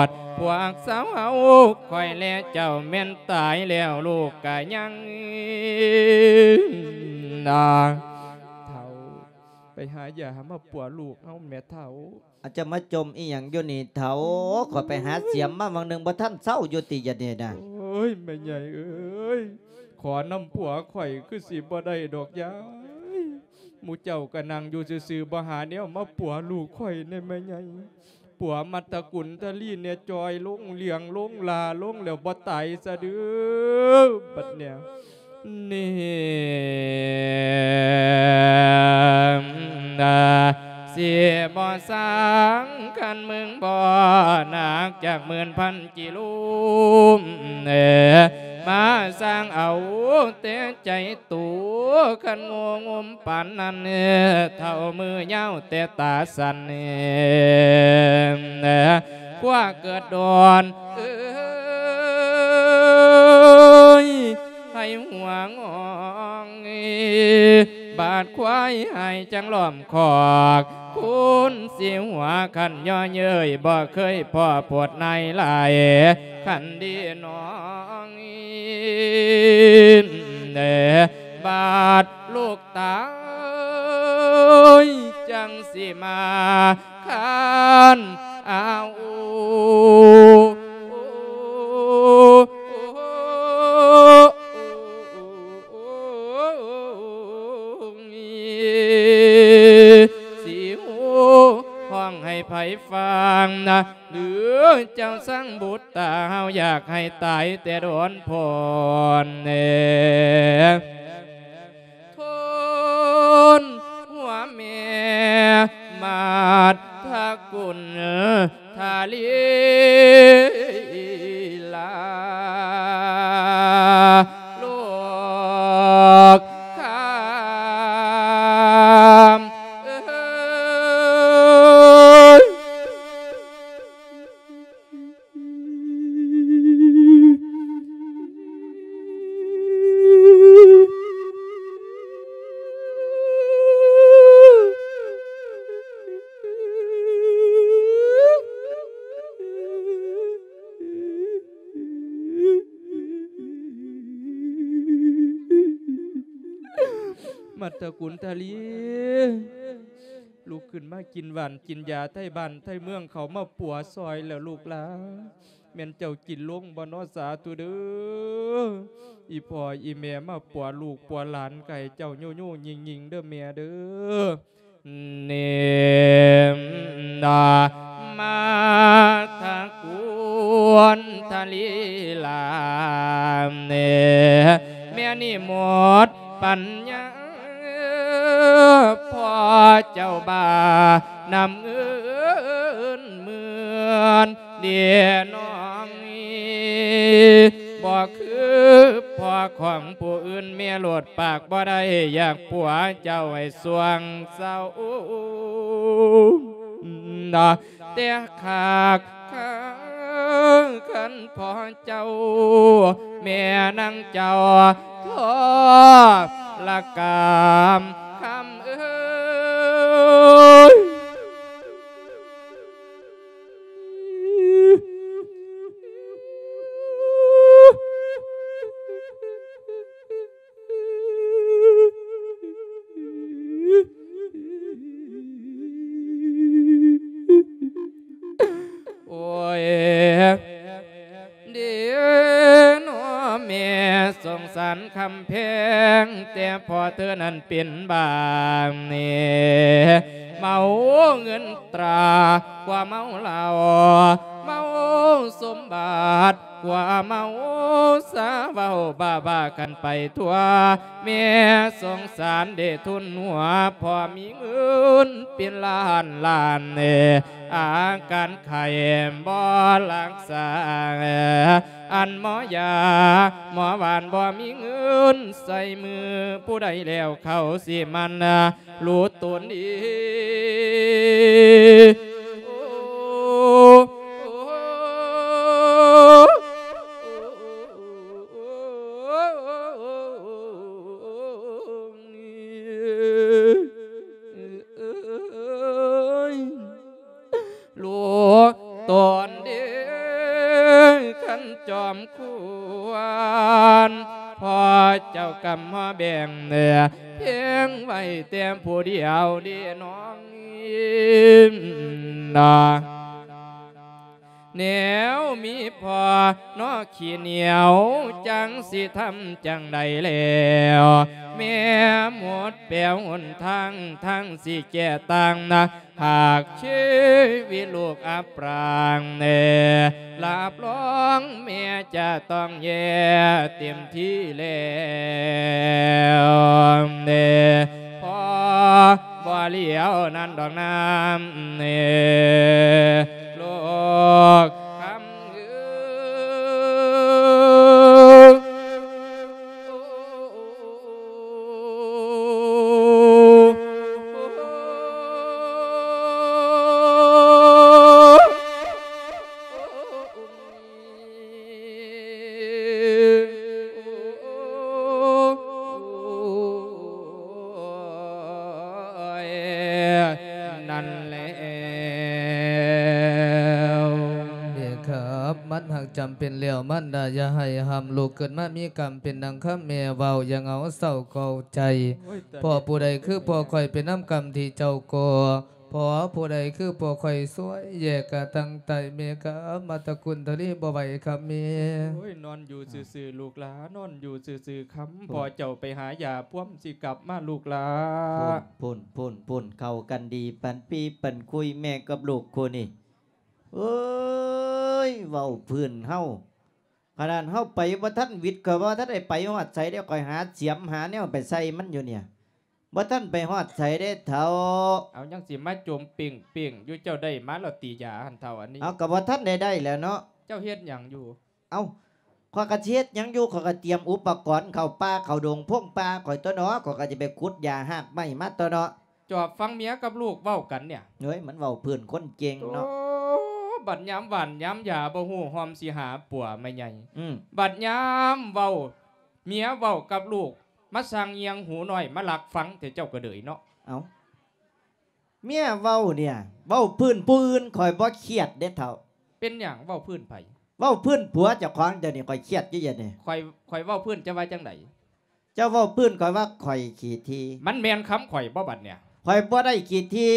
ດ ພວກຊາວເຮົາ ຂ້ອຍແລະເຈົ້າແມ່ນຕາຍແລ້ວ ລູກກະຍັງ ເຖົ້າ ໄປຫາຢາມາປົວລູກເຮົາແມ່ເຖົ້າ. ອາດຈະມາຈົ່ມອີ່ຫຍັງຢູ່ນີ້ເຖົ້າ? ຂ້ອຍໄປຫາສຽມມາຫວ່າງໜຶ່ງ ບໍ່ທັນເຊົາຢູ່ຕິ ຢາດນີ້ນະ. ໂອ້ຍ ແມ່ໃຫຍ່ເອີຍ ຂໍນຳຜົວຂ້ອຍຄືຊິບໍ່ໄດ້ດອກຍາຍ. ໝູ່ເຈົ້າກໍນັ່ງຢູ່ຊື່ໆ ບໍ່ຫາແນວມາປົວລູກຂ້ອຍແດ່ແມ່ໃຫຍ່. ປົວມັດຕະກຸນທະລີແດ່ ຈ່ອຍລົງ ຫຼຽງລົງ ຫຼ້າລົງ ແລ້ວບໍ່ຕາຍຊະເດີ້ ບັດເນີ້ຍ. ນີ້ ຊິບໍ່ສ້າງຄັນມຶງບໍ່ໜັກຈັກໝື່ນພັນກິໂລ ມາສ້າງເອົາແຕ່ໃຈໂຕ ຄັນໂງ່ງຸມປານນັ້ນ ເຖົ້າມືຍາວແຕ່ຕາສັ້ນ ຄວ້າເກີດດອນເອີຍ ໃຫ້ຫົວງອງ ບາດຄວາຍຫາຍຈັ່ງລ້ອມຄອກ ຄຸນຊິຫົວຄັນຍໍເຍີ້ຍ ບໍ່ເຄີຍພໍ້ໂພດນາຍຫຼາຍ ຄັນດີນ້ອງ ບາດລູກຕາຍ ຈັ່ງຊິມາຄານເອົາ ຊິຮູ້ຮ້ອງໃຫ້ໃຜຟັງນະ ຫຼືເຈົ້າສັງບຸດຕາ ເຮົາຢາກໃຫ້ຕາຍແຕ່ໂດນໂພນເນ ໂທນຫົວແມ່ ມາດທະກຸນທະລີລາ ລູກຄາມເອີຍ. ມັດຕະກຸນທະລີ ລຸກຂຶ້ນມາກິນຫວານກິນຢາໄທບ້ານໄທເມືອງເຂົາມາປົວຊ່ອຍແລ້ວລູກຫຼານ ແມ່ນເຈົ້າກິນລົງບໍ່ນໍ ສາທຸເດີ້. ອີ່ພໍ່ອີ່ແມ່ມາປົວລູກປົວຫຼານ ກະໃຫ້ເຈົ້າໂຍໂຍຍິງໆເດີ້ແມ່ເດີ້. ເນມນາ ມາທະກຸນທະລີລາ ເນ ແມ່ນີ້ໝົດປັນຍາ ພໍ່ເຈົ້າບ້ານຳເງິນໝື່ນ ເດນ້ອງ ບໍ່ຄືພໍ່ຂອງຜູ້ອື່ນ ແມ່ໂລດປາກບໍ່ໄດ້ ຢາກປົວເຈົ້າໃຫ້ຊ່ວງເຊົາ ແຕ່ຄັກຄັນພໍ່ເຈົ້າ ແມ່ນາງເຈົ້າທໍລະກຳຄຳເອີຍ. ໂອ້ຍ ເດເນາະແມ່ສົງສານຄຳແພງ ແຕ່ພໍ່ເທີນັ້ນເປັນບ້ານີ້ ເມົາເງິນຕາກວ່າເມົາເຫຼົ້າ ເມົາສົມບັດກວ່າເມົາຊາ ເວົ້າບ້າໆກັນໄປທົ່ວ ແມ່ສົງສານເດທຸນຫົວ ພໍ່ມີເງິນເປັນລ້ານລ້ານ ອາການໄຂ້ບໍ່ຮັກສາ ອັນໝໍຢາໝໍຫວານບໍ່ມີເງິນໃສ່ມື ຜູ້ໃດແລ້ວເຂົາຊິໝັ່ນຮູ້ຕົນດີ. ໂອ້ ຈອມຄວນ ພໍ່ເຈົ້າກຳມາແບ່ງແນ ພຽງໄວ້ແຕ່ຜູ້ດຽວເດນ້ອງ ນາ ແນວມີພໍ່ເນາະຂີ້ໜຽວ ຈັງຊິທຳຈັ່ງໃດແລ້ວ ແມ່ໝົດແປຫົນທາງ ທາງຊິແກ້ຕ່າງນະ ຫາກຊີວິດລູກອັບປາງແນ່ ຮັບຮອງແມ່ຈະຕ້ອງແຍ່ເຕັມທີ່ແລ້ວແນ່ ພໍ່ບໍ່ຫຼຽວນັ້ນດອກນາແນ່ ລູກຄຳເອີຍ. ນັ້ນແລ້ວ ເດ້ຄັບ ມັນຫາກຈຳເປັນແລ້ວ ມານດາຢ່າໃຫ້ຫ້າມລູກເກີດມາມີກຳເປັນດັ່ງຄຳແມ່ເວົ້າ ຢ່າເຫງົາເສົ້າເກົ້າໃຈ ໂອ້ຍ ຕາຍ ພໍ່ຜູ້ໃດຄືພໍ່ຂ້ອຍເປັນນຳກຳທີ່ເຈົ້າກໍ່ ພໍ່ຜູ້ໃດຄືພໍ່ຂ້ອຍຊ່ວຍແຍກກະຕັງໃຕ້ແມ່ກະມາຕະກຸນທະເລບໍ່ໄຫວຄຳແມ່. ໂອ້ຍ ນອນຢູ່ຊື່ໆ ລູກຫຼາ ນອນຢູ່ຊື່ໆ ຄຳ ພໍ່ເຈົ້າໄປຫາຢາພວມຊິກັບມາ ລູກຫຼາ. ພຸ້ນ ພຸ້ນ ພຸ້ນ ເຂົ້າກັນດີ ປັນປີປັນຄຸຍ ແມ່ກັບລູກຄູ່ນີ້ ເອີຍ ເວົ້າພື້ນເຮົາ ຂະໜາດເຮົາໄປບໍ່ທັນຫວິດ ຂ້ອຍວ່າບໍ່ທັນໄດ້ໄປຮອດໃສເດ້ ຂ້ອຍຫາສຽມຫາແນວໄປໃສ່ມັນຢູ່ນີ້ ບໍ່ທັນໄປຮອດໃສເດ້ເຖົ້າ. ເອົາ ຍັງຊິມາຈົ່ມເປັ້ງໆຢູ່ ເຈົ້າໄດ້ມາແລ້ວຕິຢາຫັ້ນເຖົ້າ ອັນນີ້? ເອົາ ກໍບໍ່ທັນໄດ້ໄດ້ແລ້ວເນາະ. ເຈົ້າເຮັດຫຍັງຢູ່? ເອົ້າ ຂ້ອຍກໍຊິເຮັດຫຍັງຢູ່ ຂ້ອຍກໍຕຽມອຸປະກອນເຂົ້າປ່າເຂົ້າດົງພົງປ່າຂ້ອຍຕົວະເນາະ ຂ້ອຍກໍຊິໄປຂຸດຢາຮາກໄມ້ມາຕົວະເນາະ. ຈອບຟັງເມຍກັບລູກເວົ້າກັນເນຍ. ເອີຍ ມັນເວົ້າພື້ນຄົນເກັ່ງເນາະ. ໂອ້ ບັດຍາມຫວ່ານຍາມຢາບໍ່ຮູ້ຮ່ອມຊິຫາປົວແມ່ໃຫຍ່. ອືມ ບັດຍາມເວົ້າ ເມຍເວົ້າກັບລູກ ມາສັ່ງຍຽງຫູໜ້ອຍ ມາລັກຟັງແຕ່ເຈົ້າກໍເດີຍເນາະ. ເອົ້າ ເມຍເວົ້າເນຍ ເວົ້າພື້ນຜູ້ອື່ນຂ້ອຍບໍ່ຄຽດເດ້ເຖົ້າ. ເປັນຫຍັງ ເວົ້າພື້ນໃຜ? ເວົ້າພື້ນຜົວເຈົ້າຂອງເຈົ້ານີ້ ຂ້ອຍຄຽດຢູ່ດຽວນີ້. ຂ້ອຍ ຂ້ອຍເວົ້າພື້ນ ເຈົ້າວ່າຈັ່ງໃດ? ເຈົ້າເວົ້າພື້ນ ຂ້ອຍວ່າຂ້ອຍຂີ້ຖີ່. ມັນແມ່ນຄຳຂ້ອຍບໍ່ບັດເນຍ? ຂ້ອຍບໍ່ໄດ້ຂີ້ຖີ່.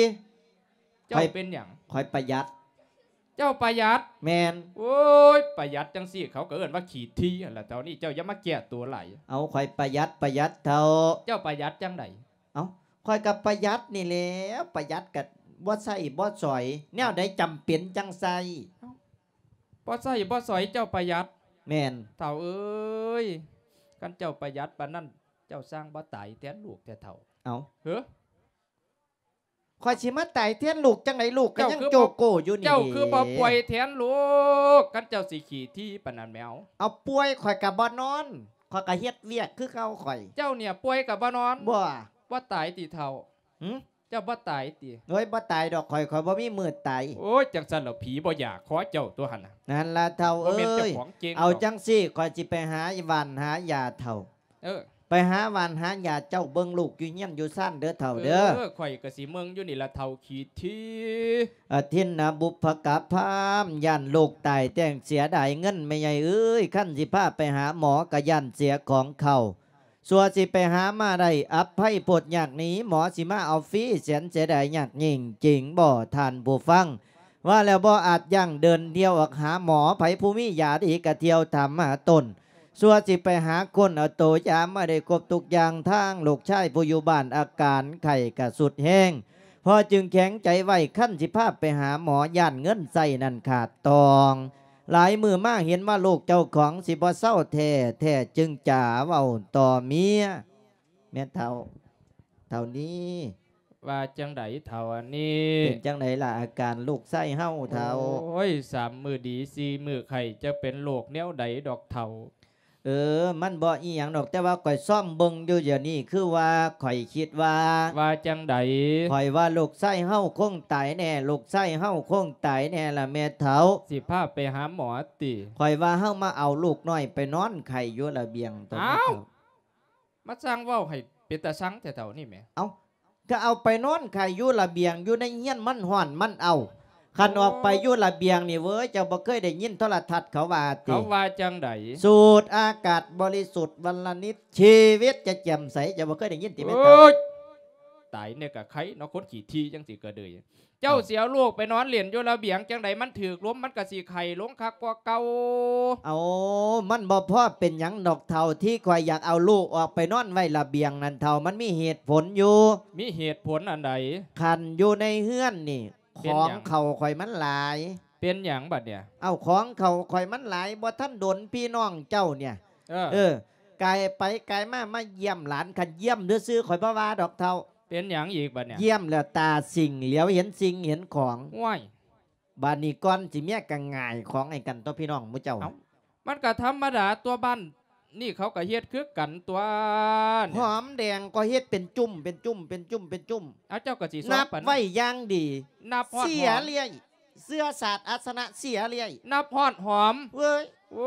ເຈົ້າເປັນຫຍັງ? ຂ້ອຍປະຢັດ. ເຈົ້າປະຢັດ? ແມ່ນ. ໂອ້ຍ ປະຢັດຈັ່ງຊີ້ ເຂົາກໍເອີ້ນວ່າຂີ້ຖີ່ຫັ້ນລະ. ເທົ່ານີ້ເຈົ້າຢ່າມາແກ້ຕົວຫຼາຍ. ເອົາ ຂ້ອຍປະຢັດ ປະຢັດເຖົ້າ. ເຈົ້າປະຢັດຈັ່ງໃດ? ເອົ້າ ຂ້ອຍກໍປະຢັດນີ້ແຫຼະ ປະຢັດກໍບໍ່ໃຊ້ບໍ່ສອຍ ແນວໃດຈຳເປັນຈັ່ງໃຊ້. ເອົ້າ ບໍ່ໃຊ້ບໍ່ສອຍເຈົ້າປະຢັດ? ແມ່ນ. ເຖົ້າເອີຍ ຄັນເຈົ້າປະຢັດປານນັ້ນ ເຈົ້າຊ່າງບໍ່ຕາຍແທນລູກແທ້ເຖົ້າ. ເອົ້າ ເຮີ ຂ້ອຍຊິມາຕາຍແທນລູກຈັ່ງໃດ? ລູກກໍຍັງໂຈໂກຢູ່ນີ້. ເຈົ້າຄືບໍ່ປ່ວຍແທນລູກ ຄັນເຈົ້າຊິຂີ້ຖີ່ປານນັ້ນແມວ? ເອົາ ປ່ວຍຂ້ອຍກໍບໍ່ນອນ ຂ້ອຍກໍເຮັດວຽກຄືເກົ່າຂ້ອຍ. ເຈົ້າເນຍປ່ວຍກໍບໍ່ນອນ? ບໍ່. ບໍ່ຕາຍຕິເຖົ້າ? ຫື? ເຈົ້າບໍ່ຕາຍຕິ? ໂອ້ຍ ບໍ່ຕາຍດອກ ຂ້ອຍ ຂ້ອຍບໍ່ມີມື້ຕາຍ. ໂອ້ຍ ຈັ່ງຊັ້ນລະຜີບໍ່ຢາກຄໍເຈົ້າຕົວຫັ້ນນະ. ນັ້ນລະເຖົ້າເອີຍ ເອົາຈັ່ງຊີ້ ຂ້ອຍຊິໄປຫາຫວ່ານຫາຢາເຖົ້າ. ເອີ ໄປຫາຫວ່ານຫາຢາ ເຈົ້າເບິ່ງລູກຢູ່ເຮືອນຢູ່ຊານເດີເຖົ້າເດີ. ເອີ ຂ້ອຍກໍຊິເບິ່ງຢູ່ນີ້ລະເຖົ້າຂີ້ຖີ່. ອະທິນນະບຸບພະກະພາມ ຢ້ານລູກຕາຍແຕ່ງເສຍດາຍເງິນແມ່ໃຫຍ່ເອີຍ ຄັນຊິພາໄປຫາໝໍກໍຢ້ານເສຍຂອງເຂົາ. ຊົ່ວຊິໄປຫາມາໄດ້ອັບໄພໂພດຍາກໜີ ໝໍຊິມາເອົາຟຣີ ແສນເສຍດາຍຍາກຍິ່ງຈິງບໍ່ທ່ານຜູ້ຟັງ. ວ່າແລ້ວບໍ່ອາດຢັ້ງເດີນທ່ຽວອອກຫາໝໍ ໃຜຜູ້ມີຢາດີກະທ່ຽວຖາມຫາຕົນ. ຊົ່ວຊິໄປຫາຄົ້ນເອົາໂຕຢາມາໄດ້ຄົບທຸກຢ່າງທາງ ລູກຊາຍຜູ້ຢູ່ບ້ານອາການໄຂ້ກະສຸດແຮງ ພໍ່ຈຶ່ງແຂງໃຈໄວ້ ຄັນຊິພາໄປຫາໝໍ ຢ້ານເງິນໃຊ້ນັ້ນຂາດຕອງ. ຫຼາຍມື້ມາເຫັນວ່າລູກເຈົ້າຂອງຊິບໍ່ເຊົາແທ້ ແທ້ຈຶ່ງຈະເວົ້າຕໍ່ເມຍ. ແມ່ນເຖົ້າ ເຖົ້ານີ້ ວ່າຈັ່ງໃດເຖົ້າອັນນີ້? ເປັນຈັ່ງໃດລະອາການລູກຊາຍເຮົາເຖົ້າ? ໂອ້ຍ ສາມມື້ດີ ສີ່ມື້ໄຂ້ ຈັກເປັນໂລກແນວໃດດອກເຖົ້າ. ເອີ ມັນບໍ່ອີ່ຫຍັງດອກ ແຕ່ວ່າຂ້ອຍຊອມເບິ່ງຢູ່ດຽວນີ້ ຄືວ່າຂ້ອຍຄິດວ່າ. ວ່າຈັ່ງໃດ? ຂ້ອຍວ່າລູກຊາຍເຮົາຄົງຕາຍແນ່ ລູກຊາຍເຮົາຄົງຕາຍແນ່ລະແມ່ເຖົ້າ. ຊິພາໄປຫາໝໍຕິ? ຂ້ອຍວ່າເຮົາມາເອົາລູກນ້ອຍໄປນອນໄຂ້ຢູ່ລະບຽງຕົວ. ອ້າວ ມາຊ່າງເວົ້າໃຫ້ເປັນຕາຊັງແທ້ເຖົ້ານີ້ແໝ. ເອົ້າ ກໍເອົາໄປນອນໄຂ້ຢູ່ລະບຽງ ຢູ່ໃນເຮືອນມັນຮ້ອນມັນເອົ້າ. ຄັນອອກໄປຢູ່ລະບຽງນີ້ເວີຍ ເຈົ້າບໍ່ເຄີຍໄດ້ຍິນໂທລະທັດເຂົາວ່າຕິ? ເຂົາວ່າຈັ່ງໃດ? ສູດອາກາດບໍລິສຸດວັນລະນິດ ຊີວິດຈະແຈ່ມໃສ ເຈົ້າບໍ່ເຄີຍໄດ້ຍິນຕິແມ່ເຖົ້າ? ໂອ້ຍ ຕາຍແດ່ກະໄຄເນາະ ຄົນຂີ້ຖີ່ຈັ່ງຊີ້ກະເດີຍ. ເຈົ້າຊິເອົາລູກໄປນອນຫຼິ້ນຢູ່ລະບຽງຈັ່ງໃດ ມັນຖືກລົມ ມັນກະຊິໄຂ້ລົງຄັກກວ່າເກົ່າ. ເອົາ ມັນບໍ່ພໍເປັນຫຍັງດອກເຖົ້າ ທີ່ຂ້ອຍຢາກເອົາລູກອອກໄປນອນໄວ້ລະບຽງນັ້ນເຖົ້າ ມັນມີເຫດຜົນຢູ່. ມີເຫດຜົນອັນໃດ? ຄັນຢູ່ໃນເຮືອນນີ້ ຂອງເຂົ້າຂ້ອຍມັນຫຼາຍ. ເປັນຫຍັງບັດເນີ້ຍ? ເອົາ ຂອງເຂົ້າຂ້ອຍມັນຫຼາຍ ບໍ່ທັນດົນພີ່ນ້ອງເຈົ້າເນີ້ຍ ເອີ ເອີ ກາຍໄປກາຍມາ ມາຢ້ຽມຫຼານ ຄັນຢ້ຽມຊື່ໆ ຂ້ອຍບໍ່ວ່າດອກເຖົ້າ. ເປັນຫຍັງອີກບັດເນີ້ຍ? ຢ້ຽມແລ້ວຕາສິງ ຫຼຽວເຫັນສິ່ງເຫັນຂອງ. ໂອ້ຍ ບາດນີ້ກ່ອນຊິເມຍກະຫງາຍຂອງໃຫ້ກັນຕົວະພີ່ນ້ອງໝູ່ເຈົ້າ. ເອົ້າ ມັນກະທຳມະດາຕົວະ ບ້ານນີ້ເຂົາກະເຮັດຄືກັນຕົວະ. ຫອມແດງກໍເຮັດເປັນຈຸ້ມ ເປັນຈຸ້ມ ເປັນຈຸ້ມ ເປັນຈຸ້ມ. ເອົາ ເຈົ້າກະຊິສອນປານນັ້ນ ນັບໄວ້ຢ່າງດີ ນັບຮອດຫອມ ເສຍເລື້ອຍ ເຊື້ອຊາດອາສະນະເສຍເລື້ອຍ ນັບຮອດຫອມ. ເວີຍ ໂອ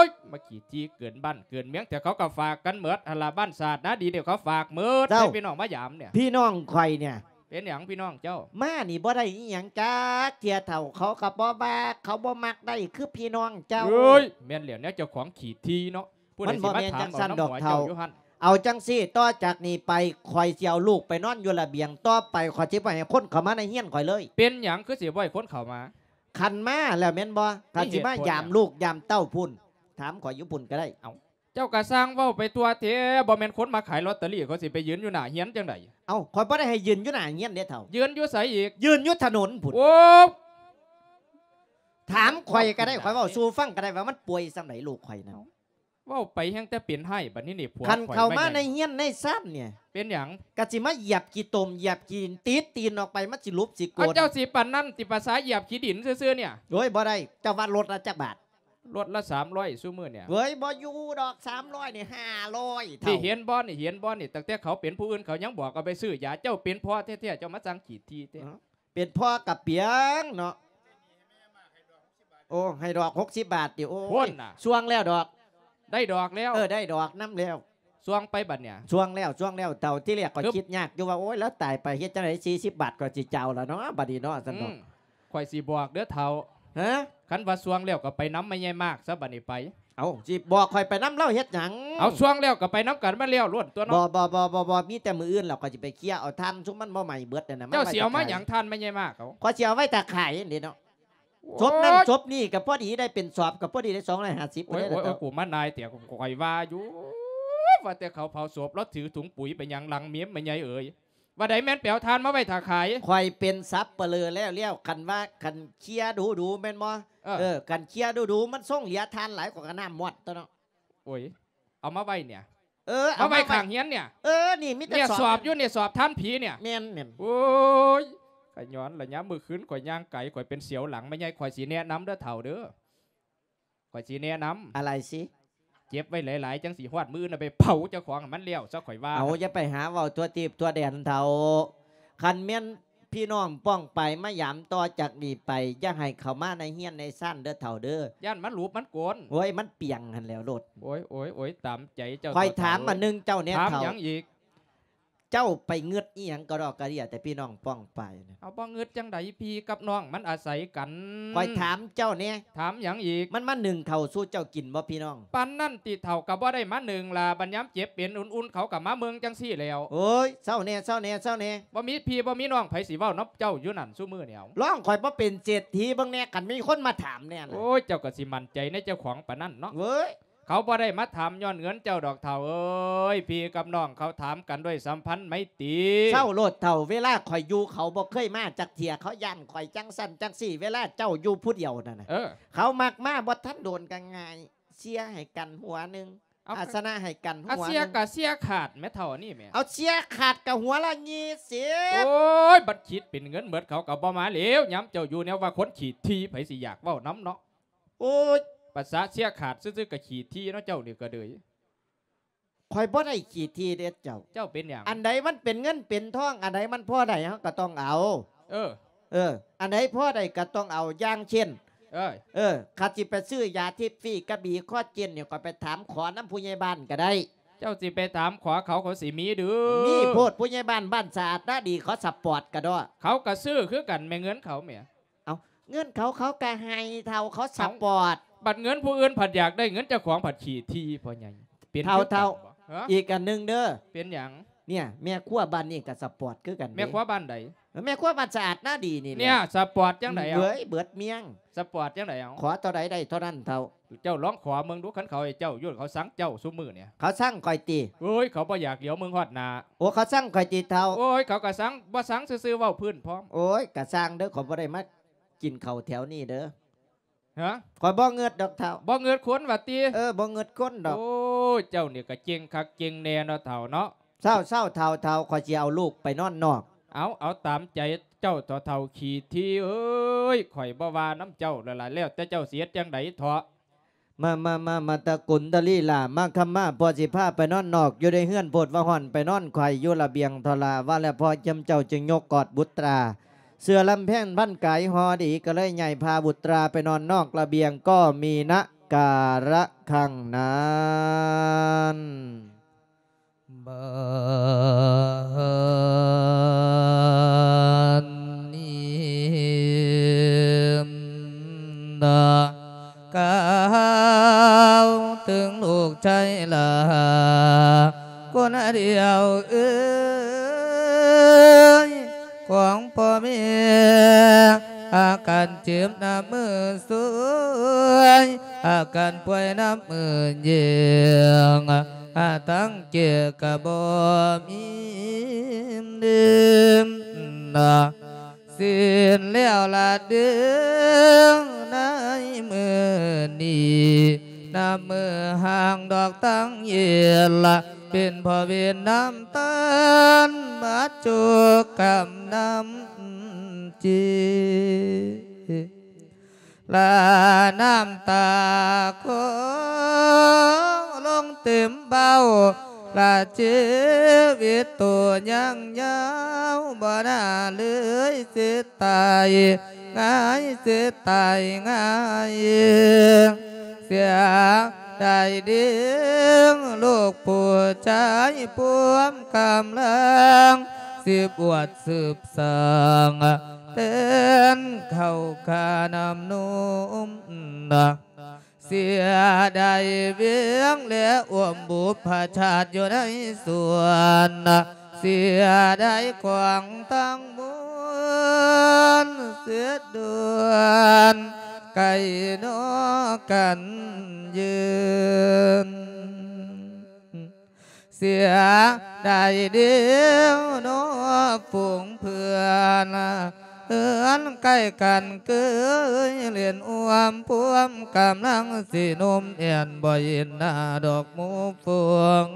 ້ຍ ມາຂີ້ຖີ່ເກີນບ້ານເກີນເມືອງແທ້ ເຂົາກະຝາກກັນເໝິດຫັ້ນລະ ບ້ານຊາດນາດີນີ້ເຂົາຝາກເໝິດ. ເຈົ້າ ໃຫ້ພີ່ນ້ອງມາຢາມເນີ້ຍ ພີ່ນ້ອງຂ້ອຍເນີ້ຍ. ເປັນຫຍັງພີ່ນ້ອງເຈົ້າ? ມານີ້ບໍ່ໄດ້ອີ່ຫຍັງຈັກເທື່ອເຖົ້າ ເຂົາກະບໍ່ວ່າ ເຂົາບໍ່ມັກໄດ້ຄືພີ່ນ້ອງເຈົ້າ. ເອີຍ ແມ່ນແລ້ວ ແນວເຈົ້າຂອງຂີ້ຖີ່ເນາະ ຜູ້ໃດຊິມາຖາມເອົານຳຫົວເຈົ້າຢູ່ຫັ້ນ. ເອົາຈັ່ງຊີ້ ຕໍ່ຈາກນີ້ໄປ ຂ້ອຍຊິເອົາລູກໄປນອນຢູ່ລະບຽງ ຕໍ່ໄປຂ້ອຍຊິບໍ່ໃຫ້ຄົນເຂົ້າມາໃນເຮືອນຂ້ອຍເລີຍ. ເປັນຫຍັງຄືຊິບໍ່ໃຫ້ຄົນເຂົ້າມາ? ຄັນມາແລ້ວແມ່ນບໍ່? ຄັນຊິມາຢາມລູກຢາມເຕົ້າພຸ້ນ ຖາມຂ້ອຍຢູ່ພຸ້ນກະໄດ້. ເອົ້າ ເຈົ້າກະຊ່າງເວົ້າໄປທົ່ວແທ້ ບໍ່ແມ່ນຄົນມາຂາຍລອດເຕີຣີ ເຂົາຊິໄປຢືນຢູ່ໜ້າເຮືອນຈັ່ງໃດ? ເອົ້າ ຂ້ອຍບໍ່ໄດ້ໃຫ້ຢືນຢູ່ໜ້າເຮືອນເດ້ເຖົ້າ. ຢືນຢູ່ໃສອີກ? ຢືນຢູ່ຖະໜົນພຸ້ນ. ໂອ້ ຖາມຂ້ອຍກະໄດ້ ຂ້ອຍເວົ້າສູ່ຟັງກະໄດ້ວ່າມັນປ່ວຍສ່ຳໃດລູກຂ້ອຍນັ້ນ. ເວົ້າໄປແຮ່ງແຕ່ເປັນຮ້າຍ ບັດນີ້ນີ້ຜົວຂ້ອຍ ຄັນເຂົ້າມາໃນເຮືອນໃນຊານເນີ້ຍ ເປັນຫຍັງ? ກະຊິມາຢຽບຂີ້ຕົມຢຽບຂີ້ຕີນ ຕີນອອກໄປ ມັນຊິຫຼຸບຊິໂກນ. ເຈົ້າຊິປານນັ້ນຕິ ພາສາຢຽບຂີ້ດິນຊື່ໆ ເນີ້ຍ? ໂອ້ຍ ບໍ່ໄດ້ ເຈົ້າວ່າລົດລະຈັກບາດ? ລົດລະສາມຮ້ອຍຊຸມື້ເນີ້ຍ. ເວີຍ ບໍ່ຢູ່ດອກ ສາມຮ້ອຍນີ້ ຫ້າຮ້ອຍເທົ່າ. ນີ້ເຫັນບໍ່ນີ້ ເຫັນບໍ່ນີ້ ຕັ້ງແຕ່ເຂົາເປັນຜູ້ອື່ນເຂົາຍັງບອກເອົາໄປຊື້ຢາ ເຈົ້າເປັນພໍ່ແທ້ໆ ເຈົ້າມາສັ່ງຂີ້ຖີ່ແທ້. ເປັນພໍ່ກະປຽງເນາະ. ໂອ້ ໃຫ້ດອກຫົກສິບບາດຕິ. ໂອ້ຍ ຊ່ວງແລ້ວດອກ ໄດ້ດອກແລ້ວ. ເອີ ໄດ້ດອກນຳແລ້ວ. ຊ່ວງໄປບັດເນີ້ຍ. ຊ່ວງແລ້ວ ຊ່ວງແລ້ວເຖົ້າ. ທີແລກຂ້ອຍຄິດຍາກຢູ່ວ່າ ໂອ້ຍ ລາວຕາຍໄປເຮັດຈັ່ງໃດ ສີ່ສິບບາດຂ້ອຍຊິຈ່າຍແລ້ວເນາະ ບັດນີ້ເນາະ ຊັ້ນເນາະ. ຂ້ອຍຊິບອກເດີເຖົ້າ. ຮະ? ຄັນວ່າຊ່ວງແລ້ວກະໄປນຳແມ່ໃຫຍ່ມາກຊະ ບາດນີ້ໄປ. ເອົ້າ ຊິບອກຂ້ອຍໄປນຳລາວເຮັດຫຍັງ? ເອົາ ຊ່ວງແລ້ວກະໄປນຳກັນ ມັນແລ້ວໂລດຕົວະເນາະ. ບໍ່ ບໍ່ ບໍ່ ບໍ່ ບໍ່ ມີແຕ່ມື້ອື່ນແລ້ວ ຂ້ອຍຊິໄປເຄຍເອົາຖ່ານ ຊຸມມັນບໍ່ໄໝ້ເບິດນັ້ນນະ. ເຈົ້າຊິເອົາມາຫຍັງຖ່ານແມ່ໃຫຍ່ມາກເຂົາ? ຂ້ອຍຊິເອົາໄວ້ຖ້າຂາຍຫັ້ນເດເນາະ. ໂອ້ຍ ສົບນັ້ນສົບນີ້ກະພໍດີໄດ້ເປັນສອບ ກະພໍດີໄດ້ສອງຮ້ອຍຫ້າສິບພຸ້ນເດ. ໂອ້ຍ ໂອ້ຍ ກູມານາຍແຕ່ ຂ້ອຍວ່າຢູ່ ວ່າແຕ່ເຂົາເຜົາສົບ ລາວຖືຖົງປຸຍໄປຫຍັງຫຼັງເມມ ແມ່ໃຫຍ່ເອີຍ. ວ່າໃດແມ່ນໄປເອົາຖ່ານມາໄວ້ຖ້າຂາຍ? ຂ້ອຍເປັນສັບປະເລີແລ້ວໆ ຄັນວ່າ ຄັນເຄຍດູໆ ແມ່ນບໍ່? ເອີ ເອີ ຄັນເຄຍດູໆ ມັນຊົງເຫຼືອຖ່ານຫຼາຍ ຂ້ອຍກະນ້ຳມອດຕົວະເນາະ. ໂອ້ຍ ເອົາມາໄວ້ເນີ້ຍ. ເອີ ເອົາມາໄວ້ຂ້າງເຮືອນເນີ້ຍ. ເອີ ນີ້ມີແຕ່ ເນີ້ຍ ສອບ ສອບຢູ່ນີ້ ສອບຖ່ານຜີເນີ້ຍ. ແມ່ນໆ. ໂອ້ຍ ກະຍ້ອນລະຍາມມື້ຄືນຂ້ອຍຍ່າງໄກ ຂ້ອຍເປັນສຽວຫຼັງແມ່ໃຫຍ່. ຂ້ອຍຊິແນະນຳເດີເຖົ້າເດີ. ຂ້ອຍຊິແນະນຳ. ອາໄລຊິ? ເກັບໄວ້ຫຼາຍໆ ຈັ່ງຊິຮອດມື້ອື່ນເອົາໄປເຜົາເຈົ້າຂອງໃຫ້ມັນແລ້ວຊະ ຂ້ອຍວ່າ. ເອົາ ຢ່າໄປຫາເວົ້າທົ່ວທີບທົ່ວແດນເຖົ້າ. ຄັນແມ່ນພີ່ນ້ອງປ້ອງປາຍມາຢາມຕໍ່ຈາກນີ້ໄປ ຢ່າໃຫ້ເຂົ້າມາໃນເຮືອນໃນຊານເດີເຖົ້າເດີ. ຢ້ານມັນຫຼຸບມັນໂກນ. ໂອ້ຍ ມັນປຽງຫັ້ນແລ້ວໂລດ. ໂອ້ຍ ໂອ້ຍ ໂອ້ຍ ຕາມໃຈເຈົ້າ. ຂ້ອຍຖາມອັນໜຶ່ງເຈົ້າແດ່ເຖົ້າ. ຖາມຫຍັງອີກ? ເຈົ້າໄປງຶດອີ່ຫຍັງກະດອກກະເດຍແຕ່ພີ່ນ້ອງປ້ອງປາຍນະ? ເອົາ ບໍ່ງຶດຈັ່ງໃດ ພີ່ກັບນ້ອງມັນອາໄສກັນ. ຂ້ອຍຖາມເຈົ້າແດ່. ຖາມຫຍັງອີກ? ມັນມາໜຶ້ງເຂົ້າສູ່ເຈົ້າກິນບໍ່ພີ່ນ້ອງ? ປານນັ້ນຕິເຖົ້າ ກະບໍ່ໄດ້ມາໜຶ້ງລະ ບັດຍາມເຈັບເປັນອຸ່ນໆ ເຂົາກະມາເບິ່ງຈັ່ງຊີ້ແລ້ວ. ໂອ້ຍ ເຊົາແດ່ ເຊົາແດ່ ເຊົາແດ່. ບໍ່ມີພີ່ບໍ່ມີນ້ອງ ໃຜຊິເວົ້ານຳເຈົ້າຢູ່ນັ້ນຊຸມື້ນີ້? ເອົາ ລອງຂ້ອຍບໍ່ເປັນເສດຖີເບິ່ງແດ່ ຄັນມີຄົນມາຖາມແດ່ນະ. ໂອ້ຍ ເຈົ້າກະຊິໝັ້ນໃຈໃນເຈົ້າຂອງປານນັ້ນເນາະ. ເວີຍ ເຂົາບໍ່ໄດ້ມາຖາມຍ້ອນເງິນເຈົ້າດອກເຖົ້າເອີຍ. ພີ່ກັບນ້ອງເຂົາຖາມກັນດ້ວຍສຳພັນໄມຕີ. ເຊົາໂລດເຖົ້າ ເວລາຂ້ອຍຢູ່ເຂົາບໍ່ເຄີຍມາຈັກເທື່ອ. ເຂົາຢ້ານຂ້ອຍຈັ່ງຊັ້ນຈັ່ງຊີ້ ເວລາເຈົ້າຢູ່ຜູ້ດຽວນັ້ນນະ. ເອີ ເຂົາມັກມາ ບໍ່ທັນໂດນກະງ່າຍ ເຊຍໃຫ້ກັນຫົວໜຶ່ງ ເອົາ ອາຊະນະໃຫ້ກັນຫົວໜຶ່ງ. ເຊຍກະເຊຍຂາດແມ້ເຖົ້າອັນນີ້ແມ້. ເອົາ ເຊຍຂາດກະຫົວລະຍີ່ສິບ. ໂອ້ຍ ບັດຄິດເປັນເງິນເໝິດເຂົາກະບໍ່ມາແລ້ວ. ຍາມເຈົ້າຢູ່ແນວວ່າຄົນຂີ້ຖີ່ ໃຜຊິຢາກເວົ້ານຳເນາະ. ໂອ້ຍ ພາສາເຊຍຂາດຊື່ໆ ກະຂີ້ຖີ່ເນາະ ເຈົ້ານີ້ກະເດີຍ. ຂ້ອຍບໍ່ໄດ້ຂີ້ຖີ່ເດ້ເຈົ້າ. ເຈົ້າເປັນຫຍັງ? ອັນໃດມັນເປັນເງິນເປັນທອງ ອັນໃດມັນພໍໄດ້ເຮົາກະຕ້ອງເອົາ. ເອີ ເອີ ອັນໃດພໍໄດ້ກະຕ້ອງເອົາ. ຢ່າງເຊັ່ນ ເອີ ເອີ ຄັນຊິໄປຊື້ຢາທິບຟີກະບີຄໍເຈນນີ້ ຂ້ອຍໄປຖາມຂໍນຳຜູ້ໃຫຍ່ບ້ານກະໄດ້. ເຈົ້າຊິໄປຖາມຂໍເຂົາ ເຂົາຊິມີດື? ມີໂພດ ຜູ້ໃຫຍ່ບ້ານ ບ້ານສະອາດນາດີ ເຂົາສະປອດກະດອກ. ເຂົາກະຊື້ຄືກັນແມ້ ເງິນເຂົາແມ້. ເອົ້າ ເງິນເຂົາ ເຂົາກໍໃຫ້ເຖົ້າ ເຂົາສະປອດ. ເອົ້າ ບັດເງິນຜູ້ອື່ນພັດຢາກໄດ້ເງິນເຈົ້າຂອງ ພັດຂີ້ຖີ່ພໍ່ໃຫຍ່ ເປັນຄືກັນບໍ່? ເຖົ້າ ເຖົ້າ ຮະ? ອີກອັນໜຶ່ງເດີ. ເປັນຫຍັງ? ເນຍ ແມ່ຄົວບ້ານນີ້ກໍສະປອດຄືກັນເດ້. ແມ່ຄົວບ້ານໃດ? ແມ່ຄົວບ້ານສະອາດນາດີນີ້ແຫຼະ. ເນຍ ສະປອດຈັ່ງໃດເອົາ? ເອີຍ ເບິດມ້ຽງ. ສະປອດຈັ່ງໃດເອົາ? ຂໍເທົ່າໃດໄດ້ເທົ່ານັ້ນເຖົ້າ. ເຈົ້າລອງຂໍເບິ່ງດູ ຄັນເຂົາໃຫ້ເຈົ້າຢູ່ ເຂົາຊັງເຈົ້າຊຸມື້ນີ້. ເຂົາຊັງຂ້ອຍຕິ? ໂອ້ຍ ເຂົາບໍ່ຢາກຫຼຽວເບິ່ງຮອດໜ້າ. ໂອ້ ເຂົາຊັງຂ້ອຍຕິເຖົ້າ? ໂອ້ຍ ເຂົາກໍຊັງ ບໍ່ຊັງຊື່ໆ ເວົ້າພື້ນພ້ອມ. ໂອ້ຍ ກະຊ່າງເດີ ຂ້ອຍບໍ່ໄດ້ມາກິນເຂົ້າແຖວນີ້ເດີ. ຮະ? ຂ້ອຍບໍ່ເງືອດດອກເຖົ້າ. ບໍ່ເງືອດຄົນວ່າຕິ? ເອີ ບໍ່ເງືອດຄົນດອກ. ໂອ້ຍ ເຈົ້ານີ້ກໍເກັ່ງຄັກເກັ່ງແນ່ເນາະເຖົ້າເນາະ. ເຊົາໆ ເຖົ້າ ເຖົ້າ ຂ້ອຍຊິເອົາລູກໄປນອນນອກ. ເອົາ ເອົາຕາມໃຈເຈົ້າເຖາະເຖົ້າຂີ້ຖີ່ເອີຍ ຂ້ອຍບໍ່ວ່ານຳເຈົ້າແລ້ວລະ ແລ້ວແຕ່ເຈົ້າຊິເຮັດຈັ່ງໃດເຖາະ. ມາ ມາ ມາ ມາຕະກຸນຕະລີຫຼ້າ ມາຄຳມາ ພໍ່ຊິພາໄປນອນນອກ ຢູ່ໃນເຮືອນໂພດວ່າຮ້ອນ ໄປນອນໄຂຢູ່ລະບຽງເຖາະຫຼ້າ. ວ່າແລ້ວພໍ່ຈຳເຈົ້າຈຶ່ງຍົກກອດບຸດຕາ ເສື້ອລຳແພນພັນກາຍຫໍ່ດີ ກໍເລີຍຍ້າຍພາບຸດຕາໄປນອນນອກລະບຽງ ກໍມີນະກາລະຄັ້ງນັ້ນ. ບາດນີ້ນະ ກ່າວເຖິງລູກຊາຍຫຼ້າຄົນດຽວເອີຍ ຂອງພໍ່ແມ່ ອາການເຈັບນຳມືຊວຍ ອາການປ່ວຍນຳມືແຍງ ອາ ທັງແກ່ກໍບໍ່ມີເດີນນະ ສິ້ນແລ້ວລະເດີ ໃນມື້ນີ້ ນຳມື້ຫ່າງດອກຕັ້ງເຢັນລະ ເປັນພໍ່ເວນນຳຕານ ບາດໂຈກກຳນຳຈີ ລະນ້ຳຕາຂໍລົງເຕັມເບົາ ລະຊີວິດໂຕຍັງຍາວ ບໍ່ໜ້າເລີຍຊິຕາຍງ່າຍ ຊິຕາຍງ່າຍ ເສຍດາຍເດີ ລູກຜູ້ຊາຍພວມກຳລັງ ສືບອວດສືບສ້າງ ເປັນເຂົ້າຂ້ານ້ຳນົມນະ ເສຍດາຍວຽງ ແລະ ອວມບຸບພະຊາດຢູ່ໃນສວນ ເສຍດາຍຂອງທັງມວນ ເສຍດ່ວນໄກນອກກັນຢືນ. ເສຍດາຍເດີເນາະຝູງເພື່ອນ ເຮືອນໃກ້ກັນເຄີຍຫຼິ້ນຮ່ວມພວມ ກຳລັງຊິໜຸ່ມແອ່ນ ບໍ່ເຫັນໜ້າດອກໝູ່ຝູງ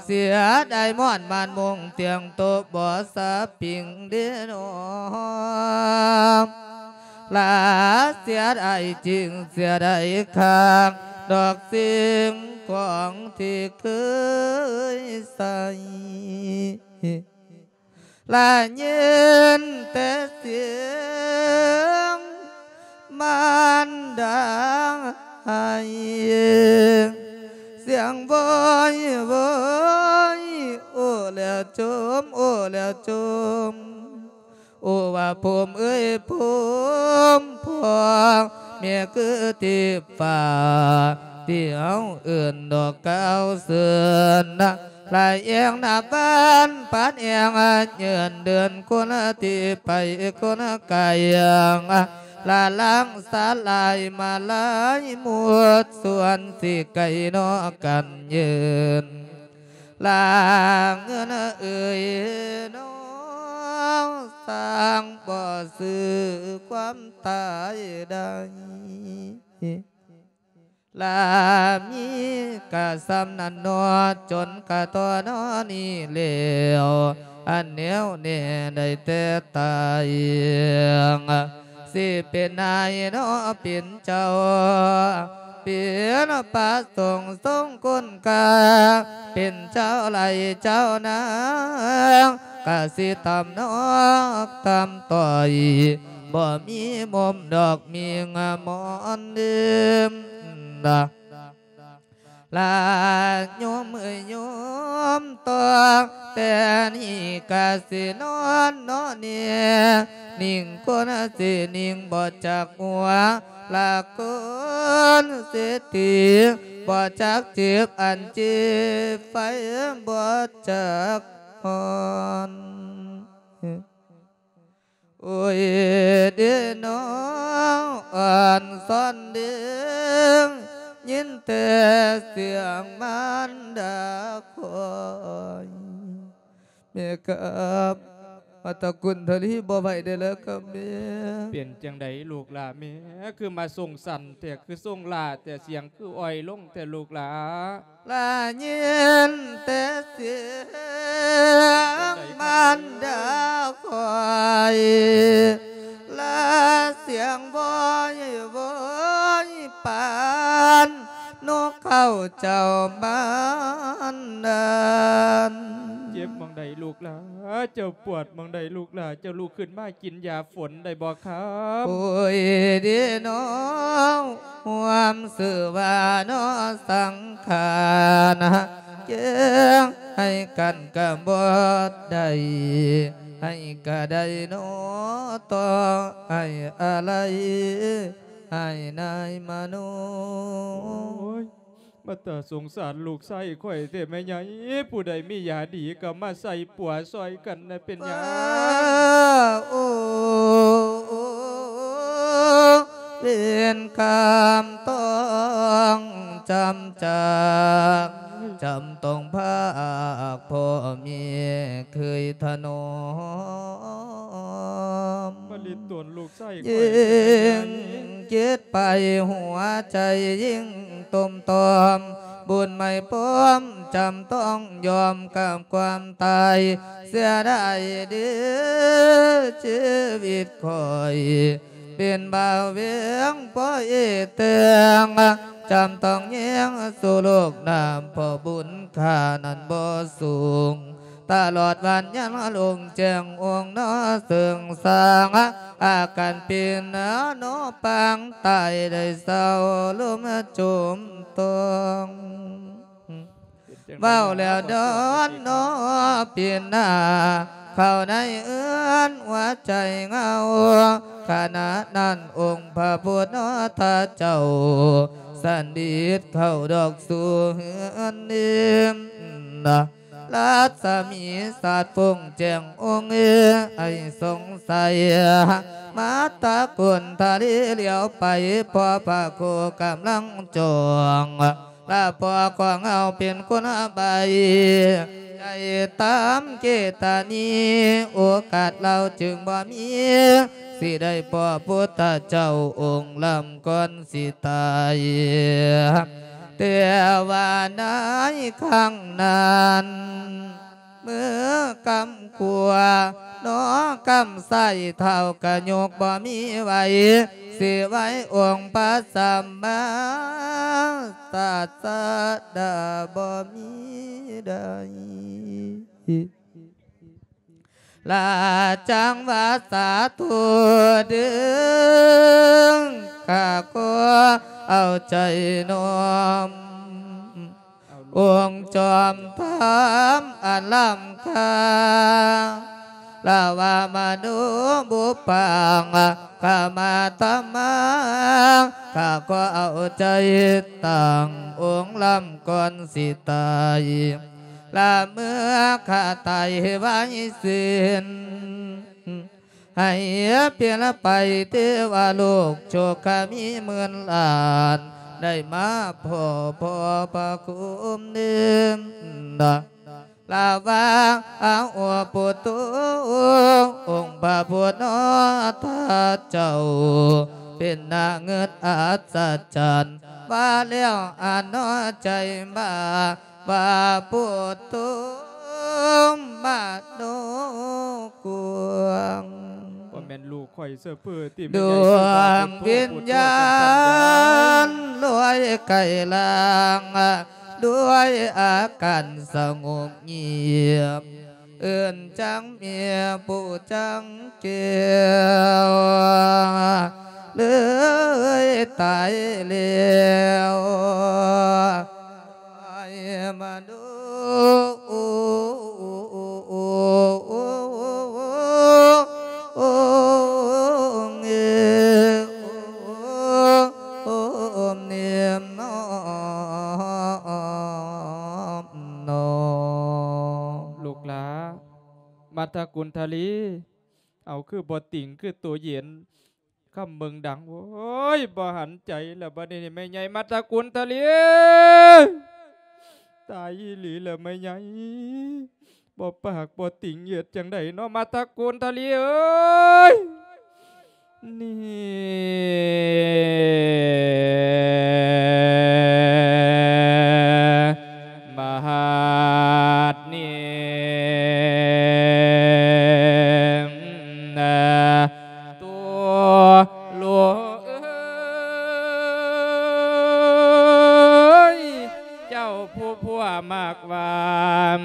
ເສຍດາຍມ່ອນບ້ານມຸງຕຽງໂຕະ ບໍ່ສະປິງເດີເນາະ. ລາເສຍດາຍຈິງ ເສຍດາຍຄັກ ດອກສິ່ງຂອງທີ່ເຄີຍໃຊ້ ລາຍິນແຕ່ສຽງມານດາໄຫ້ ສຽງໂວຍໂວຍ ໂອ້ແລ້ວຈົມ ໂອ້ແລ້ວຈົມ. ໂອ້ວ່າພູມເອີຍພູມ ພໍ່ແມ່ຄືເທບຟ້າ ທີ່ເຮົາເອີ້ນດອກກ່າວເຊີນ ລາແອງນັບວັນປັດແອງຍືນເດີນ ຄົນທີ່ໄປຄົນໄກ ລາລາງສາລາຍມາລາຍໝົດ ສ່ວນຊິໄກນອກກັນເຍີນ ລາເງິນເອີຍນ້ອງ ສ້າງບໍ່ຊື້ຄວາມຕາຍໄດ້ ລາມີກະສ່ຳນັ້ນເນາະ ຈົນກະທໍ່ນອນີ້ແລ້ວ ອັນແນວແນ່ໄດ້ແຕ່ຕາຍ ຊິເປັນນາຍເນາະເປັນເຈົ້າ ເປັນພະສົງຊົງຄຸນຄ່າ ເປັນເຈົ້າໄລ່ເຈົ້ານາ ກະຊິຕ່ຳນອກຕ່ຳຕ້ອຍ ບໍ່ມີມຸມດອກມີງາມອນເດີມນະ. ລາໂຍມເອີຍໂຍມ ຕໍ່ແຕ່ນີ້ກະຊິນອນເນາະເນ ນິງຄົນຊິນິງບໍ່ຈັກຫົວ ລາຄົນເສດຖີບໍ່ຈັກເຈັບ ອັນເຈັບໄຟບໍ່ຈັກຮ້ອນ. ໂອ້ຍເດນ້ອງ ອ່ອນຊອນເດ ຍິນແຕ່ສຽງມານດາຂ້ອຍ ແມ່ຄັບ ມາຕະກຸນທະລີບໍ່ໄຫວໄດ້ແລ້ວຄັບແມ່. ເປັນຈັ່ງໃດລູກຫຼ້າແມ່ ຄືມາຊົງສັນແທ້ ຄືຊົງຫຼ້າແທ້ ສຽງຄືອ່ອຍລົງແທ້ລູກຫຼ້າ? ລາຍິນແຕ່ສຽງມານດາຂ້ອຍ ລາສຽງວອຍວອຍປານນົກເຂົາເຈົ້າມານດານ. ເຈັບໝ່ອງໃດລູກຫຼ້າ? ເຈົ້າປວດໝ່ອງໃດລູກຫຼ້າ? ເຈົ້າລຸກຂຶ້ນມາກິນຢາຝົນໄດ້ບໍ່ຄັບ? ໂອ້ຍເດນ້ອງ ຮ່ວມຊື່ວ່າເນາະສັງຂານ ແຍກໃຫ້ກັນກະບໍ່ໄດ້ ໃຫ້ກະໄດ້ເນາະ ຕໍ່ໃຫ້ອາໄລ ໃຫ້ນາຍມະໂນ. ໂອ້ຍ ມາຕາສົງສານລູກຊາຍຂ້ອຍແທ້ແມ່ໃຫຍ່ ຜູ້ໃດມີຢາດີກະມາໃສ່ປົວຊ່ອຍກັນນະ ເປັນຫຍັງ? ໂອ້ ເວນກຳຕ້ອງຈຳຈາກ ຈຳຕ້ອງພາກພໍ່ແມ່ເຄີຍຖະໜອມ ມາຫຼິ້ນຕົນລູກຊາຍຂ້ອຍ ຍິ່ງຄິດໄປຫົວໃຈຍິ່ງຕົມຕອມ ບຸນໄມ່ປ້ອມຈຳຕ້ອງຍອມກັບຄວາມຕາຍ ເສຍດາຍເດ ຊີວິດຂ້ອຍ ເປັນບ່າວແວງພໍ່ເອແຕງ ຈຳຕ້ອງແຍງສູ່ໂລກນຳ ເພາະບຸນຂ້ານັ້ນບໍ່ສູງ ຕະຫຼອດວັນຍັງລົງແຈ້ງອົງນອເຊິ່ງສາງ ອາການເປັນນອປາງຕາຍໄດ້ເຊົາລົມຈຸມຕ້ອງ. ເວົ້າແລ້ວດອນນອປິ່ນໜ້າ ເຂົ້າໃນເຮືອນຫົວໃຈເຫງົາ ຂະນະນັ້ນອົງພະພຸດທະເຈົ້າ ສັນດິດເຂົ້າດອກສູ່ເຮືອນເນມ ລັດສະໝີສາດຟຸ້ງແຈ້ງອົງເອ ໃຫ້ສົງໄສ ມາຕະກຸນທະເລຫຼຽວໄປ ພໍພະໂຄກຳລັງຈ້ອງ ລະພໍ່ຂອງເຮົາເປັນຄົນໃບ້ ໃຫ້ຕາມເກຕະນີ ໂອກາດລາວຈຶ່ງບໍ່ມີ ຊິໄດ້ພໍ້ພຸດທະເຈົ້າອົງລຳກ່ອນຊິຕາຍ ແຕ່ວ່າໃນຄັ້ງນັ້ນ ມືກຳຂວາ ນອກຳຊ້າຍເທົ້າກະຍົກບໍ່ມີໄຫວ ຊິໄຫວອົງພະສຳມາສາສະດາບໍ່ມີໃດ ລາຈັ່ງວ່າສາທຸເດີ້ ຂ້າຂໍເອົາໃຈນ້ອມ ອົງຈອມທຳອັນລ້ຳຄ່າ ລາວາມະໂນບຸບພັງ ກາມາຕະມາ ຂ້າຂໍເອົາໃຈຕັ້ງອົງລຳກ່ອນຊິຕາຍ ລາເມື່ອຂ້າຕາຍໃຫ້ໄວສິ້ນ ໃຫ້ເປັນໄປເທວະໂລກ ໂຊກະມີໝື່ນລ້ານ ໄດ້ມາພໍ້ພໍ່ພະຄຸມເນມ ລາວາອາໂອປຸໂຕ ອົງພະພຸດທະເຈົ້າ ເປັນໜ້າເງິດອັດສະຈັນ ວ່າແລ້ວອານອໃຈມາ ວ່າພຸດໂຕມະໂນກວາງ ບໍ່ແມ່ນລູກຂ້ອຍເຊີເພີຕິ ດວງວິນຍານລອຍໄກລາງ ດ້ວຍອາການສະຫງົບງຽບ ເອີ້ນຈັ່ງເມຍຜູ້ຈັ່ງແກ້ວ ເລີຍຕາຍແລ້ວ. ມາດຕະກຸນທະລີ ເອົາ ຄືບໍ່ຕິງ ຄືໂຕເຢັນ ຄຳເບິ່ງດັງ ໂອ້ຍ ບໍ່ຫັນໃຈແລ້ວ ບັດນີ້ແມ່ໃຫຍ່ມາດຕະກຸນທະລີ ຕາຍອີ່ຫຼີແລ້ວແມ່ໃຫຍ່ ບໍ່ປາກບໍ່ຕິງ ເຮັດຈັ່ງໃດເນາະ ມາດຕະກຸນທະລີເອີຍ ນີ້ ບາດນີ້ນະ ໂຕລູກເອີຍ ເຈົ້າຜູ້ຜົວມັກຫວານ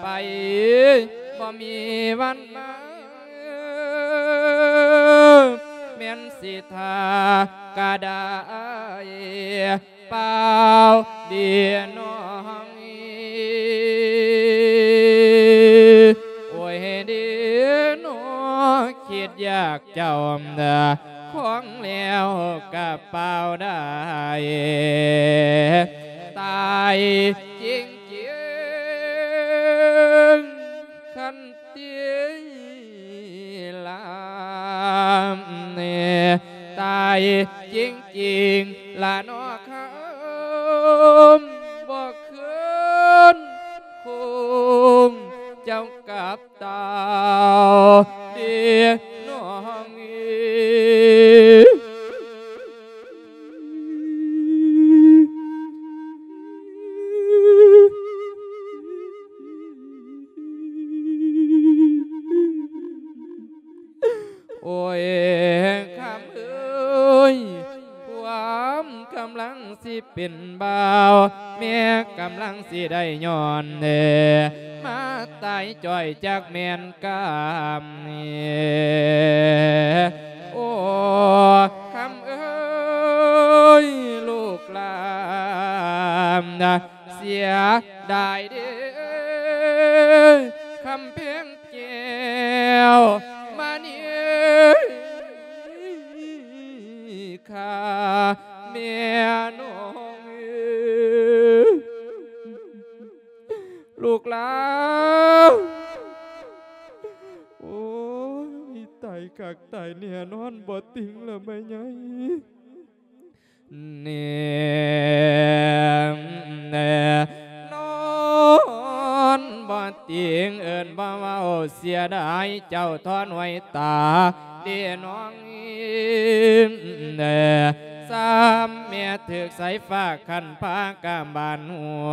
ໄປບໍ່ມີວັນມາ ແມ່ນຊິຖ້າກະໄດ້ ເປົ່າເດນ້ອງເອີຍ ໂອ້ຍເດນ້ອງ ຄິດຢາກເຈົ້ານະ ຄອງແລ້ວກະເປົ່າໄດ້ ຕາຍຈິງໆ ຄັນຕິລາມ ຕາຍຈິງໆ ລະເນາະຄຳ ບໍ່ຄືນຄົງເຈົ້າກັບເຕົ້າເດນ້ອງເອີຍ ໂອ້ຍ ຄຳເອີຍ ຄວາມກຳລັງຊິເປັນບ່າວ ແມ່ກຳລັງຊິໄດ້ຍ້ອນເດ ມາຕາຍຈ້ອຍຈັກແມ່ນກຳນີ້ ໂອ້ ຄຳເອີຍ ລູກຫຼານ ເສຍດາຍເດ້ ຄຳແພງແກ້ວມະນີຄ່າ ແມ່ນ້ອງເອີຍ ລູກຫຼານ ໂອ້ຍ ຕາຍຄັກຕາຍແນ່ນອນ ບໍ່ຕິງລະແມ່ໃຫຍ່ ແນ່ນອນ ບໍ່ຕິງເອີ້ນບໍ່ເວົ້າ ເສຍດາຍເຈົ້າຖອນຫວຍຕາເດ້ນ້ອງ ຊ້ຳແມ່ຖືກສາຍຟ້າຄັນພາກາບານຫົວ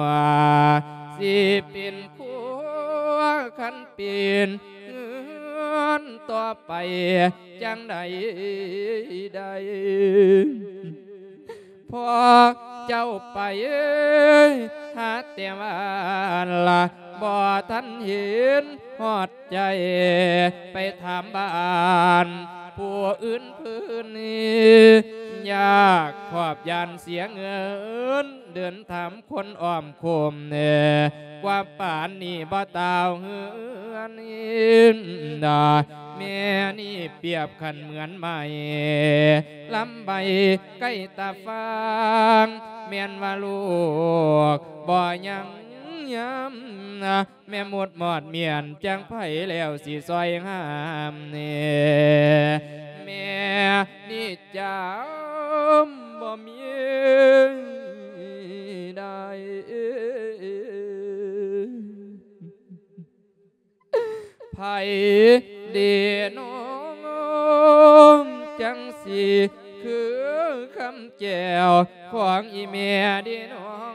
ຊິເປັນຄົວຄັນເປັນເຮືອນຕໍ່ໄປ ຈັ່ງໃດໄດ້ ພໍເຈົ້າໄປຫາແຕ່ບ້ານລະ ບໍ່ທັນເຫັນຮອດໃຈ ໄປຖາມບ້ານຜູ້ອື່ນເພິ່ນ ຢາກຂອບຢ້ານເສຍເງິນ ເດີນຖາມຄົນອ້ອມໂຄມແນ່ ກວ່າປານນີ້ບໍ່ຕ່າວເຮືອນ ແມ່ນີ້ປຽບຄັນເໝືອນໄມ້ລຳໃບໃກ້ຕາຟາງ ແມ່ນວ່າລູກບໍ່ຍັງຍາມ ແມ່ໝົດມອດມ້ຽນ ຈັ່ງໃຜແລ້ວຊິຊ່ອຍຫາມແນ່ ແມ່ນີ້ຈຳບໍ່ມີໄດ້ ໃຜເດນ້ອງ ຈັ່ງຊິຄືຄຳແກ້ວຂອງອີ່ແມ່ເດນ້ອງ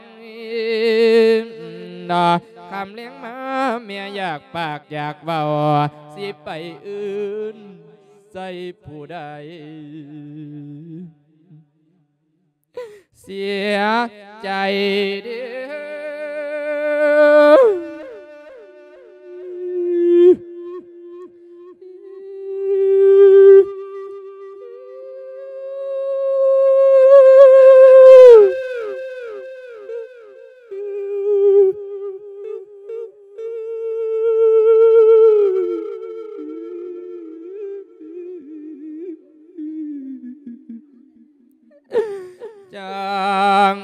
ນະ ຄ່ຳແລງມາແມ່ຢາກປາກຢາກເວົ້າ ຊິໄປອື່ນໃສ່ຜູ້ໃດ ເສຍໃຈເດີ້. ຈັ່ງ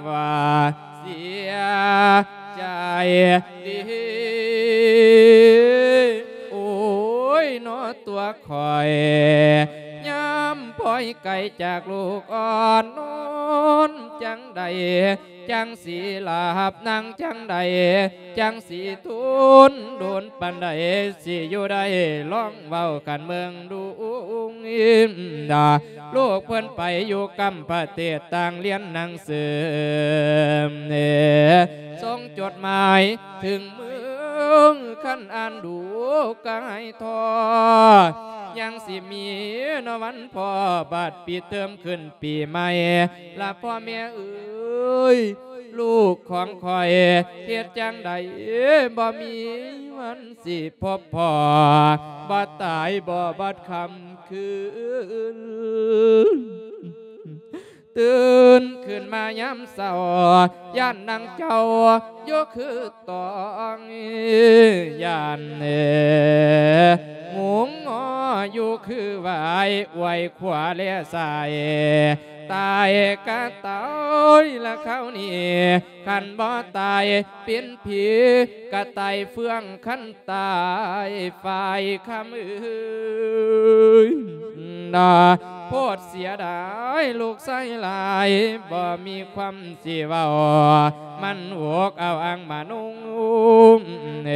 ວ່າເສຍໃຈເດ້. ຂ້ອຍ ຍາມພອຍໄກຈາກລູກອ່ອນນອນ ຈັ່ງໃດຈັ່ງຊິຫຼັບ ນາງຈັ່ງໃດຈັ່ງຊິທົນ ດົນປານໃດຊິຢູ່ໄດ້ ລອງເວົ້າກັນເບິ່ງດູ ລູກເພິ່ນໄປຢູ່ກຳປະເທດ ຕ່າງຮຽນໜັງສື ສົ່ງຈົດໝາຍ ເຖິງເມືອງ ຄັນອ່ານດູກາຍທໍ້ ຍັງຊິມີນະວັນພໍ້ ບາດປິດເທີມຂຶ້ນປີໃໝ່ ລະພໍ່ແມ່ເອີຍ ລູກຂອງຂ້ອຍ ເຮັດຈັ່ງໃດບໍ່ມີວັນຊິພົບພໍ້ ບໍ່ຕາຍບໍ່ບັດຄ່ຳຄືນ. ຕື່ນຂຶ້ນມາຍາມເຊົ້າ ຢ້ານນາງເຈົ້າຢູ່ຄືຕ້ອງ ຢ້ານຫຸງງໍຢູ່ຄືຫວາຍ ອວຍຂວາແລຊ້າຍ ຕາຍກະຕາຍລະຄາວນີ້ ຄັນບໍ່ຕາຍເປັນຜີ ກະຕາຍເຟືອງ ຄັນຕາຍຝ້າຍຄຳເອີຍ ນາ ໂພດເສຍດາຍລູກຊາຍຫຼາຍ ບໍ່ມີຄວາມຊິເວົ້າ ມັນອົກເອົາອ່າງມານຸ່ງ ເອ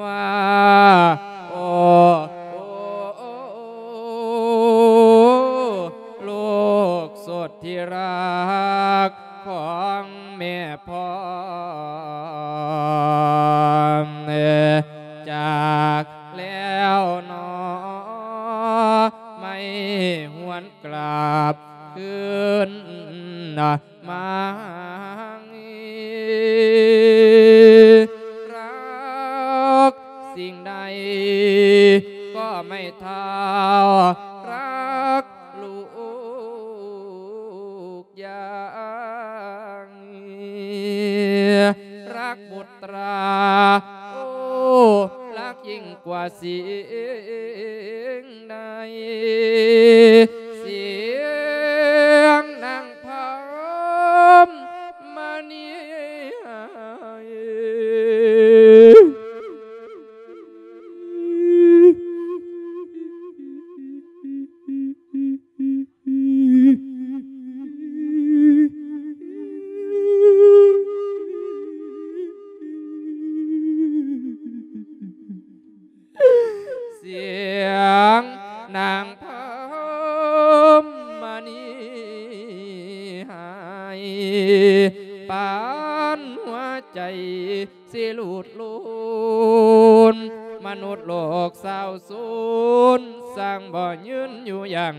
ວ່າ ໂອ້ ໂອ້ ໂອ້ ລູກສຸດທີ່ຮັກຂອງແມ່ພອນ ຈາກແລ້ວໜໍ ໄມ່ຫວນກລັບຄືນ ມາຮັກສິ່ງໃດກໍໄມ່ເທົ່າຮັກລູກຢ່າງ ຮັກບຸດຕາ ໂອ້ ຮັກຍິ່ງກວ່າສິ່ງໃດ ສຽງນາງ ພຳມະນີ ສຽງນາງພຳມະນີ ຫາຍປານຫົວໃຈຊິຫຼຸດໂລນ ມະນຸດໂລກສາວສູນ ສ້າງບໍ່ຍືນຢູ່ຢ່າງ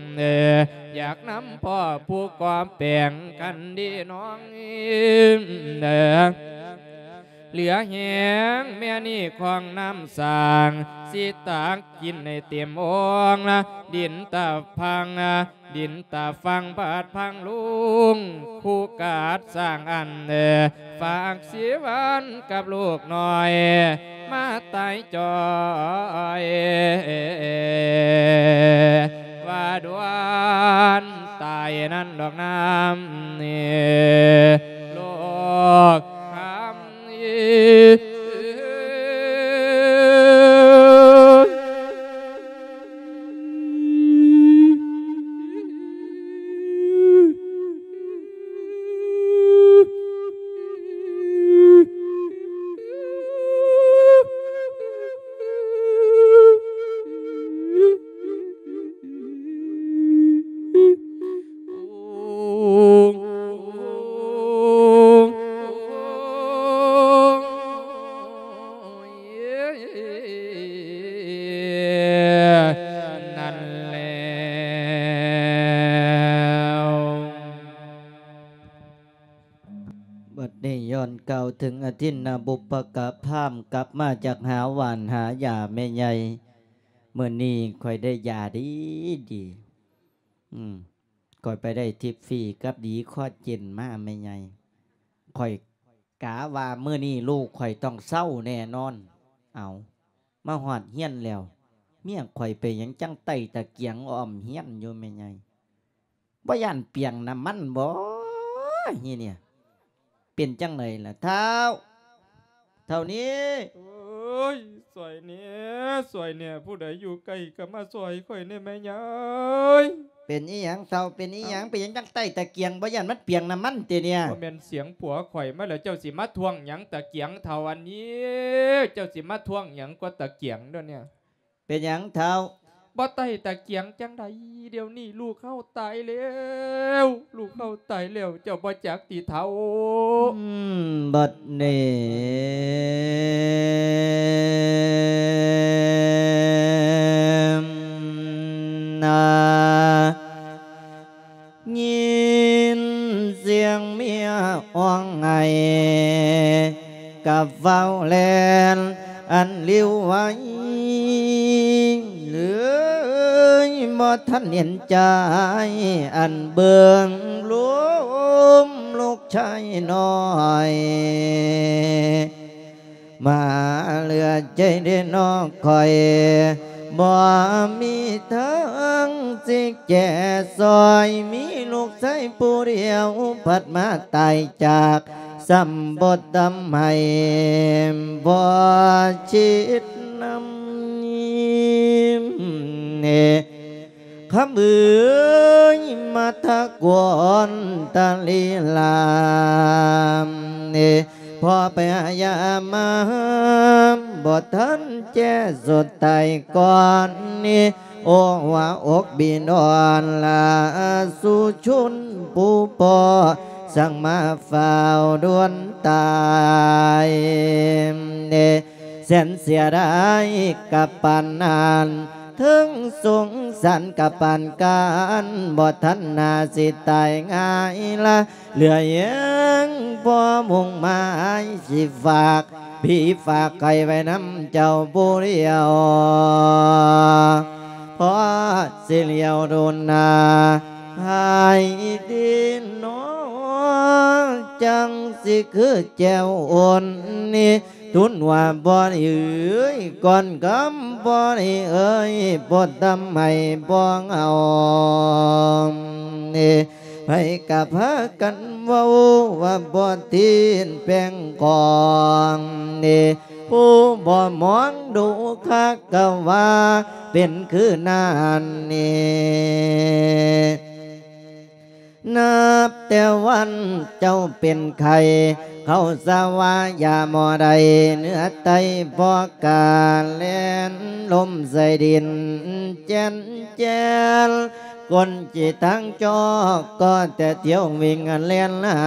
ຢາກນຳພໍ່ຜູ້ກໍ່ແປງກັນດີນ້ອງ ເຫຼືອແຮງແມ່ນີ້ຂອງນ້ຳສ້າງ ຊິຕັກກິນໃຫ້ເຕັມໂອ່ງ ດິນຕາຝັ່ງ ດິນຕາຝັ່ງບາດພັງລຸງ ຄູ່ກາດສ້າງອັນ ຝາກຊີວັນກັບລູກນ້ອຍ ມາຕາຍຈ່ອຍ ວ່າດ່ວນຕາຍນັ້ນດອກນ້ຳ ໂລກຄຳ ນັ້ນແລ້ວ ບັດນີ້ຍ້ອນກ່າວເຖິງອະທິນນະບຸບພະກະພາມ ກັບມາຈາກຫາຫວ່ານຫາຢາແມ່ໃຫຍ່ ມື້ນີ້ຂ້ອຍໄດ້ຢາດີໆ ອືມ ຂ້ອຍໄປໄດ້ທິບຟຣີກັບດີຄໍເຈນມາແມ່ໃຫຍ່ ຂ້ອຍກະວ່າມື້ນີ້ລູກຂ້ອຍຕ້ອງເຊົາແນ່ນອນ. ເອົາ ມາຮອດເຮືອນແລ້ວ ເມຍຂ້ອຍເປັນຫຍັງຈັ່ງໄຕ້ຕະກຽງອ້ອມເຮືອນຢູ່ແມ່ໃຫຍ່? ບໍ່ຢ້ານປຽງນ້ຳມັນບໍ? ອີ່ນີ້ ເປັນຈັ່ງໃດລະທ້າວ? ເທົ່ານີ້ ໂອ້ຍ ຊ່ອຍແດ່ ຊ່ອຍແດ່ ຜູ້ໃດຢູ່ໃກ້ກໍມາຊ່ອຍຂ້ອຍແດ່ແມ່ຍາຍ. ເປັນອີ່ຫຍັງເຖົ້າ ເປັນອີ່ຫຍັງ? ເອົ້າ ເປັນຫຍັງຈັ່ງໃຕ້ຕະກຽງ? ບໍ່ຢ້ານມັນປຽກນ້ຳມັນຕິເນຍ? ບໍ່ແມ່ນສຽງຜົວຂ້ອຍມາແລ້ວ ເຈົ້າຊິມາທ້ວງຫຍັງຕະກຽງເຖົ້າອັນນີ້? ເຈົ້າຊິມາທ້ວງຫຍັງກວ່າຕະກຽງດຽວນີ້? ເປັນຫຍັງເຖົ້າ? ບໍ່ໃຕ້ຕະກຽງຈັ່ງໃດ? ດຽວນີ້ລູກເຮົາຕາຍແລ້ວ ລູກເຮົາຕາຍແລ້ວ ເຈົ້າບໍ່ຈັກຕິເຖົ້າ? ອືມ ບັດນີ້ ນາ ຍິນສຽງເມຍຮ້ອງໄຫ້ ກັບຟ້າວແລ່ນອັນລິວໄວ ເລີຍບໍ່ທັນເຫັນໃຈ ອັນເບິ່ງລົມລູກຊາຍນ້ອຍ ມາເຫຼືອໃຈເດ້ນ້ອງຂ້ອຍ ບໍ່ມີທາງຊິແຈຊ່ອຍ ມີລູກຊາຍຜູ້ດຽວ ພັດມາຕາຍຈາກ ຊ້ຳບໍ່ທຳໃຫ້ ບໍ່ຄິດນຳ ຄຳເອີຍ ມາທະກວນຕະລີລາມ ພໍພະຍາຍາມມາ ບໍ່ທັນແຈສຸດທ້າຍກ່ອນນີ້ ໂອວາອົກບິດອນລາສຸຊົນຜູ້ພໍ່ ສັງມາຟ້າວດ່ວນຕາຍ ແສນເສຍດາຍກັບປານນັ້ນ ເຖິງສົງສານກັບປານການ ບໍ່ທັນໜ້າຊິຕາຍງ່າຍລະ ເຫຼືອຫຍັງພໍມຸງໝາຍ ຊິຝາກພີ່ຝາກໄຂ້ໄວ້ນຳເຈົ້າຜູ້ດຽວ ພໍຊິຫຼຽວດູໜ້າໃຜດີນໍ ຈັ່ງຊິຄືແຈວອຸ່ນນີ້ ທູນວ່າບໍ່ໄດ້ເອີຍ ກ່ອນຄຳບໍ່ໄດ້ເອີຍ ບໍ່ທຳໃຫ້ບໍ່ເອົານີ້ ໃຜກໍພາກັນເວົ້າວ່າບໍ່ທີນແປງຂອງນີ້ ຜູ້ບໍ່ມອງດູຄັກກໍວ່າເປັນຄືນັ້ນນີ້ ນັບແຕ່ວັນເຈົ້າເປັນໄຂ້ ເຂົາສາວາຢາໝໍໃດ ເໜືອໃຕ້ບໍ່ກາແລ່ນ ລົມໃສ່ດິນແຈນແຈນ ຄົນຈີທາງຈອກກໍແຕ່ທ່ຽວວິ່ງແລ່ນລາ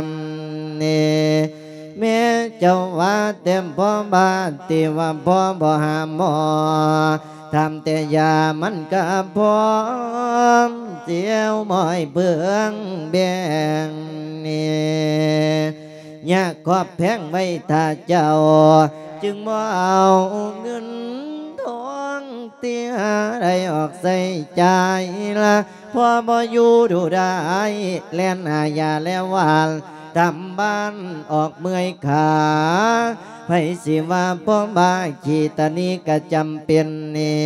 ມນີ້ ແມ່ເຈົ້າວ່າແຕ່ພໍ່ບາດ ທີ່ວ່າພໍ່ບໍ່ຫາໝໍ ຖາມແຕ່ຢາມັນກະພ້ອມ ສຽວໝໍໃຫ້ເບິ່ງແບ່ງນີ້ ຍາກຂອບແພງໄວ້ຖ້າເຈົ້າ ຈຶ່ງບໍ່ເອົາເງິນທອງທີ່ຫາໄດ້ອອກໃຊ້ຈ່າຍລະ ພໍ່ບໍ່ຢູ່ດູໄດ້ ແລ່ນຫາຢາແລວຫວານ ຕາມບ້ານອອກເມື່ອຍຂາ ໃຜຊິວ່າພໍ່ບ້າຂີ້ຕາໜີກະຈຳເປັນນີ້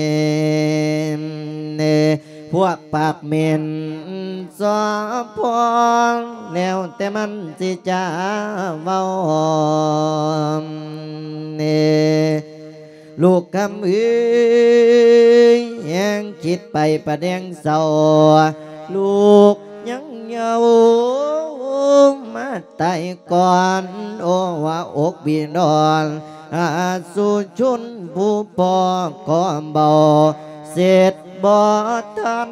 ພວກປາກເໝັນສອບພໍ ແລ້ວແຕ່ມັນຊິຈະເວົ້ານີ້ ລູກຄຳເອີຍ ແຮງຄິດໄປປະແດງເສົ້າ ລູກຍັງເຍົາວມາຕາຍກ່ອນ ໂອ ວ່າອົກບີດອນ ອາສຸຊົນຜູ້ພໍ່ຂໍເບົາ ເສັດບໍ່ທັນ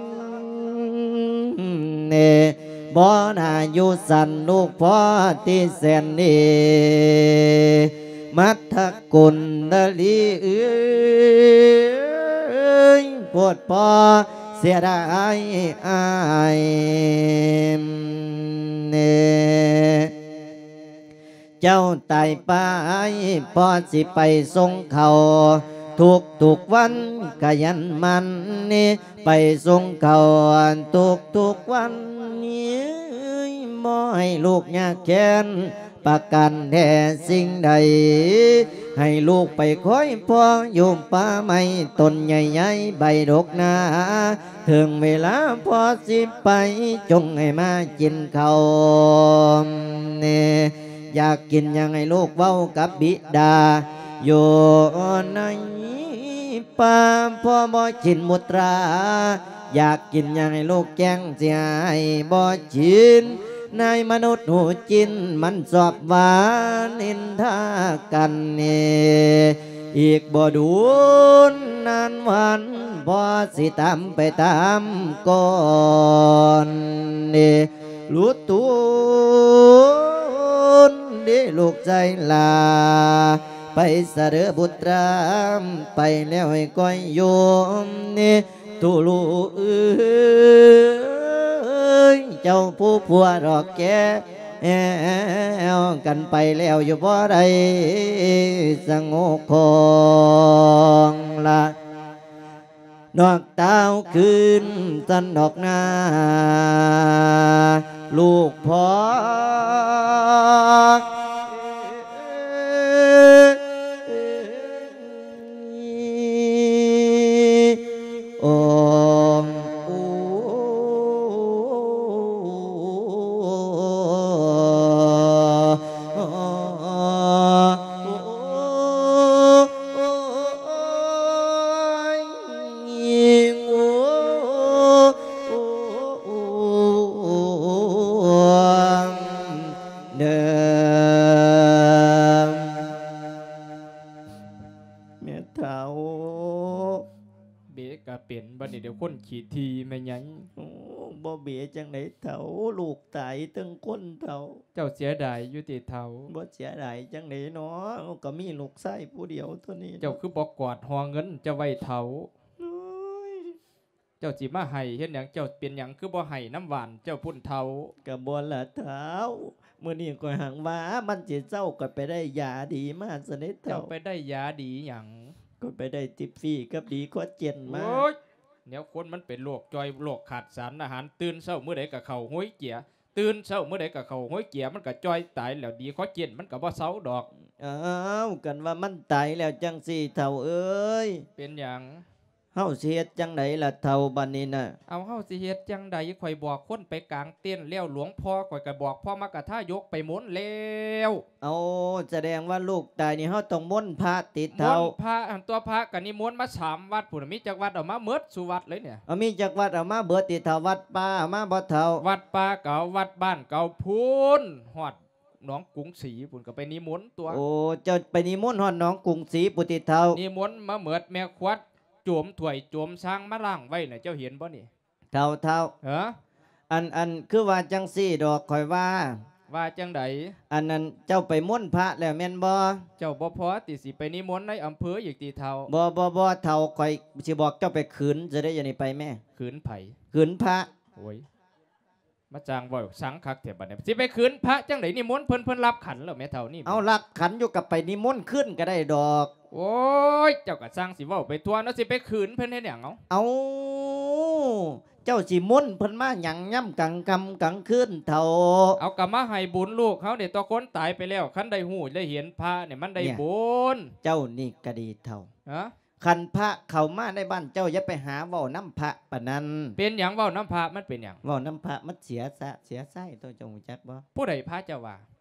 ບໍ່ໜ້າຢູ່ສັນ ລູກພໍ່ທີ່ແສນດີ ມັດທະ ກຸນດາລີເອີຍ ໂພດພໍ່ເສຍດາຍອ້າຍ ເຈົ້າຕາຍໄປ ພໍ່ຊິໄປສົ່ງເຂົ້າ ທຸກໆວັນຂະຫຍັນໝັ່ນ ໄປສົ່ງເຂົ້າທຸກໆວັນ ບໍ່ໃຫ້ລູກຍາກແຄ້ນ ປະການແທ້ສິ່ງໃດ ໃຫ້ລູກໄປຄອຍພໍ່ຢູ່ປ່າໄມ້ຕົ້ນໃຫຍ່ໃຫຍ່ໃບດົກໜາ ເຖິງເວລາພໍ່ຊິໄປ ຈົ່ງໃຫ້ມາກິນເຂົ້າແດ່ ຢາກກິນຫຍັງໃຫ້ລູກເວົ້າກັບບິດາ ຢູ່ໃນປ່າ ພໍ່ບໍ່ກິນໝູດຕາ ຢາກກິນຫຍັງໃຫ້ລູກແກງ ຊິໃຫ້ບໍ່ກິນ ນາຍມະນຸດຫູຈິນ ມັນຊອບວ່ານິນທາກັນນີ້ ອີກບໍ່ດົນນານວັນ ພໍ່ຊິຕາມໄປຕາມກ່ອນນີ້ ລຸດຕຸນເດລູກຊາຍຫຼ້າ ໄປຊະເດີບຸດຕາ ໄປແລ້ວໃຫ້ຄອຍຢູ່ນີ້ ຕູລູເອີຍ ເຈົ້າຜູ້ຜົວດອກແກ້ວ ກັນໄປແລ້ວຢູ່ບໍ່ໄດ້ສະຫງົບຂອງລະ ນອກຕາວຄືນສັນດອກນາ ລູກພໍ່ ໂອ ເດີມ ແມ່ເຖົ້າ ເບກະເປັນ ບັດນີ້ດຽວຄົນຂີ້ຖີ່ແມ່ໃຫຍ່. ໂອ້ ບໍ່ເບຈັ່ງໃດເຖົ້າ ລູກຕາຍເທິງຄົນເຖົ້າ. ເຈົ້າເສຍດາຍຢູ່ຕິເຖົ້າ? ບໍ່ເສຍດາຍຈັ່ງໃດເນາະ ກະມີລູກຊາຍຜູ້ດຽວເທົ່ານີ້. ເຈົ້າຄືບໍ່ກອດຫໍ່ເງິນເຈົ້າໄວ້ເຖົ້າ? ໂອ້ຍ ເຈົ້າຊິມາໄຫ້ເຮັດຫຍັງ? ເຈົ້າເປັນຫຍັງຄືບໍ່ໄຫ້ນຳຫວ່ານເຈົ້າພຸ້ນເຖົ້າ? ກະບໍ່ລະເຖົ້າ ມື້ນີ້ຂ້ອຍຫາກວ່າມັນຊິເຊົາ ຂ້ອຍໄປໄດ້ຢາດີມາຊັ້ນເດເຖົ້າ. ເຈົ້າໄປໄດ້ຢາດີຫຍັງ? ຂ້ອຍໄປໄດ້ຕິບຟຣີກັບດີຄອເຈນມາ. ໂອ້ຍ ແນວຄົນມັນເປັນໂລກຈ່ອຍ ໂລກຂາດສານອາຫານ ຕື່ນເຊົ້າມື້ໃດກະເຂົ້າໂຮຍເຈຍ ຕື່ນເຊົ້າມື້ໃດກະເຂົ້າໂຮຍເຈຍ ມັນກະຈ່ອຍຕາຍແລ້ວ ດີຄອເຈນມັນກະບໍ່ເຊົາດອກ. ອ້າວ ຄັນວ່າມັນຕາຍແລ້ວຈັ່ງຊີ້ເຖົ້າເອີຍ ເປັນຫຍັງ? ເຮົາຊິເຮັດຈັ່ງໃດລະເຖົ້າບັດນີ້ນະ? ເອົາ ເຮົາຊິເຮັດຈັ່ງໃດ? ຂ້ອຍບອກຄົນໄປກາງເຕັນແລ້ວ ຫຼວງພໍ່ຂ້ອຍກະບອກພໍ່ມະກະທາຍົກໄປມົນແລ້ວ. ເອົາ ສະແດງວ່າລູກຕາຍນີ້ ເຮົາຕ້ອງມົນພະຕິເຖົ້າ? ມົນພະຫັ້ນຕົວະ ພະກະນິມົນມາສາມວັດພຸ້ນ ມີຈັກວັດເອົາມາເໝິດສູ່ວັດເລີຍເນຍ. ເອົາ ມີຈັກວັດເອົາມາເບີດຕິເຖົ້າ? ວັດປ່າເອົາມາບໍ່ເຖົ້າ? ວັດປ່າກະເອົາ ວັດບ້ານກະເອົາ ພຸ້ນຮອດ ໜອງກຸງສີພຸ້ນກະໄປນິມົນຕົວະ. ໂອ້ ເຈົ້າໄປນິມົນຮອດໜອງກຸງສີພຸ້ນຕິເຖົ້າ? ນິມົນມາເໝິດ ແມ່ຂວັດໂຈມຖ້ວຍໂຈມຊາງມາລ້າງໄວ້ນະ ເຈົ້າເຫັນບໍ່ນີ້? ເຖົ້າ ເຖົ້າ ເອີ ອັນ ອັນ ຄືວ່າຈັ່ງຊີ້ດອກ ຂ້ອຍວ່າ. ວ່າຈັ່ງໃດ? ອັນນັ້ນ ເຈົ້າໄປມົນພະແລ້ວແມ່ນບໍ່? ເຈົ້າບໍ່ພໍຕິຊິໄປນິມົນໃນອຳເພີອີກຕິເຖົ້າ? ບໍ່ ບໍ່ ບໍ່ເຖົ້າ ຂ້ອຍຊິບອກເຈົ້າໄປຂືນຊະເດ້ ດຽວນີ້ໄປແມ້. ຂືນໃຜ? ຂືນພະ. ໂອ້ຍ ມາຈ້າງເວົ້າສັງຄັກແທ້ບັດນີ້ ຊິໄປຂືນພະຈັ່ງໃດ? ນິມົນເພິ່ນ ເພິ່ນຮັບຂັນແລ້ວແມ່ເຖົ້ານີ້. ເອົາ ຮັບຂັນຢູ່ກະໄປນິມົນຄືນກະໄດ້ດອກ. ໂອ້ຍ ເຈົ້າກະຊ່າງຊິເວົ້າໄປທົ່ວເນາະ ຊິໄປຂືນເພິ່ນເຮັດຫຍັງເອົາ? ເອົາ ເຈົ້າຊິມົນເພິ່ນມາຫຍັງຍາມກາງຄ່ຳກາງຄືນເຖົ້າ? ເອົາ ກະມາໃຫ້ບຸນລູກເຮົານີ້ຕົວະ ຄົນຕາຍໄປແລ້ວ ຄັນໄດ້ຮູ້ໄດ້ເຫັນພະນີ້ມັນໄດ້ບຸນ. ເຈົ້ານີ້ກະດີເຖົ້າ. ຮະ? ຄັນພະເຂົ້າມາໃນບ້ານເຈົ້າ ຢ່າໄປຫາເວົ້ານຳພະປານນັ້ນ. ເປັນຫຍັງເວົ້ານຳພະ ມັນເປັນຫຍັງ? ເວົ້ານຳພະມັນເສຍຊະ ເສຍຊາຍ ໂຕເຈົ້າຮູ້ຈັກບໍ່? ຜູ້ໃດພະເຈົ້າວ່າ?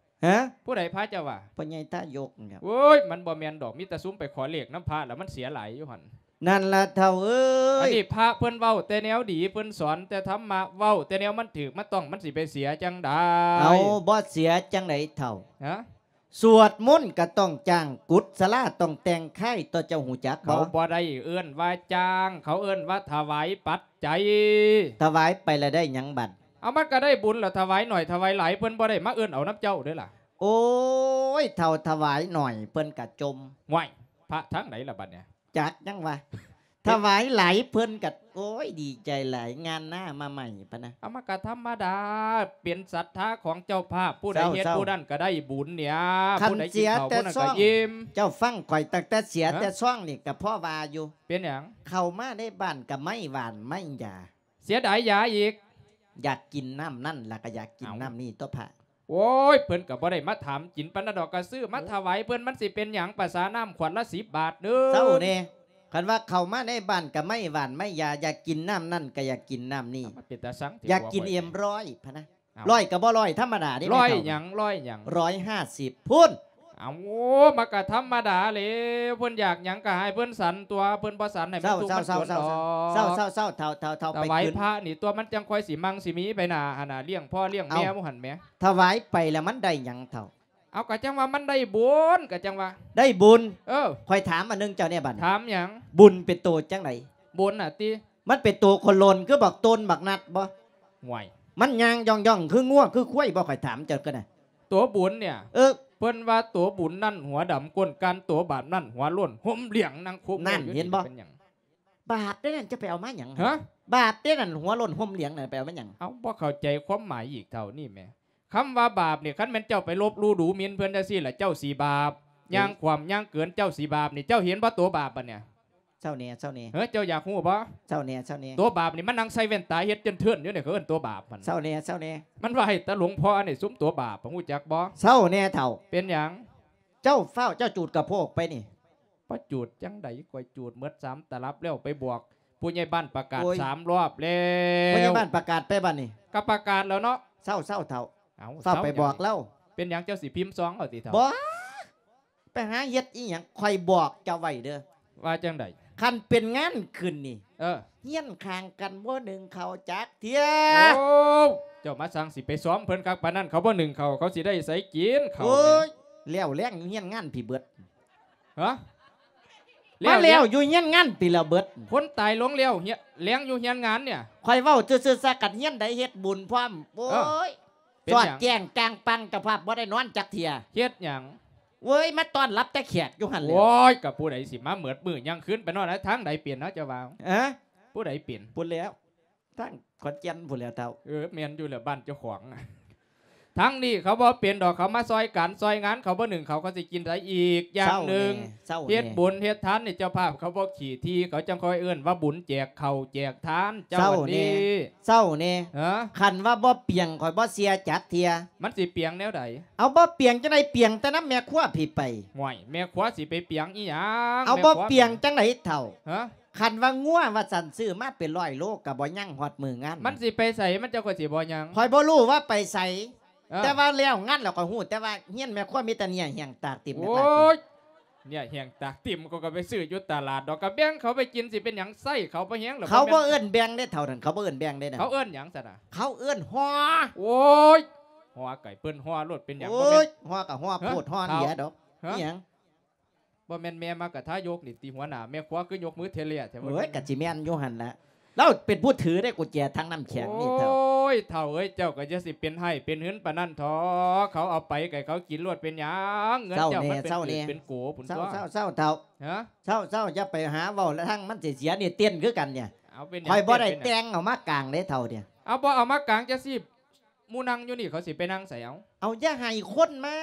ຮະ? ຜູ້ໃດພະເຈົ້າວ່າ? ພໍ່ໃຫຍ່ທາຍົກນີ້ແຫຼະ. ໂອ້ຍ ມັນບໍ່ແມ່ນດອກ ມີແຕ່ຊຸມໄປຂໍເລກນຳພະ ແລ້ວມັນເສຍຫຼາຍຢູ່ຫັ້ນ. ນັ້ນລະເຖົ້າເອີຍ. ອັນນີ້ພະເພິ່ນເວົ້າແຕ່ແນວດີ ເພິ່ນສອນແຕ່ທຳມະ ເວົ້າແຕ່ແນວມັນຖືກມັນຕ້ອງ ມັນຊິໄປເສຍຈັ່ງໃດ? ເອົາ ບໍ່ເສຍຈັ່ງໃດເຖົ້າ? ຮະ? ສວດມົນກະຕ້ອງຈ້າງ ກຸດສະລາຕ້ອງແຕ່ງຄ້າຍ ຕົວະເຈົ້າຮູ້ຈັກບໍ່? ເຂົາບໍ່ໄດ້ເອີ້ນວ່າຈ້າງ ເຂົາເອີ້ນວ່າຖວາຍປັດໄຈ. ຖວາຍໄປລະໄດ້ຫຍັງບັດ? ເອົາ ມັນກະໄດ້ບຸນລະ ຖວາຍໜ້ອຍຖວາຍຫຼາຍ ເພິ່ນບໍ່ໄດ້ມາເອີ້ນເອົານຳເຈົ້າເດີລະ. ໂອ້ຍ ເຖົ້າ ຖວາຍໜ້ອຍເພິ່ນກະຈົ່ມ. ຫ້ວຍ ພະທາງໃດລະບັດນີ້? ຈັກຍັງວ່າ ຖວາຍຫຼາຍເພິ່ນກະ ໂອ້ຍ ດີໃຈຫຼາຍ ງານນາມາໃໝ່ພະນະ. ເອົາ ມັນກະທຳມະດາ ເປັນສັດທາຂອງເຈົ້າພາບ ຜູ້ໃດເຮັດຜູ້ນັ້ນກະໄດ້ບຸນເນຍ. ຄັນເສຍແຕ່ຊ່ອງ ເຈົ້າຟັງຂ້ອຍ ຕັ້ງແຕ່ເສຍແຕ່ຊ່ອງນີ້ກະພໍວ່າຢູ່. ເປັນຫຍັງ? ເຂົ້າມາໃນບ້ານກະໄມ້ຫວ່ານໄມ້ຢາ. ເສຍດາຍຢາອີກ. ຢາກກິນນ້ຳນັ້ນລະກະຢາກກິນນ້ຳນີ້ຕົວະພະ. ໂອ້ຍ ເພິ່ນກະບໍ່ໄດ້ມາຖາມກິນປານນັ້ນດອກ ກະຊື້ມາຖວາຍເພິ່ນ ມັນຊິເປັນຫຍັງ ປະສານ້ຳຂວດລະສິບບາດເດີ. ເຊົາແດ່ ຄັນວ່າເຂົ້າມາໃນບ້ານກະໄມ້ຫວ່ານໄມ້ຢາ ຢາກກິນນ້ຳນັ້ນກະຢາກກິນນ້ຳນີ້ ມັນເປັນຕາຊັງແທ້ ຢາກກິນເອັມຮ້ອຍພະນະ. ເອົ້າ ຮ້ອຍກະບໍ່ຮ້ອຍທຳມະດາເດ້. ຮ້ອຍຫຍັງ? ຮ້ອຍຫຍັງ? ຮ້ອຍຫ້າສິບພຸ້ນ. ເອົາ ມັນກະທຳມະດາແຫຼະ ເພິ່ນຢາກຫຍັງກະໃຫ້ເພິ່ນສັນຕົວະ ເພິ່ນບໍ່ສັນໃຫ້ມັນທຸກມັນຈົນດອກ. ເຊົາໆໆໆ ເຖົ້າໆໆ ໄປຂຶ້ນ ຖວາຍພະນີ້ຕົວະ ມັນຈັ່ງຄ່ອຍຊິມັ່ງຊິມີໄປໜ້າຫັ້ນນະ ລ້ຽງພໍ່ລ້ຽງແມ່ໝູ່ຫັ້ນແໝ. ຖວາຍໄປແລ້ວມັນໄດ້ຫຍັງເຖົ້າ? ເອົາ ກະຈັ່ງວ່າມັນໄດ້ບຸນ ກະຈັ່ງວ່າໄດ້ບຸນ. ເອີ ຂ້ອຍຖາມອັນໜຶ່ງເຈົ້າແດ່ບັດນີ້ ຖາມຫຍັງ? ບຸນເປັນໂຕຈັ່ງໃດ? ບຸນນະຕິ ມັນເປັນໂຕໂຄໂລນຄືບັກໂຕນບັກນັດບໍ່? ຫວຍ ມັນຍ່າງຢ່ອງໆ ຄືງົວຄືຄວາຍບໍ່? ຂ້ອຍຖາມເຈົ້າກໍໄດ້ ໂຕບຸນເນຍ. ເອີ ເພິ່ນວ່າໂຕບຸນນັ້ນຫົວດຳກົ້ນກ້ານ ໂຕບາບນັ້ນຫົວໂລ້ນຫົ່ມຫຼຽງ ນາງໂຄໂມຢູ່ນີ້ເປັນຫຍັງ? ບາບເດ້ນັ້ນ ຈະໄປເອົາມາຫຍັງ? ຮະ? ບາບເດ້ນັ້ນ ຫົວໂລ້ນຫົ່ມຫຼຽງນັ້ນ ໄປເອົາມາຫຍັງ? ເອົາ ບໍ່ເຂົ້າໃຈຄວາມໝາຍອີກເທົ່ານີ້ແໝ. ຄຳວ່າບາບນີ້ ຄັນແມ່ນເຈົ້າໄປລົບຫຼູ່ດູໝິ່ນເພິ່ນຈັ່ງຊີ້ລະ ເຈົ້າຊິບາບ. ເອີ ຍ່າງຂວ້ຳຍ່າງເກີນ ເຈົ້າຊິບາບນີ້. ເຈົ້າເຫັນບໍ່ໂຕບາບບັດເນຍ? ເຊົາແດ່ ເຊົາແດ່. ເອີ ເຈົ້າຢາກຮູ້ບໍ່? ເຊົາແດ່ ເຊົາແດ່. ໂຕບາບນີ້ມັນນັ່ງໃສ່ແວ່ນຕາເຮັດເຈີນເທີນຢູ່ນີ້ ເຂົາເອີ້ນໂຕບາບມັນ. ເຊົາແດ່ ເຊົາແດ່. ມັນໄຫວ້ແຕ່ຫຼວງພໍ່ອັນນີ້ ຊຸມໂຕບາບ ຮູ້ຈັກບໍ່? ເຊົາແດ່ເຖົ້າ. ເປັນຫຍັງ? ເຈົ້າຟ້າວ ເຈົ້າຈູດກະໂພກໄປນີ້. ປະຈູດຈັ່ງໃດ ຂ້ອຍຈູດໝົດສາມຕະລັບແລ້ວ ໄປບອກຜູ້ໃຫຍ່ບ້ານປະກາດ ໂອ້ຍ ສາມລອບແລ້ວ. ຜູ້ໃຫຍ່ບ້ານປະກາດໄປບັດນີ້? ກະປະກາດແລ້ວເນາະ. ເຊົາ ເຊົາເຖົ້າ. ເອົາ ເຊົາໄປບອກລາວ. ເປັນຫຍັງ ເຈົ້າຊິພິມຊອງເອົາຕິເຖົ້າ? ບໍ່ ໄປຫາເຮັດອີ່ຫຍັງ ຂ້ອຍບອກເຈົ້າໄວ້ເດີ້. ວ່າຈັ່ງໃດ? ຄັນເປັນງານຂຶ້ນນີ້ ເອີ ຮຽນຂ້າງກັນບໍ່ໜຶ້ງເຂົ້າຈັກເທື່ອ. ໂອ້ ເຈົ້າມາສ້າງຊິໄປຊອມເພິ່ນຄັກປານນັ້ນ ເຂົາບໍ່ໜຶ້ງເຂົ້າ ເຂົາຊິໄດ້ໃສກິນເຂົ້າ? ໂອ້ຍ ແລ້ວແລ້ງຢູ່ຮຽນງານພີ້ເບິດ. ຮະ? ມາແລ້ວຢູ່ຮຽນງານພີ້ລະເບິດ. ຄົນຕາຍລົງແລ້ວແລ້ງຢູ່ຮຽນງານເນຍ. ຂ້ອຍເວົ້າຊື່ໆ ຊະ ຄັນຮຽນໃດເຮັດບຸນພ້ອມ. ໂອ້ຍ ເປັນຫຍັງ? ສອດແຈ້ງກາງປັງ ເຈົ້າພາບບໍ່ໄດ້ນອນຈັກເທື່ອ. ເຮັດຫຍັງ? ເວີຍ ມາຕ້ອນຮັບແຕ່ແຂກຢູ່ຫັ້ນແຫຼະ. ໂອ້ຍ ກະຜູ້ໃດຊິມາເໝິດມື້ຍັງຄືນ ໄປນອນທາງໃດເປັນເນາະ ເຈົ້າວ່າ? ຮະ? ຜູ້ໃດເປັນ? ພຸ້ນແຫຼ້ວ ທາງຂອນແກ່ນພຸ້ນແຫຼ້ວເຖົ້າ. ເອີ ແມ່ນຢູ່ແຫຼະ ບ້ານເຈົ້າຂອງ. ທາງນີ້ເຂົາບໍ່ເປັນດອກ ເຂົາມາຊ່ອຍການຊ່ອຍງານ ເຂົາບໍ່ໜຶ້ງເຂົ້າ ເຂົາຊິກິນໃສອີກ? ຢ່າງໜຶ່ງ ເຮັດບຸນເຮັດທານນີ້ ເຈົ້າພາບເຂົາບໍ່ຂີ້ຖີ່ ເຂົາຈັ່ງຄ່ອຍເອີ້ນວ່າບຸນ ແຈກເຂົ້າແຈກທານ. ເຈົ້ານີ້ ເຊົາແດ່ ເຊົາແດ່. ຮະ? ຄັນວ່າບໍ່ປຽງ ຂ້ອຍບໍ່ເຊື່ອຈັກເທື່ອ. ມັນຊິປຽງແນວໃດ? ເອົາ ບໍ່ປຽງຈັ່ງໃດ ປຽງແຕ່ນຳແມ່ຄົວພີ້ໄປ. ຫ້ວຍ ແມ່ຄົວຊິໄປປຽງອີ່ຫຍັງ? ເອົາ ແມ່ຄົວ ບໍ່ປຽງຈັ່ງໃດເຖົ້າ? ຮະ? ຄັນວ່າງົວວ່າຊັ້ນ ຊື້ມາເປັນຮ້ອຍໂລກະບໍ່ຍັງຮອດມື້ງານ. ມັນຊິໄປໃສ? ມັນເຈົ້າຂ້ອຍຊິບໍ່ຍັງ? ຂ້ອຍບໍ່ຮູ້ວ່າໄປໃສ. ເອີ ແຕ່ວ່າແລ້ວງານແລ້ວຂ້ອຍຮູ້ ແຕ່ວ່າຮຽນແມ່ຄົວມີແຕ່ເໜື້ອແຫ້ງຕາກຕິ່ມ. ໂອ້ຍ ເໜື້ອແຫ້ງຕາກຕິ່ມ ຂ້ອຍກະໄປຊື້ຢູ່ຕະຫຼາດດອກ ກະແບ່ງເຂົາໄປກິນ ຊິເປັນຫຍັງ ໃຊ້ເຂົາພໍແຮງແລ້ວ. ເຂົາບໍ່ເອີ້ນແບ່ງເດ້ເຖົ້ານັ້ນ ເຂົາບໍ່ເອີ້ນແບ່ງເດ້ນະ. ເຂົາເອີ້ນຫຍັງຊັ້ນນະ? ເຂົາເອີ້ນຫໍ່. ໂອ້ຍ ຫໍ່ໄກ່ເພິ່ນຫໍ່ໂລດ ເປັນຫຍັງ? ໂອ້ຍ ບໍ່ແມ່ນ ຫໍ່ກະຫໍ່ໂພດ ຫໍ່ເຫຼືອດອກ. ຮະ? ອີ່ຫຍັງ? ບໍ່ແມ່ນແມ່ມັກກະທາຍົກນີ້ຕິ ຫົວໜ້າແມ່ຄົວຄືຍົກມືເທເລຍແທ້? ໂອ້ຍ ກະຊິແມ່ນຢູ່ຫັ້ນລະ ລາວເປັນຜູ້ຖືເດ້ ກຸນແຈຖັງນ້ຳແຂງນີ້ເຖົ້າ. ໂອ້ຍ ເຖົ້າເອີຍ ເຈົ້າກະຢ່າຊິເປັນຮ້າຍເປັນຫືນປານນັ້ນເຖາະ ເຂົາເອົາໄປກະໃຫ້ເຂົາກິນໂລດ ເປັນຫຍັງ? ເງິນເຈົ້າມັນເປັນກີບເປັນໂກພຸ້ນຕົວະ. ເຊົາໆໆເຖົ້າ. ຮະ? ເຊົາໆ ຢ່າໄປຫາເວົ້າທາງມັນເສຍໆ ນີ້ເຕັ້ນຄືກັນເນຍ. ເອົາ ເປັນຫຍັງ? ຂ້ອຍບໍ່ໄດ້ແຕ່ງເອົາມາກາງເດ້ເຖົ້າເດ. ເອົາ ບໍ່ເອົາມາກາງຈັ່ງຊີ້ ໝູ່ນັ່ງຢູ່ນີ້ ເຂົາຊິໄປນັ່ງໃສເອົາ? ເອົາ ຢ່າໃຫ້ຄົນມາ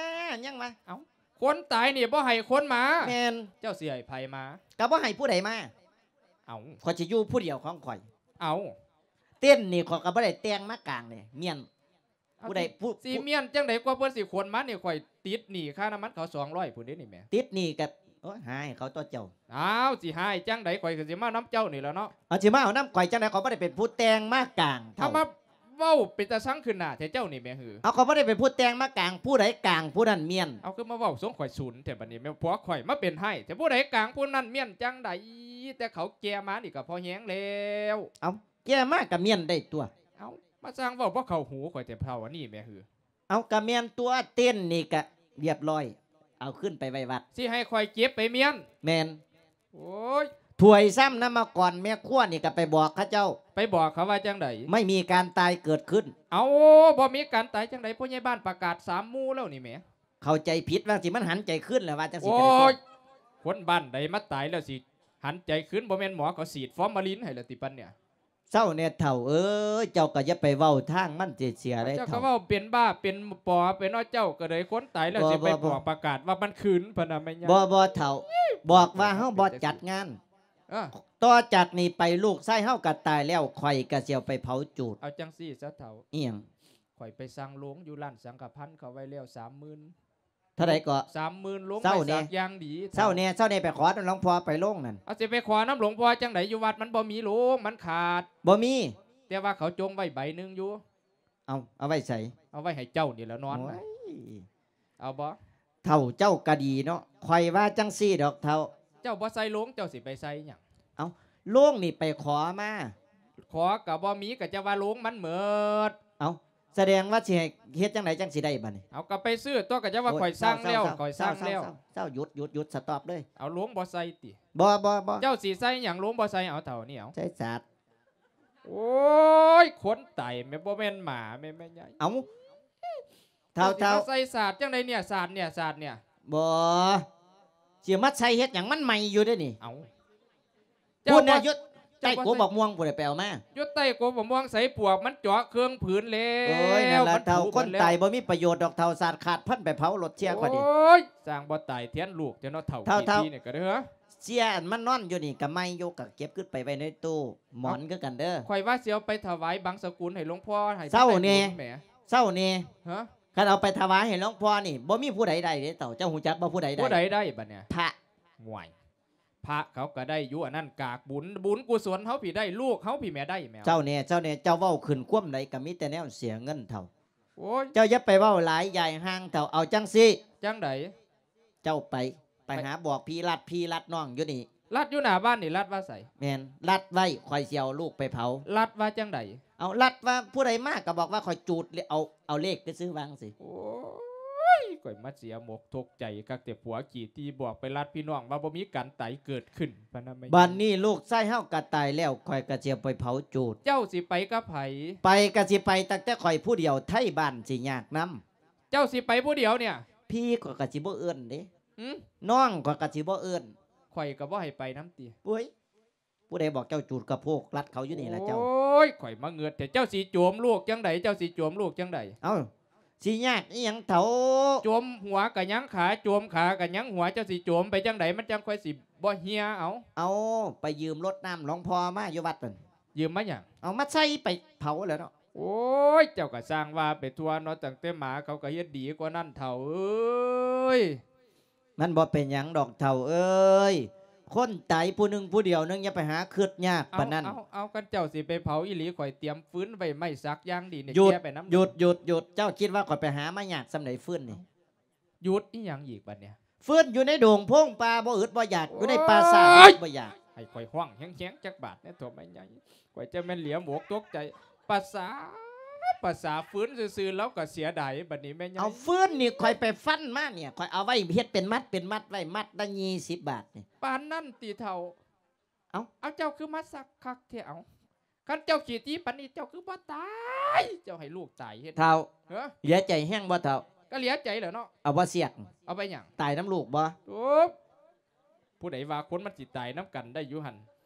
ຍັງວ່າ ເອົາ ຄົນຕາຍນີ້ບໍ່ໃຫ້ຄົນມາ. ແມ່ນ. ເຈົ້າຊິໃຫ້ໃຜມາ? ກະບໍ່ໃຫ້ຜູ້ໃດມາ. ເອົາ ຂ້ອຍຊິຢູ່ຜູ້ດຽວຂອງຂ້ອຍ. ເອົາ ເຕັ້ນນີ້ຂ້ອຍກະບໍ່ໄດ້ແຕ່ງມາກາງເດ້ ມ້ຽນ. ເອົາ ຜູ້ໃດ ຜູ້ ຊິມ້ຽນຈັ່ງໃດ ກວ່າເພິ່ນຊິຂົນມານີ້ ຂ້ອຍຕິດໜີ້ຄ່ານ້ຳມັນເຂົາສອງຮ້ອຍພຸ້ນເດ້ນີ້ແໝ. ຕິດໜີ້ກະ ໂອ້ຍ ຫາໃຫ້ເຂົາຕົວະເຈົ້າ. ອ້າວ ຊິຫາໃຫ້ຈັ່ງໃດ ຂ້ອຍກະຊິມານຳເຈົ້ານີ້ແຫຼະເນາະ. ເອົາ ຊິມາເອົານຳຂ້ອຍຈັ່ງໃດ ຂ້ອຍບໍ່ໄດ້ເປັນຜູ້ແຕ່ງມາກາງ. ເອົາ ເວົ້າເປັນຕາຊັງຂຶ້ນໜ້າແທ້ເຈົ້ານີ້ແໝ. ເອົາ ຂ້ອຍບໍ່ໄດ້ເປັນຜູ້ແຕ່ງມາກາງ ຜູ້ໃດກາງຜູ້ນັ້ນມ້ຽນ. ເອົາ ຄືມາເວົ້າຊົງຂ້ອຍສູນແທ້ບາດນີ້ແມ່. ຜົວຂ້ອຍມາເປັນຮ້າຍແທ້ ຜູ້ໃດກາງຜູ້ນັ້ນມ້ຽນຈັ່ງໃດ ແຕ່ເຂົາແກ່ມານີ້ກະພໍແຮງແລ້ວ. ເອົາ ແກ່ມາກະມ້ຽນໄດ້ຕົວະ. ເອົາ ມາຊ່າງເວົ້າບໍ່ເຂົ້າຫູຂ້ອຍແທ້ເຖົ້າອັນນີ້ແໝ. ເອົາ ກະແມ່ນຕົວະ ເຕັ້ນນີ້ກະລຽບຮ້ອຍ ເອົາຂຶ້ນໄປໄວ້ວັດ. ຊິໃຫ້ຂ້ອຍເກັບໄປມ້ຽນ? ແມ່ນ. ໂອ້ຍ ຖ້ວຍຊາມ ນ້ຳມະກອນ ແມ່ຄົວນີ້ກະໄປບອກເຂົາເຈົ້າ. ໄປບອກເຂົາວ່າຈັ່ງໃດ? ໄມ່ມີການຕາຍເກີດຂຶ້ນ. ເອົາ ບໍ່ມີການຕາຍຈັ່ງໃດ ພໍ່ໃຫຍ່ບ້ານປະກາດສາມໝູ່ແລ້ວນີ້ແໝ. ເຂົ້າໃຈຜິດວ່າຈັ່ງຊີ້ ມັນຫັນໃຈຄືນແລ້ວວ່າຈັ່ງຊີ້. ໂອ້ຍ ຄົນບ້ານໃດມາຕາຍແລ້ວຊິຫັນໃຈຄືນ ບໍ່ແມ່ນໝໍເຂົາສີດຟອມມາລິນໃຫ້ແລ້ວຕິປານເນຍ? ເຊົາແດ່ເຖົ້າເອີຍ ເຈົ້າກະຢ່າໄປເວົ້າທາງມັນເສຍໆເລີຍເຖົ້າ. ເຈົ້າກະເວົ້າເປັນບ້າເປັນປໍໄປເນາະ ເຈົ້າກະເລີຍຄົນຕາຍແລ້ວຊິໄປບອກປະກາດວ່າມັນຄືນພະນະແມ່ຍາ. ບໍ່ ບໍ່ເຖົ້າ ບອກວ່າເຮົາບໍ່ຈັດງານ. ເອີ ຕໍ່ຈາກນີ້ໄປລູກຊາຍເຮົາກະຕາຍແລ້ວ ຂ້ອຍກະຊິເອົາໄປເຜົາຈູດ. ເອົາຈັ່ງຊີ້ຊະເຖົ້າ. ອີ່ຫຍັງ? ຂ້ອຍໄປສັ່ງໂລງຢູ່ຮ້ານສັງກະພັນເຂົາໄວ້ແລ້ວສາມໝື່ນ. ເທົ່າໃດເກາະ? ສາມໝື່ນ ໂລງໄມ້ສັກຢ່າງດີ. ເຊົາແດ່ ເຊົາແດ່ ໄປຂໍນຳຫຼວງພໍ່ໄປໂລງນັ້ນ. ເອົາ ຊິໄປຂໍນຳຫຼວງພໍ່ຈັ່ງໃດ ຢູ່ວັດມັນບໍ່ມີໂລງ ມັນຂາດ. ບໍ່ມີ? ແຕ່ວ່າເຂົາຈົ່ງໄວ້ໃບໜຶ່ງຢູ່. ເອົາ ເອົາໄວ້ໃສ? ເອົາໄວ້ໃຫ້ເຈົ້ານີ້ແຫຼະນອນ. ໂອ້ຍ ເອົາບໍ່? ເຖົ້າເຈົ້າກະດີເນາະ ຂ້ອຍວ່າຈັ່ງຊີ້ດອກເຖົ້າ. ເຈົ້າບໍ່ໃສ່ໂລງ ເຈົ້າຊິໄປໃສ່ຫຍັງ? ເອົ້າ ໂລງນີ້ໄປຂໍມາ. ຂໍກະບໍ່ມີ ກະຈະວ່າໂລງມັນເໝິດ. ເອົ້າ ສະແດງວ່າຊິໃຫ້ເຮັດຈັ່ງໃດຈັ່ງຊິໄດ້ບາດນີ້? ເອົາ ກະໄປຊື້ຕົວະ ກະຈະວ່າ ໂອ້ຍ ຂ້ອຍສັ່ງແລ້ວ ເຊົາໆໆ ຂ້ອຍສັ່ງແລ້ວ. ເຊົາໆໆ ເຈົ້າຢຸດໆໆ ສະຕັອບເລີຍ. ເອົາໂລງບໍ່ໃສ່ຕິ? ບໍ່ໆໆ. ເຈົ້າຊິໃສ່ຫຍັງ ໂລງບໍ່ໃສ່? ເອົາເຖົ້ານີ້ ເອົາ ໃສ່ສາດ. ໂອ້ຍ ຄົນຕາຍແມ່ນບໍ່ແມ່ນໝາແມ່ນແມ່ໃຫຍ່. ເອົ້າ ເຖົ້າ ເຖົ້າ ຊິມາໃສ່ສາດຈັ່ງໃດເນຍ ສາດເນຍ ສາດເນຍ? ບໍ່ ຊິມາໃສ່ເຮັດຫຍັງ ມັນໃໝ່ຢູ່ເດ້ນີ້. ເອົ້າ ພຸ້ນນະ ເຈົ້າບໍ່ ຢູ່ໃຕ້ກົກບັກມ່ວງພຸ້ນນະ ໄປເອົາມາ. ຢູ່ໃຕ້ກົກບັກມ່ວງໃສ ປວກມັນເຈາະເຄື່ອງຜືນແລ້ວ. ໂອ້ຍ ນັ້ນລະເຖົ້າ ຄົນຕາຍບໍ່ມີປະໂຫຍດດອກເຖົ້າ ສາດຂາດພັນໄປເຜົາລົດເຊຍກວ່ານີ້. ໂອ້ຍ ສ້າງບໍ່ຕາຍແທນລູກເຈົ້າເນາະ ເຖົ້າ ເຖົ້າ ຂີ້ທີ້ນີ້ກະເດີ. ເຊຍອັນມັນນອນຢູ່ນີ້ກະໃໝ່ຢູ່ ກະເກັບຂຶ້ນໄປໄວ້ໃນຕູ້ໝອນຄືກັນເດີ. ຂ້ອຍວ່າຊິເອົາໄປຖວາຍບັງສະກຸນໃຫ້ຫຼວງພໍ່ ໃຫ້ເຊົາແດ່ ເຊົາແດ່. ຮະ? ຄັນເອົາໄປຖວາຍໃຫ້ຫຼວງພໍ່ນີ້ ບໍ່ມີຜູ້ໃດໄດ້ເດ້ເຖົ້າ ເຈົ້າຮູ້ຈັກບໍ່ ຜູ້ໃດໄດ້? ຜູ້ໃດໄດ້ບາດເນຍ? ພະ. ໂອ້ຍ ພະເຂົາກະໄດ້ຢູ່ ອັນນັ້ນກາກບຸນ ບຸນກຸສົນເຮົາພີ້ໄດ້ ລູກເຮົາພີ້ແມ່ໄດ້ແມ່. ເຈົ້າແດ່ ເຈົ້າແດ່ ເຈົ້າເວົ້າຂຶ້ນຄວາມໃດກະມີແຕ່ແນວເສຍເງິນເຖົ້າ. ໂອ້ຍ ເຈົ້າຢ່າໄປເວົ້າຫຼາຍ ຢາຍຫ່າງເຖົ້າ. ເອົາຈັ່ງຊີ້ ຈັ່ງໃດ? ເຈົ້າໄປ ໄປຫາບອກພີ່ລັດ ພີ່ລັດນ້ອງຢູ່ນີ້. ລັດຢູ່ໜ້າບ້ານນີ້ ລັດວ່າໃສ? ແມ່ນ ລັດໄວ້ ຂ້ອຍຊິເອົາລູກໄປເຜົາ. ລັດວ່າຈັ່ງໃດ? ເອົາ ລັດວ່າຜູ້ໃດມາກະບອກວ່າຂ້ອຍຈູດ ເອົາ ເອົາເລກຊື່ໆ ວ່າຈັ່ງຊີ້. ໂອ້ຍ ຂ້ອຍມາເສຍໝົກທຸກໃຈຄັກແຕ່ ຜົວຂີ້ຖີ່ບອກໄປລັດພີ່ນ້ອງວ່າບໍ່ມີການຕາຍເກີດຂຶ້ນ ປານນັ້ນແມ່. ບາດນີ້ລູກຊາຍເຮົາກະຕາຍແລ້ວ ຂ້ອຍກະຊິເອົາໄປເຜົາຈູດ. ເຈົ້າຊິໄປກັບໃຜ? ໄປກະຊິໄປຕັ້ງແຕ່ຂ້ອຍຜູ້ດຽວ ໄທບ້ານຊິຍາກນຳ. ເຈົ້າຊິໄປຜູ້ດຽວເນຍ? ພີ່ຂ້ອຍກະຊິບໍ່ເອີ້ນເດ້. ຫື? ນ້ອງຂ້ອຍກະຊິບໍ່ເອີ້ນ. ຂ້ອຍກະບໍ່ໃຫ້ໄປນຳຕິ? ໂອ້ຍ ຜູ້ໃດບອກເຈົ້າຈູດກະໂພກລັດເຂົາຢູ່ນີ້ລະເຈົ້າ. ໂອ້ຍ ຂ້ອຍມາເງືອດແທ້ ເຈົ້າຊິໂຈມລູກຈັ່ງໃດ? ເຈົ້າຊິໂຈມລູກຈັ່ງໃດ? ເອົ້າ ຊິຍາກອີ່ຫຍັງເຖົ້າ? ໂຈມຫົວກະຍັງຂາ ໂຈມຂາກະຍັງຫົວ ເຈົ້າຊິໂຈມໄປຈັ່ງໃດ ມັນຈັ່ງຄ່ອຍຊິບໍ່ເຫ່ຍ? ເອົາ ເອົາ ໄປຢືມລົດນ້ຳຫຼວງພໍ່ມາຢູ່ວັດນັ້ນ. ຢືມມາຫຍັງ? ເອົາມາໃສ່ໄປເຜົາແລ້ວເນາະ. ໂອ້ຍ ເຈົ້າກະຊ່າງວ່າໄປທົ່ວເນາະ ຕັ້ງແຕ່ໝາເຂົາກະເຮັດດີກວ່ານັ້ນເຖົ້າເອີຍ. ມັນບໍ່ເປັນຫຍັງດອກເຖົ້າເອີຍ ຄົນຕາຍຜູ້ໜຶ່ງຜູ້ດຽວໜຶ່ງ ຢ່າໄປຫາຄຶດຍາກປານນັ້ນ. ເອົາ ເອົາ ເອົາ ຄັນເຈົ້າຊິໄປເຜົາອີ່ຫຼີ ຂ້ອຍຕຽມຟືນໄວ້ໄມ້ສັກຢ່າງດີນີ້ ແກ່ໄປນຳ. ຢຸດ ຢຸດ ຢຸດ ເຈົ້າຄິດວ່າຂ້ອຍໄປຫາມາຍາກສ່ຳໃດຟືນນີ້? ຢຸດອີ່ຫຍັງອີກບາດເນຍ? ຟືນຢູ່ໃນດົງໂພງປ່າ ບໍ່ອຶດບໍ່ຢາກ ຢູ່ໃນປ່າຊ້າ ບໍ່ອຶດບໍ່ຢາກ. ໃຫ້ຂ້ອຍຮ້ອງແຮງໆຈັກບາດແດ່ ໂທ້ແມ່ໃຫຍ່ ຂ້ອຍຈັ່ງແມ່ນຫຼຽມອົກຕົກໃຈ. ປະສາ ປະສາຟືນຊື່ໆ ລາວກະເສຍດາຍບາດນີ້ແມ່ໃຫຍ່. ເອົາ ຟືນນີ້ຂ້ອຍໄປຟັນມາເນຍ ຂ້ອຍເອົາໄວ້ເຮັດເປັນມັດເປັນມັດໄວ້ ມັດລະຍີ່ສິບບາດນີ້. ປານນັ້ນຕິເຖົ້າ? ເອົາ ເອົາ ເຈົ້າຄືມາສັກຄັກແທ້ ເອົາ ຄັນເຈົ້າຂີ້ຖີ່ປານນີ້ ເຈົ້າຄືບໍ່ຕາຍ ເຈົ້າໃຫ້ລູກຕາຍເຮັດ. ເຖົ້າ ເອີ ເຫຼືອໃຈແຮງບໍ່ເຖົ້າ? ກະເຫຼືອໃຈແຫຼະເນາະ. ເອົາບໍ່ສຽກ? ເອົາໄປຫຍັງ? ຕາຍນຳລູກບໍ່? ໂອ້ ຜູ້ໃດວ່າຄົນມັນຊິຕາຍນຳກັນໄດ້ຢູ່ຫັ້ນ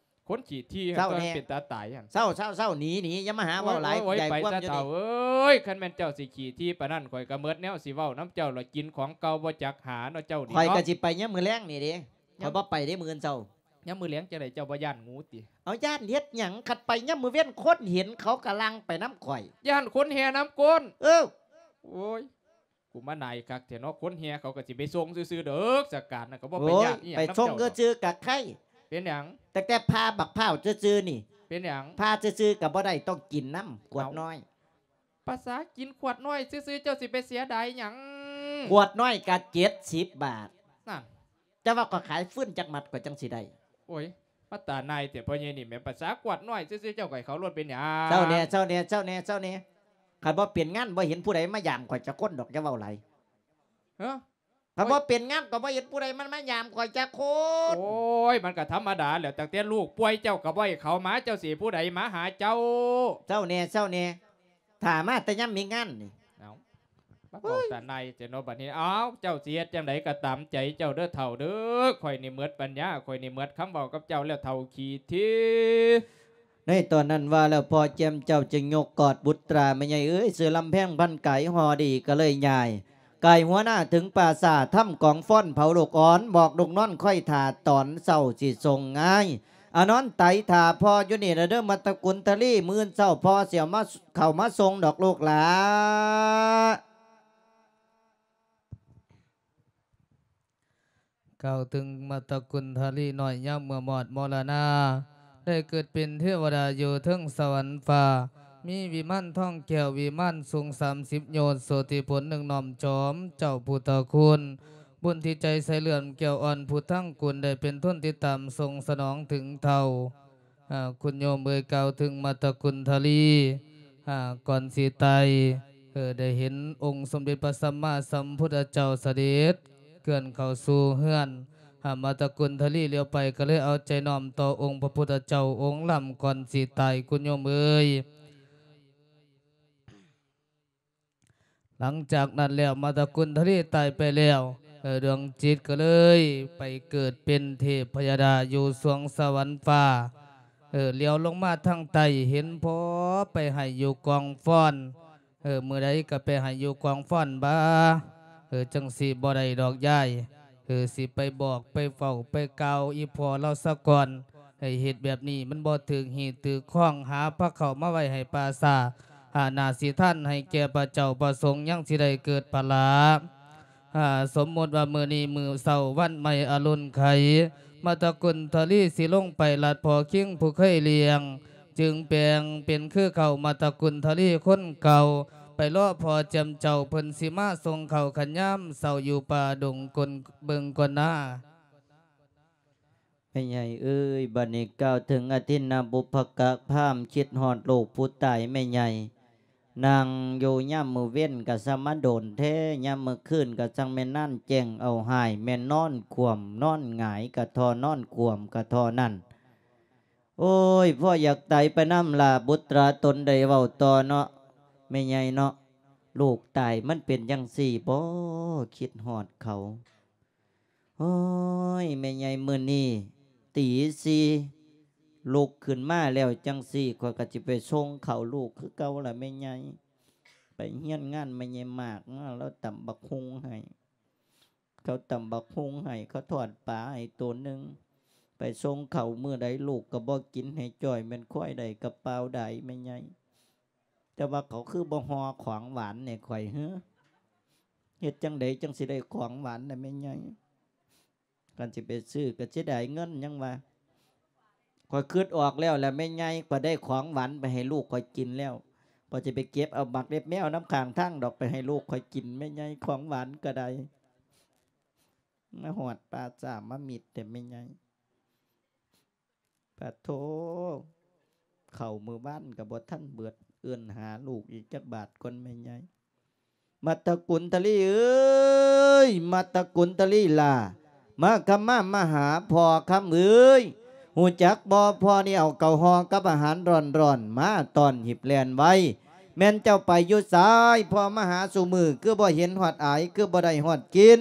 ຄົນຂີ້ຖີ່ຫັ້ນ ເປັນຕາຕາຍຫັ້ນ. ເຊົາ ເຊົາ ເຊົາ ໜີ ໜີ ຢ່າມາຫາເວົ້າຫຼາຍ. ໂອ້ຍ ໃຫຍ່ຄວາມຢູ່ນີ້ ເອີຍ ຄັນແມ່ນເຈົ້າຊິຂີ້ຖີ່ປານນັ້ນ ຂ້ອຍກະໝົດແນວຊິເວົ້ານຳເຈົ້າລະ ກິນຂອງເກົ່າບໍ່ຈັກຫາເນາະເຈົ້ານີ້. ຂ້ອຍກະຊິໄປຍາມມື້ແລງນີ້ເດ້ ຂ້ອຍບໍ່ໄປເດ້ມື້ອື່ນເຊົ້າ. ຍາມມື້ແລງຈັ່ງໃດ ເຈົ້າບໍ່ຢ້ານງູຕິ? ເອົາ ຢ້ານເຮັດຫຍັງ ຄັນໄປຍາມມື້ເວັນຄົນເຫັນເຂົາກະຫຼັ່ງໄປນຳຂ້ອຍ. ຢ້ານຄົນແຫ່ນຳກົ້ນ? ເອີ ໂອ້ຍ ກູມານາຍຄັກແທ້ເນາະ ຄົນແຫ່ເຂົາກະຊິໄປສົ່ງຊື່ໆດອກ ສະການນະກະບໍ່ໄປຍາກອີ່ຫຍັງນຳເຈົ້າດອກ. ໂອ້ຍ ໄປສົ່ງຊື່ໆກະໄຄ. ເປັນຫຍັງ? ຕັ້ງແຕ່ພາບັກພ້າວຊື່ໆນີ້. ເປັນຫຍັງ? ພາຊື່ໆກະບໍ່ໄດ້ ຕ້ອງກິນນຳ ກວດນ້ອຍ. ພາສາກິນຂວດນ້ອຍຊື່ໆ ເຈົ້າຊິໄປເສຍດາຍຫຍັງ? ຂວດນ້ອຍກະເຈັດສິບບາດ. ນັ້ນ ເຈົ້າວ່າຂ້ອຍຂາຍຟືນຈັກມັດຂ້ອຍຈັ່ງຊິໄດ້? ໂອ້ຍ ມາຕານາຍແທ້ພໍ່ໃຫຍ່ນີ້ແໝ່ ພາສາຂວດນ້ອຍຊື່ໆ ເຈົ້າກະໃຫ້ເຂົາໂລດເປັນຫຍັງ? ເຊົາແດ່ ເຊົາແດ່ ເຊົາແດ່ ເຊົາແດ່. ຄັນບໍ່ເປັນງານບໍ່ເຫັນຜູ້ໃດມາຢາມຂ້ອຍຈັກຄົນດອກ ຢ່າເວົ້າຫຼາຍ. ຮະ? ຄັນບໍ່ເປັນງານກະບໍ່ເຫັນຜູ້ໃດມັນມາຢາມຂ້ອຍຈັກຄົນ. ໂອ້ຍ ມັນກະທຳມະດາແຫຼະ ຕັ້ງແຕ່ລູກປ່ວຍເຈົ້າກະບໍ່ໃຫ້ເຂົາມາ ເຈົ້າຊິໃຫ້ຜູ້ໃດມາຫາເຈົ້າ? ເຊົາແດ່ ເຊົາແດ່. ຖ້າມາແຕ່ຍາມມີງານນີ້. ເອົ້າ ມາເວົ້າຕານາຍແທ້ເນາະບາດນີ້. ເອົ້າ ເຈົ້າຊິເຮັດຈັ່ງໃດກະຕາມໃຈເຈົ້າເດີເຖົ້າເດີ. ຂ້ອຍນີ້ໝົດປັນຍາ ຂ້ອຍນີ້ໝົດຄຳເວົ້າກັບເຈົ້າແລ້ວ ເຖົ້າຂີ້ຖີ່. ໃນຕອນນັ້ນວ່າແລ້ວ ພໍ່ແຈ່ມເຈົ້າຈຶ່ງຍົກກອດບຸດຕາ ແມ່ໃຫຍ່ເອີຍ ເສືອລຳແພງພັນກາຍຫໍ່ດີກະເລີຍຍ່າຍ ກາຍຫົວໜ້າເຖິງປ່າຊ້າ ທຳກອງຟ້ອນເຜົາລູກອ່ອນ ບອກລູກນອນຄອຍຖ້າ ຕອນເຊົ້າຊິສົ່ງງາຍ. ອານອນໄຕຖ້າພໍ່ຢູ່ນີ້ລະເດີ ມາຕະກຸນທະລີ ມື້ເຊົ້າພໍ່ຊິເອົາມາ ເຂົ້າມາສົ່ງດອກລູກຫຼາ. ກ່າວເຖິງມາຕະກຸນທະລີນ້ອຍ ຍາມເມື່ອມອດມໍລະນາ ໄດ້ເກີດເປັນເທວະດາຢູ່ເທິງສະຫວັນຟ້າ ມີວິມານທອງແກ້ວ ວິມານສູງສາມສິບໂຍດ ໂສຕິພົນໜຶ່ງນ້ອມຈອມເຈົ້າພຸດທະຄຸນ ບຸນທີ່ໃຈໃສເຫຼື້ອມແກ້ວອ່ອນ ຜູ້ທັງກຸນໄດ້ເປັນທຶນຕິດຕາມສົ່ງສະໜອງເຖິງເຖົ້າ. ອາ ຄຸນໂຍມເອີຍ ກ່າວເຖິງມາດຕະກຸນທະລີ ອາ ກ່ອນຊິຕາຍ ເອີ ໄດ້ເຫັນອົງສົມເດັດພະສຳມາສຳພຸດທະເຈົ້າສະເດັດເຄື່ອນເຂົ້າສູ່ເຮືອນ. ອາ ມາດຕະກຸນທະລີຫຼຽວໄປກໍເລີຍເອົາໃຈນ້ອມຕໍ່ອົງພະພຸດທະເຈົ້າອົງລ້ຳກ່ອນຊິຕາຍ ຄຸນໂຍມເອີຍ. ຫຼັງຈາກນັ້ນແລ້ວ ມາດຕະກຸນທະລີຕາຍໄປແລ້ວ ເອີ ດວງຈິດກໍເລີຍໄປເກີດເປັນເທບພະຍະດາຢູ່ສວງສະຫວັນຟ້າ. ເອີ ຫຼຽວລົງມາທາງໃຕ້ ເຫັນພໍ່ໄປໄຫ້ຢູ່ກອງຟອນ. ເອີ ມື້ໃດກໍໄປໄຫ້ຢູ່ກອງຟອນບາ ເອີ ຈັ່ງຊິບໍ່ໄດ້ດອກຍາຍ. ເອີ ຊິໄປບອກໄປເວົ້າໄປກ່າວອີ່ພໍ່ລາວສາກ່ອນ ໃຫ້ເຮັດແບບນີ້ມັນບໍ່ຖືກຮີດຖືກຄອງ. ຫາພະເຂົ້າມາໄວ້ໃຫ້ປ່າຊ້າ ຫາໜ້າຊິທານໃຫ້ແກ່ພະເຈົ້າພະສົງ ຍັງຊິໄດ້ເກີດພະລາ. ອາ ສົມມຸດວ່າມື້ນີ້ມື້ເຊົ້າວັນໃໝ່ອະລຸນໄຂ ມາດຕະກຸນທະລີຊິລົງໄປລັດພໍ່ຄິງຜູ້ເຄີຍລ້ຽງ ຈຶ່ງແປງເປັນຄືເກົ່າ ມາດຕະກຸນທະລີຄົນເກົ່າ ໄປລໍພໍ່ແຈ່ມເຈົ້າ ເພິ່ນຊິມາສົ່ງເຂົ້າຄັນຍາມເຊົ້າຢູ່ປ່າດົງກົນເບິ່ງກ່ອນນາ. ແມ່ໃຫຍ່ເອີຍ ບັດນີ້ກ່າວເຖິງອະທິນນະບຸບພະກະພາມ ຄິດຮອດລູກຜູ້ຕາຍແມ່ໃຫຍ່. ນັ່ງຢູ່ຍາມມື້ເວັນກະຊ່າງມາດົນແທ້ ຍາມມື້ຄືນກະຊ່າງແມ່ນນານແຈ້ງເອົາຫາຍ ແມ່ນນອນຂວ້ຳນອນຫງາຍກະທໍ່ ນອນຂວ້ຳກະທໍ່ນັ້ນ. ໂອ້ຍ ພໍ່ຢາກຕາຍໄປນຳລະ ບຸດຕາຕົນໄດ້ເວົ້າຕໍ່ເນາະ ແມ່ໃຫຍ່ເນາະ. ລູກຕາຍມັນເປັນຈັ່ງຊີ້ບໍ ຄິດຮອດເຂົາ. ໂອ້ຍ ແມ່ໃຫຍ່ ມື້ນີ້ຕີສີ່ລຸກຂຶ້ນມາແລ້ວຈັ່ງຊີ້ ຂ້ອຍກໍຊິໄປສົ່ງເຂົ້າລູກຄືເກົ່າລະແມ່ໃຫຍ່. ໄປຮຽນງານແມ່ໃຫຍ່ມາກມາ ລາວຕຳບັກຫຸ່ງໃຫ້ ເຂົາຕຳບັກຫຸ່ງໃຫ້ ເຂົາທອດປາໃຫ້ໂຕໜຶ່ງ ໄປສົ່ງເຂົ້າມື້ໃດລູກກໍບໍ່ກິນ ໃຫ້ຈ່ອຍແມ່ນຄວາຍໃດກະປ່າວດາຍແມ່ໃຫຍ່. ແຕ່ວ່າເຂົາຄືບໍ່ຫໍ່ຂອງຫວານໃຫ້ຂ້ອຍເຮີ ເຮັດຈັ່ງໃດຈັ່ງຊິໄດ້ຂອງຫວານນະແມ່ໃຫຍ່? ຄັນຊິໄປຊື້ກໍເສຍດາຍເງິນ ຍັງວ່າ ຂ້ອຍຄິດອອກແລ້ວລະແມ່ໃຫຍ່ ຂ້ອຍໄດ້ຂອງຫວານໄປໃຫ້ລູກຂ້ອຍກິນແລ້ວ ຂ້ອຍຊິໄປເກັບເອົາໝາກເລັບແມວນຳຂ້າງທາງດອກ ໄປໃຫ້ລູກຂ້ອຍກິນແມ່ໃຫຍ່ ຂອງຫວານກໍໄດ້. ມາຮອດປ່າຊ້າມາມິດແທ້ແມ່ໃຫຍ່. ປະໂທ ເຂົ້າມື້ວານກໍບໍ່ທັນເບິດ ເອີ້ນຫາລູກອີກຈັກບາດກ່ອນແມ່ໃຫຍ່. ມັດຕະກຸນທະລີເອີຍ ມັດຕະກຸນທະລີຫຼ້າ ມາຄຳມາ ມາຫາພໍ່ຄຳເອີຍ ຮູ້ຈັກບໍ່ ພໍ່ນີ້ເອົາເຂົ້າຫໍ່ກັບອາຫານຮ້ອນໆ ມາຕ້ອນຮີບແລ່ນໄວ. ແມ່ນເຈົ້າໄປຢູ່ໃສ ພໍ່ມາຫາສູ່ມື້ ຄືບໍ່ເຫັນຮອດອາຍ ຄືບໍ່ໄດ້ຮອດກິນ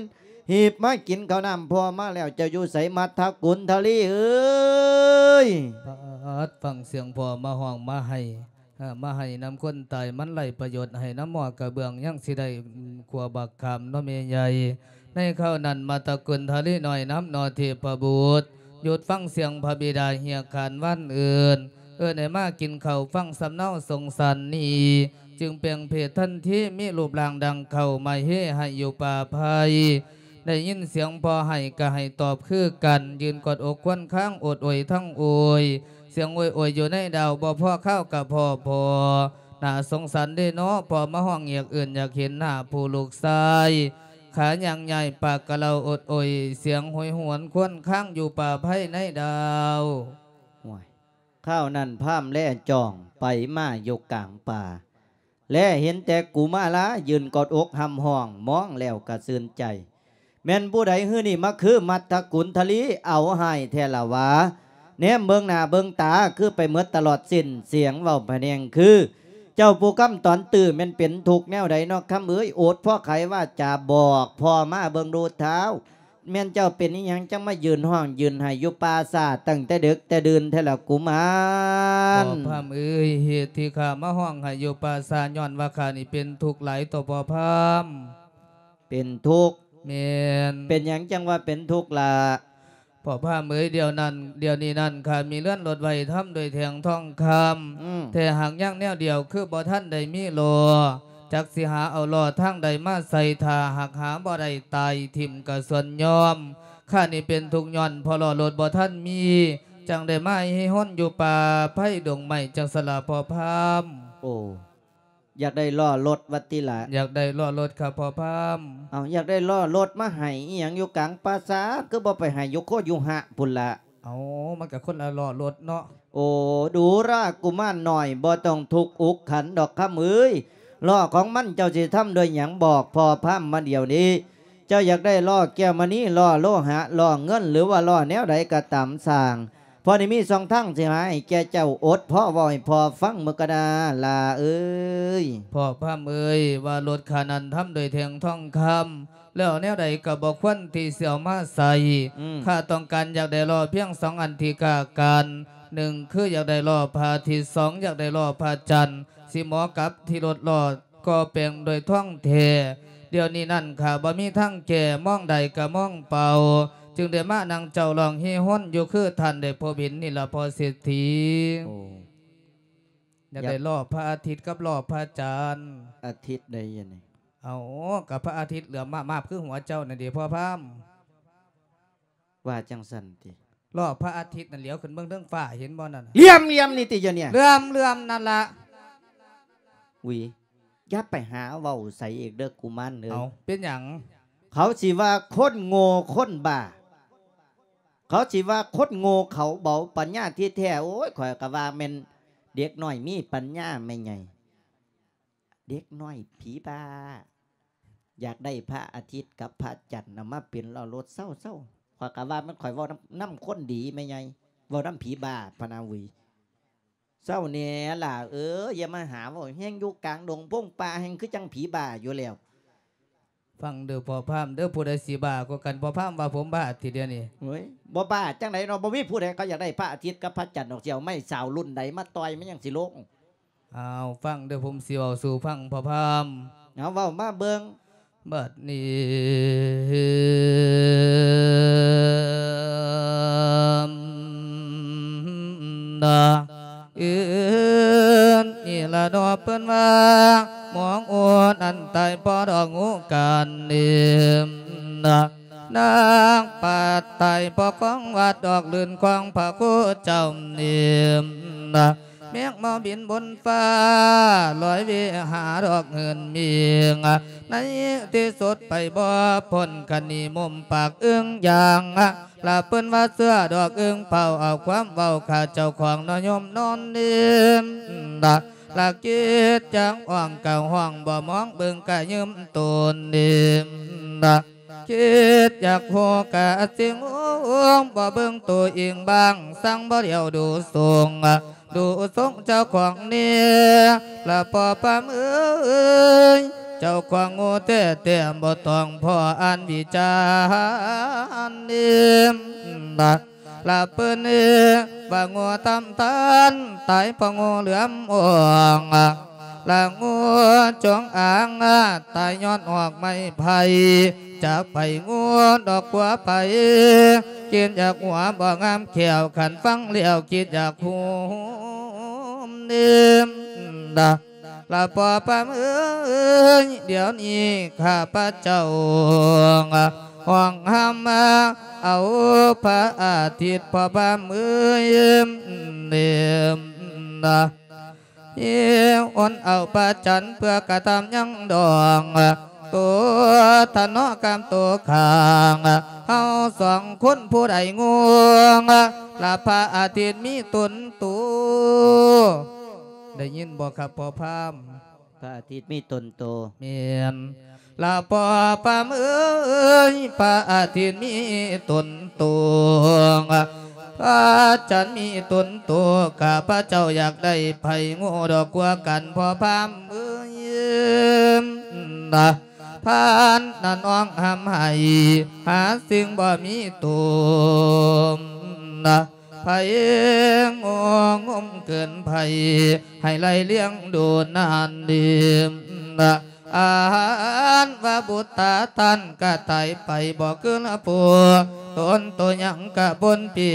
ຮີບມາກິນເຂົ້ານ້ຳພໍ່ມາແລ້ວ ເຈົ້າຢູ່ໃສ ມັດທະກຸນທະລີເອີຍ. ປາດ ຟັງສຽງພໍ່ມາຮ້ອງມາໄຫ້ ເອີ ມາໄຫ້ນຳຄົນຕາຍ ມັນໄຮ້ປະໂຫຍດ ໄຫ້ນຳໝໍ້ກະເບື້ອງ ຍັງຊິໄດ້ ອືມ ຂົ້ວບັກຂາມເນາະແມ່ໃຫຍ່. ໃນຄາວນັ້ນ ມັດຕະກຸນທະລີນ້ອຍນຳເນາະເທບພະບຸດ ຢຸດຟັງສຽງພະບິດາຮຽກຂານວານເອີ້ນ ເອີ້ນໃຫ້ມາກິນເຂົ້າຟັງສຳເນົາສົງສານນີ້ ຈຶ່ງແປງເພດທັນທີ ມີຮູບຮ່າງດັ່ງເຂົ້າມາເຮໄຫ້ຢູ່ປ່າໄຜ່. ໄດ້ຍິນສຽງພໍ່ໄຫ້ກະໄຫ້ຕອບຄືກັນ ຢືນກອດອົກຄວນຄາງ ໂອດໂອຍທັງໂອຍ ສຽງໂອຍໂອຍຢູ່ໃນດາວ ບໍ່ພໍຄາວກະພໍພໍ ໜ້າສົງສານເດເນາະ ພໍ່ມາຮ້ອງຮຽກເອີ້ນ ຢາກເຫັນໜ້າຜູ້ລູກຊາຍ ຂາຍ່າງຍ້າຍປາກກະເລົ່າໂອດໂອຍ ສຽງໂຫຍຫວນຄວນຄາງຢູ່ປ່າໄຜ່ໃນດາວ. ໂອ້ຍ ຄາວນັ້ນພາມແລຈ້ອງໄປມາຢູ່ກາງປ່າ ແລເຫັນແຕ່ກຸມາລາຢືນກອດອົກຮ່ຳຮ້ອງ ມອງແລ້ວກະຊື່ນໃຈ. ແມ່ນຜູ້ໃດຮືນີ້ມາຄືມັດທະກຸນທະລີ ເອົາຮ້າຍແທ້ລະຫວາ ແນມເບິ່ງໜ້າເບິ່ງຕາຄືໄປໝົດຕະຫຼອດສິ້ນ ສຽງເວົ້າພະແນງຄື ເຈົ້າຜູ້ຄຳຕອນຕື້ ແມ່ນເປັນທຸກແນວໃດເນາະຄຳເອີຍ ໂອດພໍໄຂວາຈາບອກພໍ່ມາເບິ່ງດູທ້າວ. ແມ່ນເຈົ້າເປັນອີ່ຫຍັງ ຈັ່ງມາຢືນຮ້ອງຢືນໄຫ້ຢູ່ປ່າຊ້າຕັ້ງແຕ່ເດິກແຕ່ດື່ນແທ້ລະກຸມານ? ພໍ່ພາມເອີຍ ເຫດທີ່ຂ້າມາຮ້ອງໄຫ້ຢູ່ປ່າຊ້າ ຍ້ອນວ່າຂ້ານີ້ເປັນທຸກຫຼາຍຕໍ່ພໍ່ພາມ. ເປັນທຸກ? ແມ່ນ. ເປັນຫຍັງຈັ່ງວ່າເປັນທຸກລະ? ພໍ່ພາມເອີຍ ດຽວນັ້ນ ດຽວນີ້ນັ້ນ ຂ້າມີເຮືອນລົດໄຫວ້ທຳດ້ວຍແທ່ງທອງຄຳ ອືມ ແຕ່ຫາກຍັງແນວດຽວ ຄືບໍ່ທັນໄດ້ມີລໍ້ ຈັກຊິຫາເອົາລໍ້ທາງໃດມາໃສ່ ຖ້າຫາກຫາບໍ່ໄດ້ ຕາຍຖິ້ມກະສ່ວນຍອມ. ຂ້ານີ້ເປັນທຸກຍ້ອນເພາະລໍ້ລົດບໍ່ທັນມີ ຈັ່ງໄດ້ມາຮີຮົນຢູ່ປ່າໄຜ່ດົງໄມ້ ຈັ່ງຊັ້ນລະພໍ່ພາມ. ໂອ້ ຢາກໄດ້ລໍ້ລົດວ່າຕິລະ? ຢາກໄດ້ລໍ້ລົດຄັບພໍ່ພາມ. ເອົ້າ ຢາກໄດ້ລໍ້ລົດມາໃຫ້ອີ່ຫຍັງຢູ່ກາງປ່າຊ້າ ຄືບໍ່ໄປໃຫ້ຢູ່ໂຄຢູ່ຫະພຸ້ນລະ? ເອົ້າ ມັນກະຄົນລະລໍ້ລົດເນາະ. ໂອ ດູລະກຸມານນ້ອຍ ບໍ່ຕ້ອງທຸກອຸກຂັນດອກຄຳເອີຍ. ລໍ້ຂອງມັນເຈົ້າຊິທຳດ້ວຍຫຍັງ? ບອກພໍ່ພາມມາດຽວນີ້. ເຈົ້າຢາກໄດ້ລໍ້ແກ້ວມະນີ ລໍ້ໂລຫະ ລໍ້ເງິນ ຫຼືວ່າລໍ້ແນວໃດກໍຕາມຊ່າງ ພໍ່ນີ້ມີຊ່ອງທາງຊິຫາໃຫ້ແກ່ເຈົ້າ. ອົດພໍເວົ້າໃຫ້ພໍ່ຟັງເບິ່ງກະນາ ຫຼ້າເອີຍ. ພໍ່ພາມເອີຍ ວ່າລົດຂ້ານັ້ນທຳດ້ວຍແທ່ງທອງຄຳ ແລ້ວແນວໃດກໍບໍ່ຄວນທີ່ຊິເອົາມາໃຊ້. ອືມ ຂ້າຕ້ອງການຢາກໄດ້ລໍ້ພຽງສອງອັນທີ່ຂ້າການ. ໜຶ່ງ ຄືຢາກໄດ້ລໍ້ພະອາທິດ, ສອງ ຢາກໄດ້ລໍ້ພະຈັນ ຊິໝໍກັບທີ່ລົດລໍ້ ກໍ່ແປງດ້ວຍທອງແທ້. ດຽວນີ້ນັ້ນຂ້າບໍ່ມີທາງແກ້, ມອງໄດ້ກໍມອງເປົ່າ, ຈຶ່ງໄດ້ມານັ່ງເຈົ້າຮ້ອງຮີຮົນຢູ່ຄືທ່ານໄດ້ພົບເຫັນນີ້ລະພໍ່ເສດຖີ. ໂອ້ ຢາກໄດ້ ຢາກ ລໍ້ພະອາທິດກັບລໍ້ພະຈັນ. ອາທິດໃດຍະນີ້? ເອົ້າ ກໍພະອາທິດເຫຼືອມມາບໆຄືຫົວເຈົ້ານັ້ນເດພໍ່ພາມ. ວ່າຈັ່ງຊັ້ນຕິ? ລໍ້ພະອາທິດນັ້ນຫຼຽວຂຶ້ນເບິ່ງເທິງຟ້າເຫັນບໍ່ນັ້ນ? ເຫຼື່ອມໆນີ້ຕິ ຢູ່ນີ້ ເຫຼື່ອມໆນັ້ນລະ. ອຸຍ ຢ່າໄປຫາເວົ້າໃສອີກເດີກຸມານເອີຍ. ເອົ້າ ເປັນຫຍັງ? ເຂົາຊິວ່າຄົນໂງ່ຄົນບ້າ, ເຂົາຊິວ່າຄົນໂງ່ເຂົາເບົາ, ປັນຍາທີ່ແທ້ ໂອ້ຍ ຂ້ອຍກໍວ່າແມ່ນເດັກນ້ອຍມີປັນຍາແມ່ໃຫຍ່. ເດັກນ້ອຍຜີບ້າ ຢາກໄດ້ພະອາທິດກັບພະຈັນນຳມາເປັນລໍ້ລົດ. ເຊົາໆ ຂ້ອຍກະວ່າແມ່ນຂ້ອຍເວົ້ານຳ ນຳຄົນດີແມ່ໃຫຍ່ ເວົ້ານຳຜີບ້າພະນາຫວີ. ເຊົາແດ່ຫຼ້າເອີຍ ຢ່າມາຫາເວົ້າແຮງ ຢູ່ກາງດົງພົງປ່າແຮງ ຄືຈັ່ງຜີບ້າຢູ່ແລ້ວ. ຟັງເດີພໍ່ພາມເດີ ຜູ້ໃດຊິບ້າກວ່າກັນ? ພໍ່ພາມວ່າຜົມບ້າຕິດຽວນີ້. ໂອ້ຍ ບໍ່ບ້າຈັ່ງໃດເນາະ ບໍ່ມີຜູ້ໃດເຂົາຢາກໄດ້ພະອາທິດກັບພະຈັນດອກ. ຊິເອົາໄມ້ສາວລຸ້ນໃດມາຕ່ອຍ ມັນຍັງຊິລົງ. ອ້າວ ຟັງເດີ ຜົມຊິເວົ້າສູ່ຟັງ ພໍ່ພາມ. ເອົາ ເວົ້າມາເບິ່ງ. ບັດນີ້ນະ ອື່ນນີ້ລະເນາະ ເພິ່ນວ່າ ໝອງໂອດອັນຕາຍພໍດອກງູກັນນີ້ນະ ນາງປາດຕາຍພໍຂອງວັດດອກລື່ນຂອງພະຄູເຈົ້ານີ້ນະ. ແມງເມົາບິນບົນຟ້າ ລອຍວິຫາດອກເຫີນມິງ ໃນທີ່ສຸດໄປບໍ່ພົ້ນຄະນີມຸມປາກອຶ້ງຢ່າງ ລະເພິ່ນວ່າເຊື່ອດອກອຶ້ງເປົ່າ ເອົາຄວາມເວົ້າຂ້າເຈົ້າຂອງນະໂຍມນອນນິມ ລະຄິດຈັກຮ້ອງກະຮ້ອງ ບໍ່ມອງເບິ່ງກະຍືມໂຕນິມ ລະ ຄິດຢາກຮູ້ກະຊິງູ ບໍ່ເບິ່ງໂຕເອງບ້າງ ສັງບໍ່ດຽວດູຊົງ ດູຊົງເຈົ້າຂອງນີ້ ລະພໍ່ພາມເອີຍ ເຈົ້າຂອງງູແທ້ໆ ບໍ່ຕ້ອງພໍອ່ານວິຈານນີ້ ລະ ລະເພິ່ນວ່າງູທຳທ່ານ ຕາຍເພາະງູເຫຼືອມອອງ ລະງູຈົງອາງ ຕາຍຍ້ອນຫອກໄມ້ໄຜ່ ຈາກໄປງູດອກກົວໄປ ຄິດຢາກຫົວບໍ່ງາມແຂ້ວ ຄັນຟັງແລ້ວຄິດຢາກຫູມນີ້ ລະ ລະພໍ່ພາມເອີຍ ດຽວນີ້ຂ້າພະເຈົ້າ ຮ້ອງຮຳມາເອົາພະອາທິດ ພໍ່ພາມເອີຍ ເນມນະ ໂອນເອົາພະຈັນ ເພື່ອກະທຳຍັງດອງ ໂຕທະເນາະກຳໂຕຂ້າງ ເຮົາສອງຄົນຜູ້ໃດງູ ລະພະອາທິດມີຕົນໂຕ. ໄດ້ຍິນບໍ່ຄັບພໍ່ພາມ? ພະອາທິດມີຕົນໂຕ. ແມ່ນລະພໍ່ພາມເອີຍ ພະອາທິດມີຕົນໂຕ ພະຈັນມີຕົນໂຕ ຂ້າພະເຈົ້າຢາກໄດ້ໃຜງູດອກກວ່າກັນ ພໍ່ພາມເອີຍນະ. ພານນັ້ນຮ້ອງຮ່ຳໄຫ້ ຫາສິ່ງບໍ່ມີໂຕນະ ໃຜງູງຸ້ມເກີນໃຜ ໃຫ້ໄລ່ລ້ຽງດູນານດີນະ ອາຫານວ່າບຸດຕາທ່ານກະຕາຍໄປ ບໍ່ຄືລະຜູ້ຕົນໂຕຫຍັງກະປົນປີ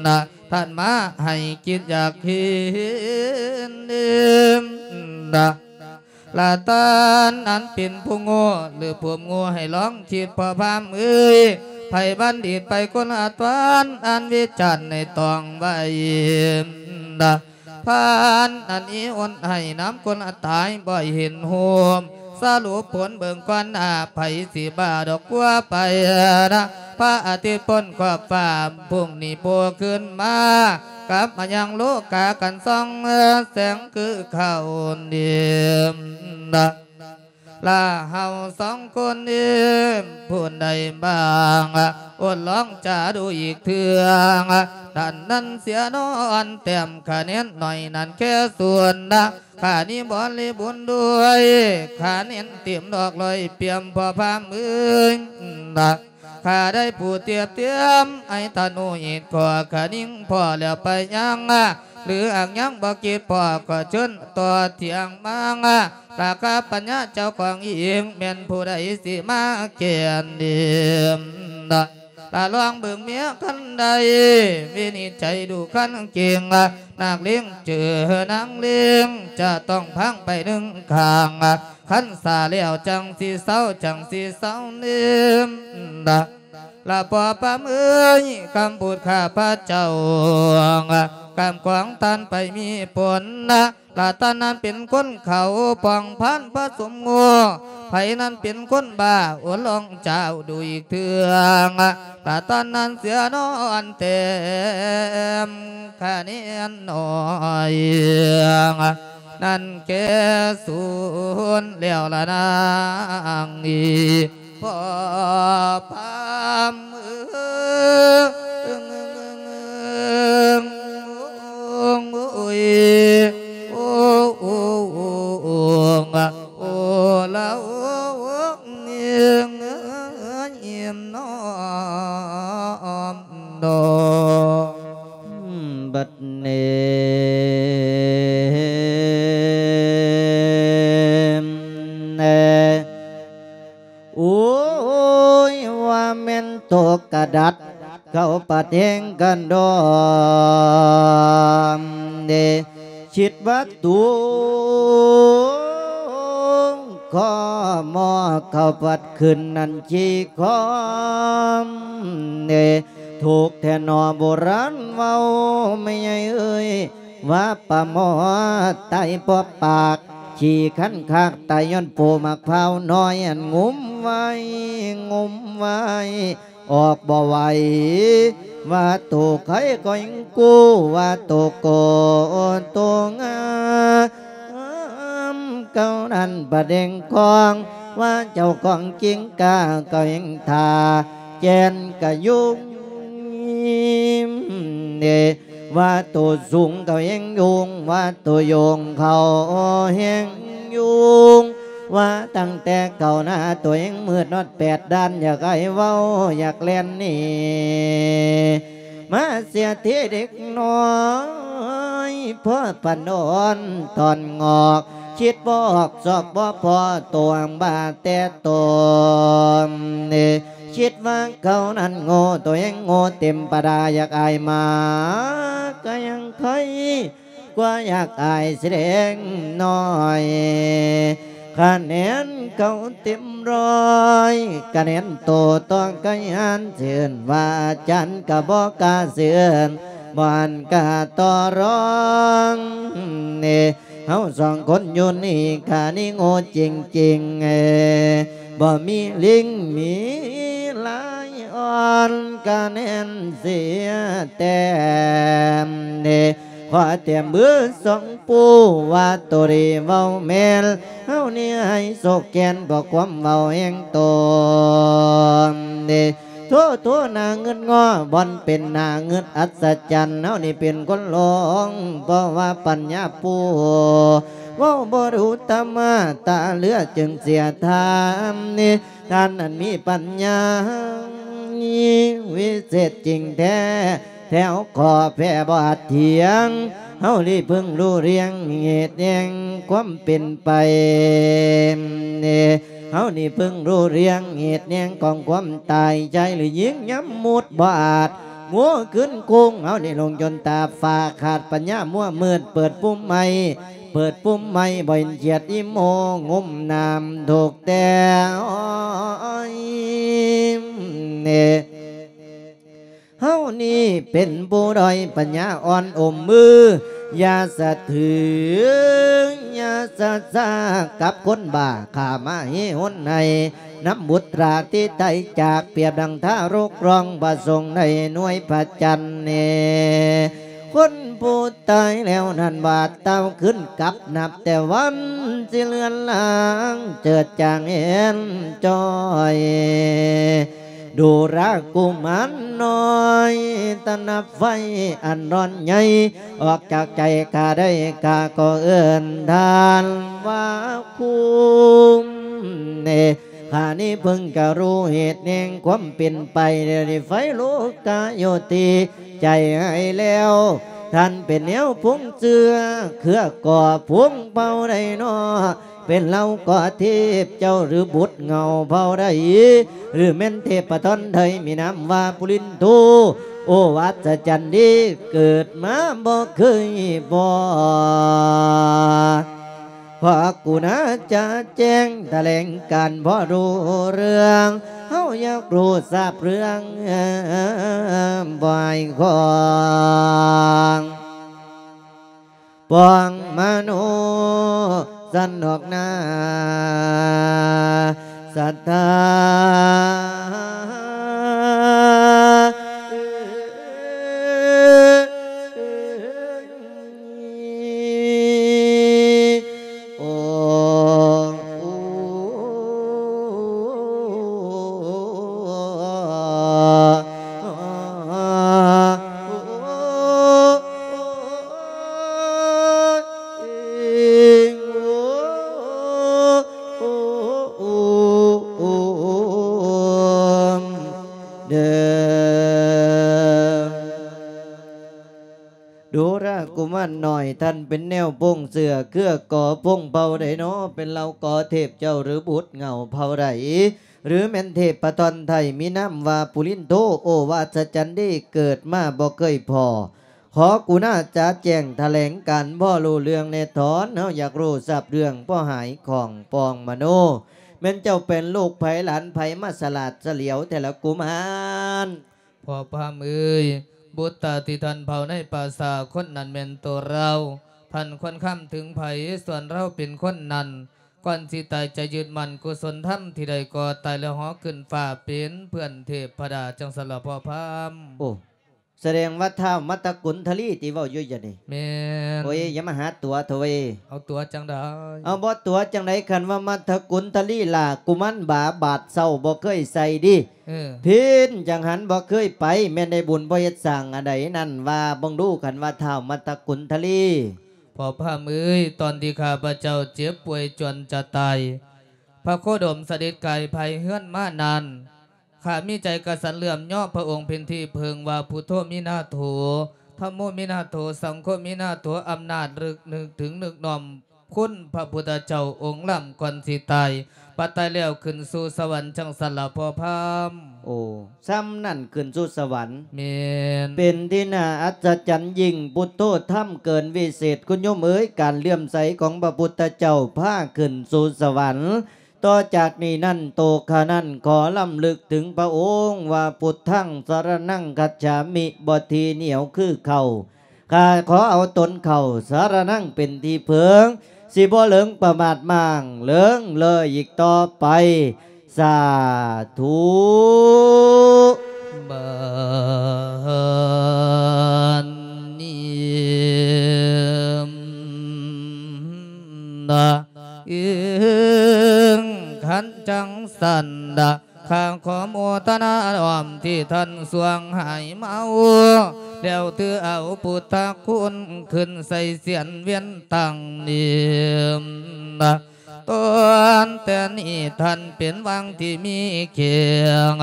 ນະ ທ່ານມາໃຫ້ກິນຢາກກິນນະ. ລະທ່ານອັນເປັນຜູ້ໂງ່ ຫຼືຜູ້ໂງ່ ໃຫ້ລອງຄິດ ພໍ່ພາມເອີຍ ໃຜບັນດິດໄປຄົນລະທ່ານ ອັນວິຈານໃຫ້ຕ້ອງໄວ້ນະ ພານອັນອີ່ອຸ່ນໃຫ້ນຳຄົນຕາຍບໍ່ເຫັນຮູບ ສະຫຼຸບຜົນເບິ່ງກ່ອນໜ້າ ໃຜຊິບ້າດອກກົວໄປນະ ພະອາທິດພົ້ນຂອບຟ້າ ພຸ້ງນີ້ໂຜ່ຂຶ້ນມາ ກັບມາຍັງໂລກາກັນສ່ອງແສງຄືເກົ່ານີ້ນະ. ລະເຮົາສອງຄົນນີ້ ຜູ້ໃດບ້າງ ອົດລອງຈາດູອີກເທື່ອ ທ່ານນັ້ນເສຍນອນແຕ້ມຄະແນນໜ້ອຍນັ້ນແຄ່ສ່ວນນະ ຂ້ານີ້ບໍລິບູນດ້ວຍ ຄະແນນເຕັມດອກຮ້ອຍປ່ຽມພໍ່ພາມເອີຍນະ. ຂ້າໄດ້ຜູ້ຕຽບຕຽມ ໃຫ້ທ່ານຮູ້ເຫດຂໍ້ ຄະນິງພໍ້ແລ້ວໄປຍັງ ຫຼືຫາກຍັງບໍ່ຄິດພໍ ກໍເຊີນຕໍ່ຖຽງມາ ລາຄາປັນຍາເຈົ້າຂອງອີງ ແມ່ນຜູ້ໃດຊິມາແກ່ນດີ ລະລອງເບິ່ງເມຍຄັນໃດ ວິນິດໄຈດູຄັນເກັ່ງ ນັກເລງເຈີນາງເລງ ຈະຕ້ອງພັງໄປໜຶ່ງຂ້າງ ຄັນສາແລ້ວຈັ່ງຊິເຊົາ ຈັ່ງຊິເຊົາເນີມ ລະພໍ່ພາມເອີຍ ຄຳພູດຂ້າພະເຈົ້າ ຄຳຂອງທ່ານໄປມີຜົນນະ ລະທ່ານນັ້ນເປັນຄົນເຂົາປ່ອງພານຜະສົມໂງ່ ໃຜນັ້ນເປັນຄົນບ້າ ໂອລອງເຈົ້າດູອີກເທື່ອ ລະທ່ານນັ້ນເສຍນອນແຕ້ມຄະແນນໜ້ອຍ ນັ້ນແກ່ສູນແລ້ວລະນາງ ພໍ່ພາມເອີຍ ໂອ້ ໂອ້ ໂອ້ ໂອ້ ໂອ້ ໂອ້ ລະ ໂອ້ ໂອ້ ເອີຍ ເອີຍ ເອີຍ ເອີຍ ເອີຍ ເນາະ ເນາະ ບັດນີ້ ໂອ້ຍ ວ່າແມ່ນໂຕກະດັດ ເຂົ້າປະແທງກັນດອມເດ ຄິດວ່າໂຕ ຂໍໝໍເຂົ້າພັດຂຶ້ນນັ້ນຂີ້ຄອມເດ ທຸກແທ້ໜໍ່ໂບລານເວົ້າ ແມ່ໃຫຍ່ເອີຍ ວ່າປາໝໍຕາຍເພາະປາກ ຂີ້ຄັນຄາກຕາຍຍ້ອນປູໝາກພ້າວນ້ອຍ ອັນງຸ້ມໄວ້ ງຸ້ມໄວ້ ອອກບໍ່ໄຫວ ວ່າໂຕໄຄກໍຍັງກູ້ ວ່າໂຕໂກໂຕງາມ ເກົ່ານັ້ນປະເດັງຄອງ ວ່າເຈົ້າຂອງກິງກາກໍຍັງທ່າ ແກ່ນກະຍຸງເດ ວ່າໂຕສູງກໍແຮງຍຸງ ວ່າໂຕໂຍງເຂົ້າແຮງຍຸງ ວ່າຕັ້ງແຕ່ເຂົ້າໜ້າໂຕແຮງມືດນອດແປດດ້ານ ຢາກອ້າຍເວົ້າ ຢາກແລ່ນໜີ ມາເສຍທີເດັກນ້ອຍ ພໍປານອ່ອນຕອນງອກ ຄິດບໍ່ອອກຊອກບໍ່ພໍ ໂຕຫາງບ້າແຕ່ໂຕ ຄິດວ່າເຂົານັ້ນໂງ່ ໂຕແຮງໂງ່ເຕັມປະດາ ຢາກອາຍໝາກະຍັງໄຄ ກວ່າຢາກອາຍຊິແດງນ້ອຍ ຄະແນນເຂົາເຕັມຮ້ອຍ ຄະແນນໂຕຕ້ອງກະຍານ ເຊີນວ່າອາຈານກະບໍ່ກ້າເຊີນ ບໍ່ອັນກະຕໍ່ລອງ ເຮົາສອງຄົນຢູ່ນີ້ ຂ້ານີ້ໂງ່ຈິງໆ ບໍ່ມີລິງມີລາຍອ່ອນ ຄະແນນເສຍແຕ້ມ ຂໍແຕ້ມເບີສອງ ຜູ້ວ່າໂຕດີເວົ້າແມ່ນ ເຮົານີ້ໃຫ້ໂຊກແກ່ນ ເພາະຄວາມເວົ້າແຫ່ງໂຕ ໂທ ໂທ ໜ້າງຶດງໍ ບ່ອນເປັນໜ້າງຶດອັດສະຈັນ ເຮົານີ້ເປັນຄົນຫຼົງ ເພາະວ່າປັນຍາປູ ເວົ້າບໍ່ຮູ້ທຳມະ ຕາເຫຼືອຈຶ່ງເສຍທາມ ທ່ານນັ້ນມີປັນຍາວິເສດຈິງແທ້ ແຖວຂໍແຜ່ບໍ່ອາດຖຽງ ເຮົານີ້ເພິ່ງຮູ້ລຽງເຫດແຫ່ງຄວາມເປັນໄປ ເຮົານີ້ເພິ່ງຮູ້ລຽງເຫດແຫ່ງຂອງຄວາມຕາຍ ຊາຍຫຼືຍິງຍາມມຸດບໍ່ອາດ ງົວຂຶ້ນໂຄ້ງ ເຮົານີ້ຫຼົງຈົນຕາຟ້າຂາດ ປັນຍາມົວມືດເປີດປຸ່ມໃໝ່ ເປີດປຸ່ມໃໝ່ ບໍ່ເຫັນຂຽດອີໂມ ງຸ້ມນ້ຳທຸກແຕ່ ໂອ້ຍ ເຮົານີ້ເປັນຜູ້ດ້ອຍ ປັນຍາອ່ອນອົມມື ຢ່າສະຖື ຢ່າສະຊາກັບຄົນບ້າ ຂ້າມະຫິຮຸນໃຫ້ນຳບຸດຕາທີ່ໄຕຈາກ ປຽບດັ່ງທາລົກຮ້ອງ ພະສົງໄດ້ໜ່ວຍພະຈັນເນ ຄົນຜູ້ຕາຍແລ້ວນັ້ນວ່າ ເຕົ້າຄືນກັບ ນັບແຕ່ວັນຊິເລືອນລາງ ເຈີດຈາງເຫັນຈ້ອຍ ດູລະກຸມານນ້ອຍ ຕະໜັບໄຟອັນຮ້ອນໃຫຍ່ ອອກຈາກໃຈຂ້າໄດ້ ຂ້າກໍເອີ້ນທ່ານວ່າຄຸມເນ ຂ້ານີ້ເພິ່ງຈະຮູ້ເຫດແຫ່ງຄວາມເປັນໄປ ແລ້ວໄຟໂລກາຢູ່ທີ່ໃຈໃຫ້ແລ້ວ ທ່ານເປັນແນວພົງເຊື້ອ ເຄືອກໍພົງເຜົ່າໃດນໍ ເປັນເຫຼົ່າກໍເທບເຈົ້າ ຫຼືບຸດເຫງົາເຜົ່າໃດ ຫຼືແມ່ນເທບປະທອນໃດ ມີນາມວ່າປຸລິນໂທ ໂອວາດສະຈັນດີ ເກີດມາບໍ່ເຄີຍພໍ ຂໍກຸນາຈະແຈ້ງຖະແຫຼງການພໍຮູ້ເລື່ອງ ເຮົາຢາກຮູ້ຊາບເລື່ອງ ບໍ່ໃຫ້ຂອງ ປອງມະໂນສັນອອກໜ້າສັດທາ ໂອ ໂດລະກຸມານນ້ອຍ ທ່ານເປັນແນວພົງເຊື້ອ ເຄືອກໍພົງເຜົ່າໃດນໍ ເປັນເຫຼົ່າກໍເທບເຈົ້າ ຫຼືບຸດເຫງົາເຜົ່າໃດ ຫຼືແມ່ນເທບປະທອນໄທ ມີນາມວ່າປຸລິນໂທ ໂອວາດສະຈັນດີ ເກີດມາບໍ່ເຄີຍພໍ ຂໍກຸນາຈະແຈ້ງຖະແຫຼງການ ພໍຮູ້ເລື່ອງແນ່ຖອນ ເຮົາຢາກຮູ້ຊາບເລື່ອງ ພໍຫາຍຂອງປອງມະໂນ ແມ່ນເຈົ້າເປັນລູກໃຜຫຼານໃຜ ມາສະຫຼາດສະຫຼຽວແທ້ລະກຸມານ. ພໍ່ພາມເອີຍ ບຸດຕາທີ່ທ່ານເຜົາໃນປ່າຊ້າຄົນນັ້ນແມ່ນໂຕລາວ ທ່ານຄວນຄຳເຖິງໃຜ ສ່ວນລາວເປັນຄົນນັ້ນ ກ່ອນຊິຕາຍຈະຍຶດໝັ້ນກຸສົນທຳທີ່ໃດກໍຕາຍແລ້ວເຫາະຂຶ້ນຟ້າເປັນເພື່ອນເທບພະດາ ຈັ່ງຊັ້ນລະພໍ່ພາມ. ໂອ້ ສະແດງວ່າທ້າວມັດທະກຸນທະລີທີ່ເວົ້າຢູ່ຢະນີ້. ແມ່ນ. ໂອ້ຍ ຢ່າມາຫາຕົວເຖາະເວີຍ. ເອົາຕົວຈັ່ງໃດ? ເອົາບໍ່ຕົວຈັ່ງໃດ ຄັນວ່າມັດທະກຸນທະລີຫຼ້າ ກຸມານບາບາດເຊົາບໍ່ເຄີຍໃສ່ດິ. ເອີ ພິນຈັ່ງຫັ້ນບໍ່ເຄີຍໄປ ແມ່ນໄດ້ບຸນບໍ່ເຮັດສ້າງອັນໃດນັ້ນ ວ່າເບິ່ງດູ ຄັນວ່າທ້າວມັດທະກຸນທະລີ. ພໍ່ພາມເອີຍ ຕອນທີ່ຂ້າພະເຈົ້າເຈັບປ່ວຍຈວນຈະຕາຍ ພະໂຄດົມສະເດັດກາຍພາຍເຮືອນມານັ້ນ ຂ້າມີໃຈກະສັນເຫຼື້ອມຍໍພະອົງເປັນທີ່ເພິ່ງວ່າ ພຸດໂທມິນາໂຖ ທຳໂມມິນາໂຖ ສັງໂຄມິນາໂຖ ອຳນາດລຶກນຶກເຖິງນຶກນ້ອມ ຄຸນພະພຸດທະເຈົ້າອົງລ້ຳ ກ່ອນຊິຕາຍ ບັດຕາຍແລ້ວຂຶ້ນສູ່ສະຫວັນ ຈັ່ງຊັ້ນລະພໍ່ພາມ. ໂອ້ ຊ່ຳນັ້ນຂຶ້ນສູ່ສະຫວັນ. ແມ່ນ. ເປັນທີ່ໜ້າອັດສະຈັນຍິ່ງ ພຸດໂທທຳເກີນວິເສດ ຄຸນໂຍມເອີຍ ການເຫຼື້ອມໃສຂອງພະພຸດທະເຈົ້າພາຂຶ້ນສູ່ສະຫວັນ. ຕໍ່ຈາກນີ້ນັ້ນ ໂຕຂ້ານັ້ນຂໍລຳລຶກເຖິງພະອົງວ່າ ພຸດທັງສະລະນັງຄັດສາມິ ບໍ່ທີໜຽວຄືເຂົ້າ ຂ້າຂໍເອົາຕົນເຂົ້າສະລະນັງເປັນທີ່ເພິ່ງ ຊິບໍ່ເຫຼີງປະໝາດມ້າງເຫຼີງເລີຍອີກຕໍ່ໄປ. ສາທຸ. ບາດນີ້ ເອີງ ຄັນຈັ່ງຊັ້ນ ຂ້າຂໍໂມທະນານ້ອມທີ່ທ່ານຊ່ວງຫາຍເມົາ ແລ້ວຖືເອົາພຸດທະຄຸນຂຶ້ນໃສ່ສຽນວຽນຕັ້ງນີ້ ຕອນແຕ່ນີ້ທ່ານເປັນວັງທີ່ມີແຂງ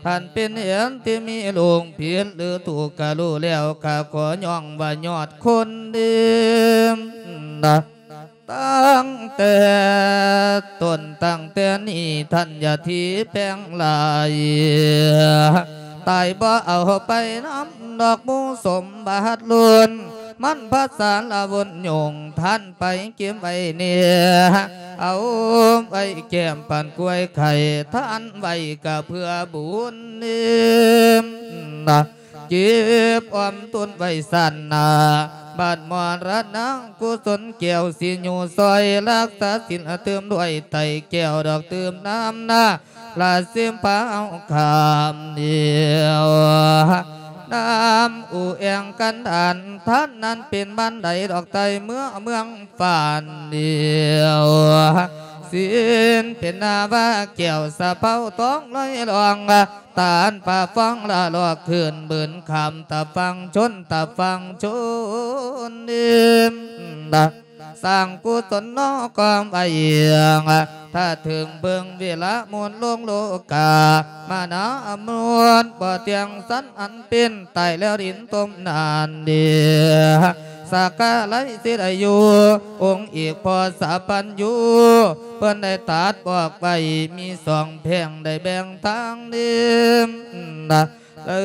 ທ່ານເປັນເຮືອນທີ່ມີໂລງຜິດ ຫຼື ທຸກກະຮູ້ແລ້ວ ຂ້າຂໍຍ້ອງວ່າຍອດຄົນເດີ. ຕັ້ງແຕ່ຕົ້ນ ຕັ້ງແຕ່ນີ້ ທ່ານຢ່າຖີແປງຫຼາຍ ຕາຍບໍ່ເອົາໄປນຳດອກໝູສົມບັດລຸນ ມັນພາສາລະວົນຍົງ ທ່ານໄປເກັບໄວ້ແດ່ ເອົາໄວ້ແກ້ມປານກ້ວຍໄຂ່ ທ່ານໄວ້ກະເພື່ອບຸນ ເກັບອອມຕຸນໄວ້ຊາດໜ້າ ປັດມໍລະນະກຸສົນແກ້ວ ຊິຢູ່ຊ່ອຍຮັກສາສິນ ຕື່ມດ້ວຍໄຕແກ້ວດອກ ຕື່ມນ້ຳນາລະຊິມພາວຄຳດຽວ ນ້ຳອູແອງກັນດານ ທ່ານນັ້ນເປັນບ້ານໃດດອກ ໃຕ້ເມືອງເມືອງຟານດຽວ ສິນເປັນນາວາແກ້ວ ສະເພົາທອງລອຍລ່ອງ ຕານປາຟອງລະລອກຂຶ້ນ ບືນຂ້າມຕາຝັ່ງຊົນ ຕາຝັ່ງຊົນ ສາງກຸສົນເນາະກອງໄວ້ ຖ້າເຖິງເບິ່ງເວລາໝູນລົງໂລກາ ມານາອຳນວນ ບໍ່ທ່ຽງສັນອັນເປັນ ຕາຍແລ້ວດິນຕົມນານເດ ສາກາໄລສິໄດຢູ່ ອົງເອກພໍ່ສາປັນຢູ່ ເພິ່ນໄດ້ຕັດບອກໄວ້ ມີສອງແພ່ງໄດ້ແບ່ງທາງເດີ ເອີ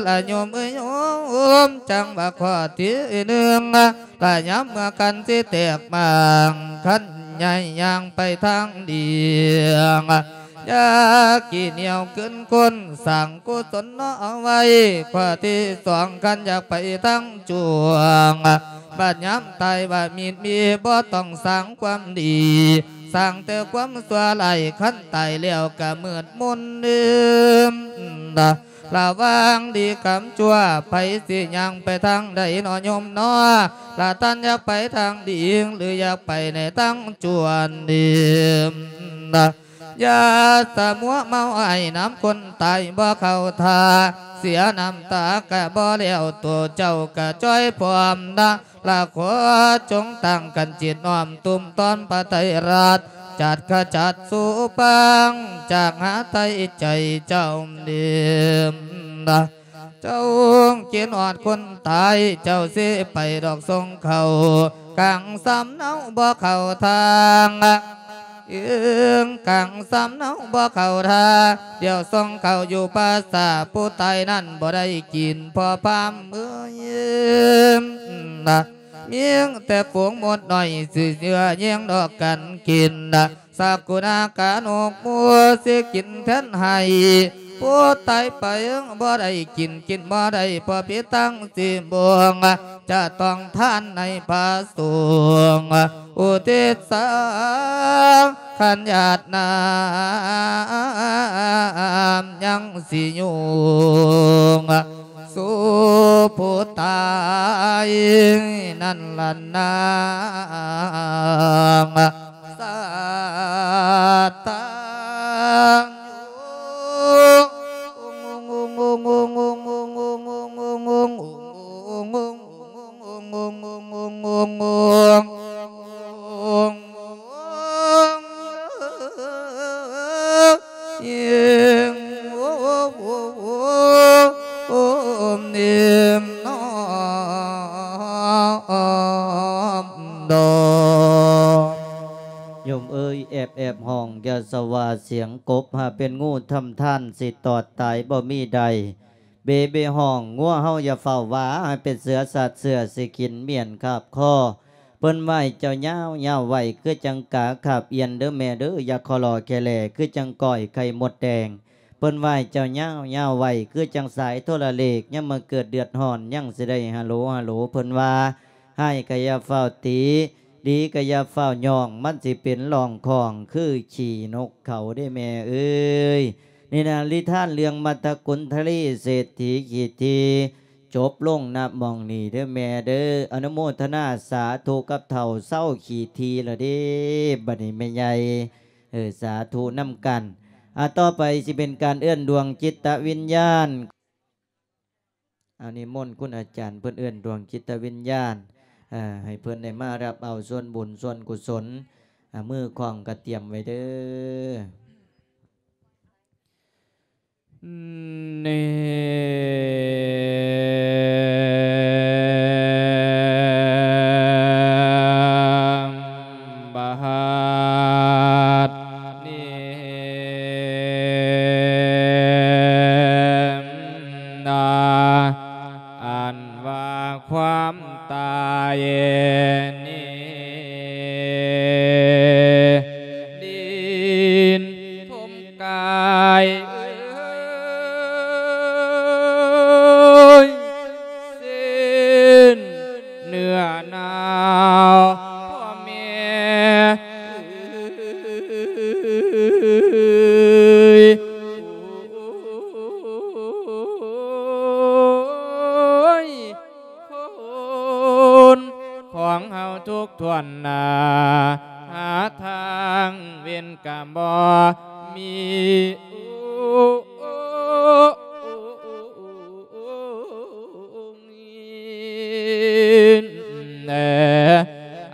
ລະໂຍມເອີຍໂຍມ ຈັ່ງວ່າຂໍ້ທີໜຶ່ງ ລະຍາມເມື່ອກັນຊິແຕກໝາງ ຄັນໃຫຍ່ຍ່າງໄປທາງດຽງ ຢ່າຂີ້ໜຽວຂຶ້ນຄົນ ສ້າງກຸສົນເນາະເອົາໄວ້ ຂໍ້ທີສອງ ຄັນຢາກໄປທາງຈວງ ບັດຍາມຕາຍວ່າມີດມີ ບໍ່ຕ້ອງສ້າງຄວາມດີ ສ້າງແຕ່ຄວາມຊົ່ວຮ້າຍ ຄັນຕາຍແລ້ວກະມືດມົນເດີ ລະຫວ່າງດີກັບຊົ່ວ ໃຜຊິຍ່າງໄປທາງໃດເນາະໂຍມເນາະ ລະທ່ານຢາກໄປທາງດີ ຫຼືຢາກໄປໃນທາງຊົ່ວເດີ ຢ່າສະມົວເມົາໃຫ້ນຳຄົນຕາຍບໍ່ເຂົ້າທ່າ ເສຍນ້ຳຕາກະບໍ່ແລ້ວ ໂຕເຈົ້າກະຈ່ອຍພ້ອມນະ ລະຂໍຈົ່ງຕັ້ງກັນຈິດນ້ອມ ຕຸ້ມຕ້ອນພະໄຕຣະ ຈັດຂະຈັດສູບາງ ຈາກຫາໄຖ່ໃຈເຈົ້າເດີ ເຈົ້າຄິດຮອດຄົນຕາຍ ເຈົ້າຊິໄປດອກສົ່ງເຂົ້າ ກາງສຳເນົາບໍ່ເຂົ້າທາງ ເອີງກາງສຳເນົາບໍ່ເຂົ້າທ່າ ດຽວສົ່ງເຂົ້າຢູ່ປ່າຊ້າ ຜູ້ຕາຍນັ້ນບໍ່ໄດ້ກິນ ພໍ່ພາມເອີຍ ມີແຕ່ຝູງມົດນ້ອຍ ຊິເຊື່ອແຍ່ງດອກກັນກິນ ສັກກຸນາການົກໝູຊິກິນແທນໃຫ້ ຜູ້ຕາຍໄປບໍ່ໄດ້ກິນ ກິນບໍ່ໄດ້ ເພາະຜິດທັງສີ່ບວງ ຈະຕ້ອງທານໃນພະສົງ ອຸທິດສັງຄັນຍາດນ້ຳ ຍັງຊິຍຸ່ງສູ່ຜູ້ຕາຍນັ້ນລະນາງ ສາຕານຢູ່ ໂຍມເອີຍ ແອບໆຮ້ອງ ຢ່າສະຫວ່າສຽງກົບ ຫາກເປັນງູທຳທ່ານ ຊິຕອດຕາຍບໍ່ມີໄດ້ ເບເບຮ້ອງ ງົວເຮົາຢ່າຟ້າວຫວ່າ ໃຫ້ເປັນເສືອສັດເສືອຊິກິນມ້ຽນຄາບຄໍ ເພິ່ນໄຫວ້ເຈົ້າຍາວໆໄວ້ ຄືຈັ່ງກາຄາບອ່ຽນເດີແມ່ເດີ ຢ່າຂໍຫຼໍ່ແຄ່ແຫຼ ຄືຈັ່ງກ້ອຍໄຂ່ມົດແດງ ເພິ່ນໄຫວ້ເຈົ້າຍາວໆໄວ້ ຄືຈັ່ງສາຍໂທລະເລກ ຍາມມາເກີດເດືອດຮ້ອນ ຍັງຊິໄດ້ຮາໂຫຼຮາໂຫຼ ເພິ່ນວ່າ ຮ້າຍກະຢ່າຟ້າວຕີ ດີກະຢ່າຟ້າວຍ້ອງ ມັນຊິເປັນຮ່ອງຂ້ອງຄືຂີ້ນົກເຂົາເດ້ແມ່ເອີຍ. ນິທານນິທານເລື່ອງມັດທະກຸນທະລີເສດຖີຂີ້ຖີ່ ຈົບລົງນະໝ່ອງນີ້ເດີແມ່ເດີ. ອະນຸໂມທະນາສາທຸກັບເຖົ້າເຊົາຂີ້ຖີ່ລະເດ້ ບັດນີ້ແມ່ໃຫຍ່ ເອີ ສາທຸນຳກັນ. ອາ ຕໍ່ໄປຊິເປັນການເອີ້ນດວງຈິດຕະວິນຍານ. ອາ ນິມົນຄຸນອາຈານເພິ່ນເອີ້ນດວງຈິດຕະວິນຍານ ເອີ ໃຫ້ເພິ່ນໄດ້ມາຮັບເອົາສ່ວນບຸນສ່ວນກຸສົນ ອາ ມືຂອງກະຕຽມໄວ້ເດີ. ນີ້ ບາດນີ້ນາ ອັນວ່າຄວາມຕາຍນີ້ ດິນ ສົມກາຍເອີຍ ເສັ້ນເນື້ອ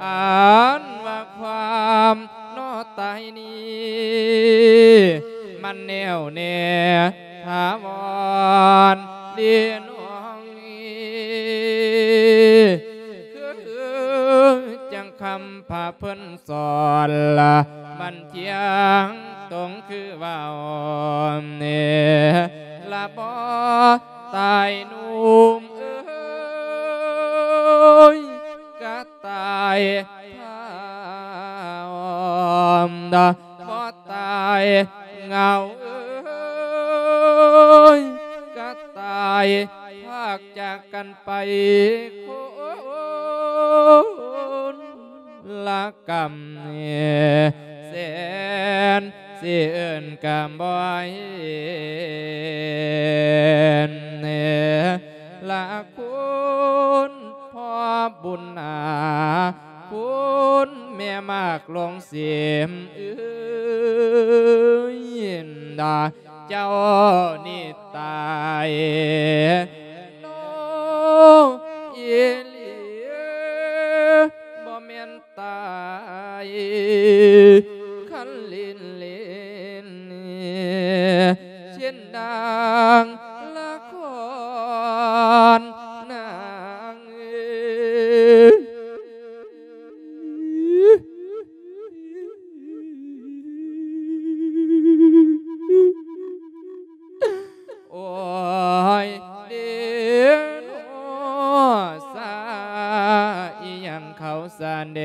ອັນວ່າຄວາມເນາະຕາຍນີ້ ມັນແນ່ວແນ່ຖາວອນເດນ້ອງ ຄືຈັ່ງຄຳພະເພິ່ນສອນລະ ມັນທ່ຽງຕົງຄືເວົ້າແນ່ລະບໍ່ ຕາຍໜຸ່ມເອີຍ ກະຕາຍພາວ ບໍ່ຕາຍເຫງົາເອີຍ ກະຕາຍພາກຈາກກັນໄປຄົນລະກຳ ແສນຊິເອີ້ນກະບໍ່ເຫັນ ລະຄຸນພໍ່ບຸນນາ ຄຸນແມ່ໝາກຫຼວງເສມເອີຍ ດາເຈົ້ານີ້ຕາຍເນາະ ອີ່ຫຼີ ບໍ່ແມ່ນຕາຍຄັນຫຼິ້ນໆ ເຊັ່ນດັ່ງລະຄອນນາງເອີຍ ໂອ້ຍເດໂນ ສາອີ່ຫຍັງເຂົາສະແດ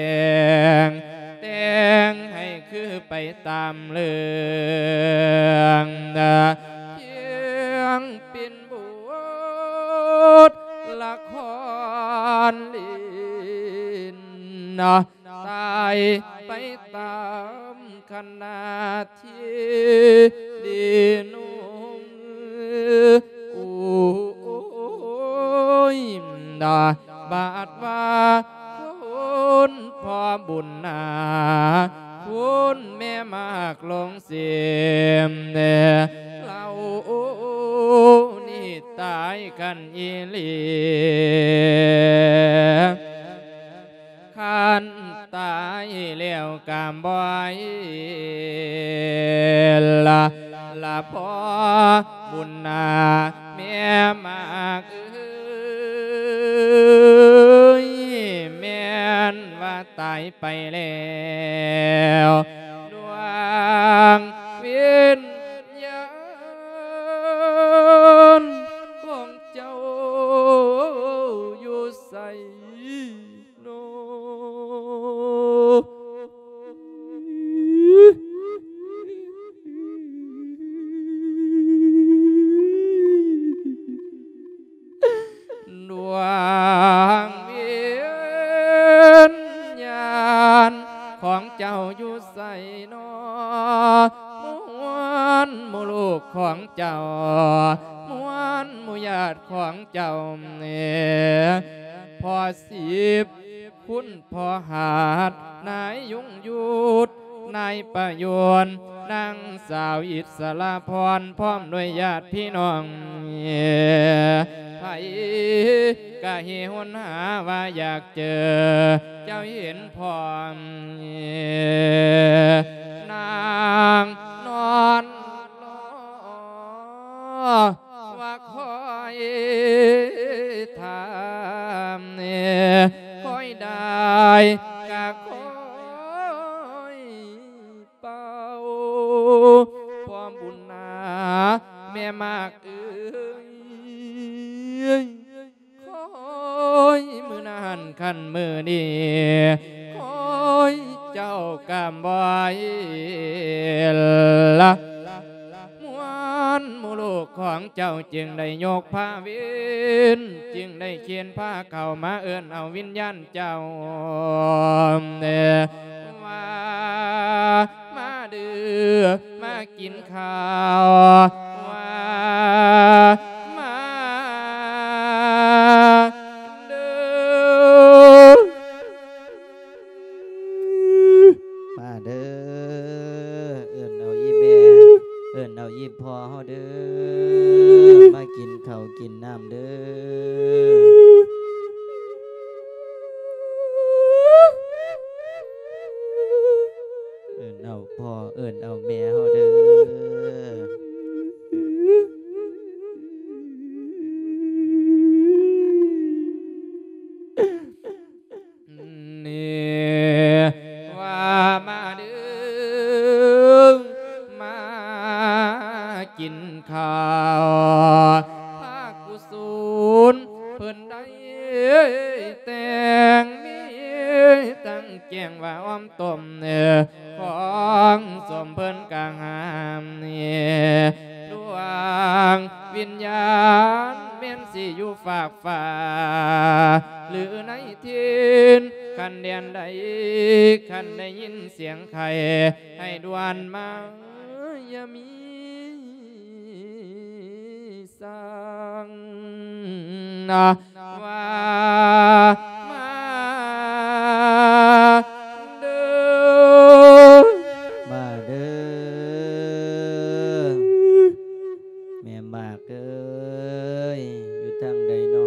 ງ ແຕ່ງໃຫ້ຄືໄປຕາມເລື່ອງ ພຽງເປັນບົດລະຄອນຫຼິ້ນ ຕາຍໄປຕາມຂະນະທີ່ດີໜຸ່ມ ໂອ້ຍ ດາບາດວ່າຄຸນພໍ່ບຸນນາ ຄຸນແມ່ໝາກຫຼວງເສມ ແນ່ລາວນີ້ຕາຍກັນອີ່ຫຼີ ຄັນຕາຍແລ້ວກະບໍ່ໃຫ້ລະ ລະພໍ່ບຸນນາແມ່ໝາກເອີຍ ແມ່ນວ່າຕາຍໄປແລ້ວ ດວງວິນຍານຂອງເຈົ້າຢູ່ໃສ ໂນ ດວງວິນຍານຂອງເຈົ້າຢູ່ໃສນໍ ມວນໝູ່ລູກຂອງເຈົ້າ ມວນໝູ່ຍາດຂອງເຈົ້າ ພໍ່ສິບ ຄຸນພໍ່ຫັດ ນາຍຍົງຍຸດ ນາຍປະໂຍນ ນາງສາວອິດສະລະພອນ ພ້ອມດ້ວຍຍາດພີ່ນ້ອງ ໃຜກະຫິວໜາວ່າຢາກເຈີ ເຈົ້າເຫັນພ້ອມ ນາງນອນລໍ ວ່າຄອຍຖາມ ຄອຍໄດ້ກະຄອຍເປົ່າ ພໍ່ບຸນນາແມ່ໝາກເອີຍ ຄອຍມື້ນັ້ນຄັນມື້ນີ້ ຄອຍເຈົ້າກະບໍ່ໃຫ້ລະ ມວນໝູ່ລູກຂອງເຈົ້າຈຶ່ງໄດ້ຍົກພາວິນ ຈຶ່ງໄດ້ເຄນພາເຂົ້າມາເອີ້ນເອົາວິນຍານເຈົ້າ ວ່າມາເດີ້ ມາກິນ ຂ່າວວ່າມາເດີ້ ມາເດີ້ ເອີ້ນເອົາອີ່ແມ່ ເອີ້ນເອົາອີ່ພໍ່ເຮົາເດີ້. ເດີ ມາກິນເຂົ້າກິນນ້ຳເດີ ເອີ້ນເອົາພໍ່ເອີ້ນເອົາແມ່ເຮົາເດີ. ນີ້ວ່າມາເດີ ມາກິນເຂົ້າ ພາກຸສົນເພິ່ນໄດ້ແຕ່ງ ມີທັງແກງວ່າອ້ອມຕົ້ມ ເອີ ຂອງສົມເພິ່ນກະຫາມນີ້ ດວງວິນຍານແມ່ນຊິຢູ່ຟາກຟ້າ ຫຼືໃນຖິ່ນ ຄັນແດນໃດ ຄັນໄດ້ຍິນສຽງໄຄ ໃຫ້ດ່ວນມາ ຢ່າມີສັງນະ ວ່າມາເດີ ມາເດີ ແມ່ໝາກເອີຍ ຢູ່ທາງໃດນໍ?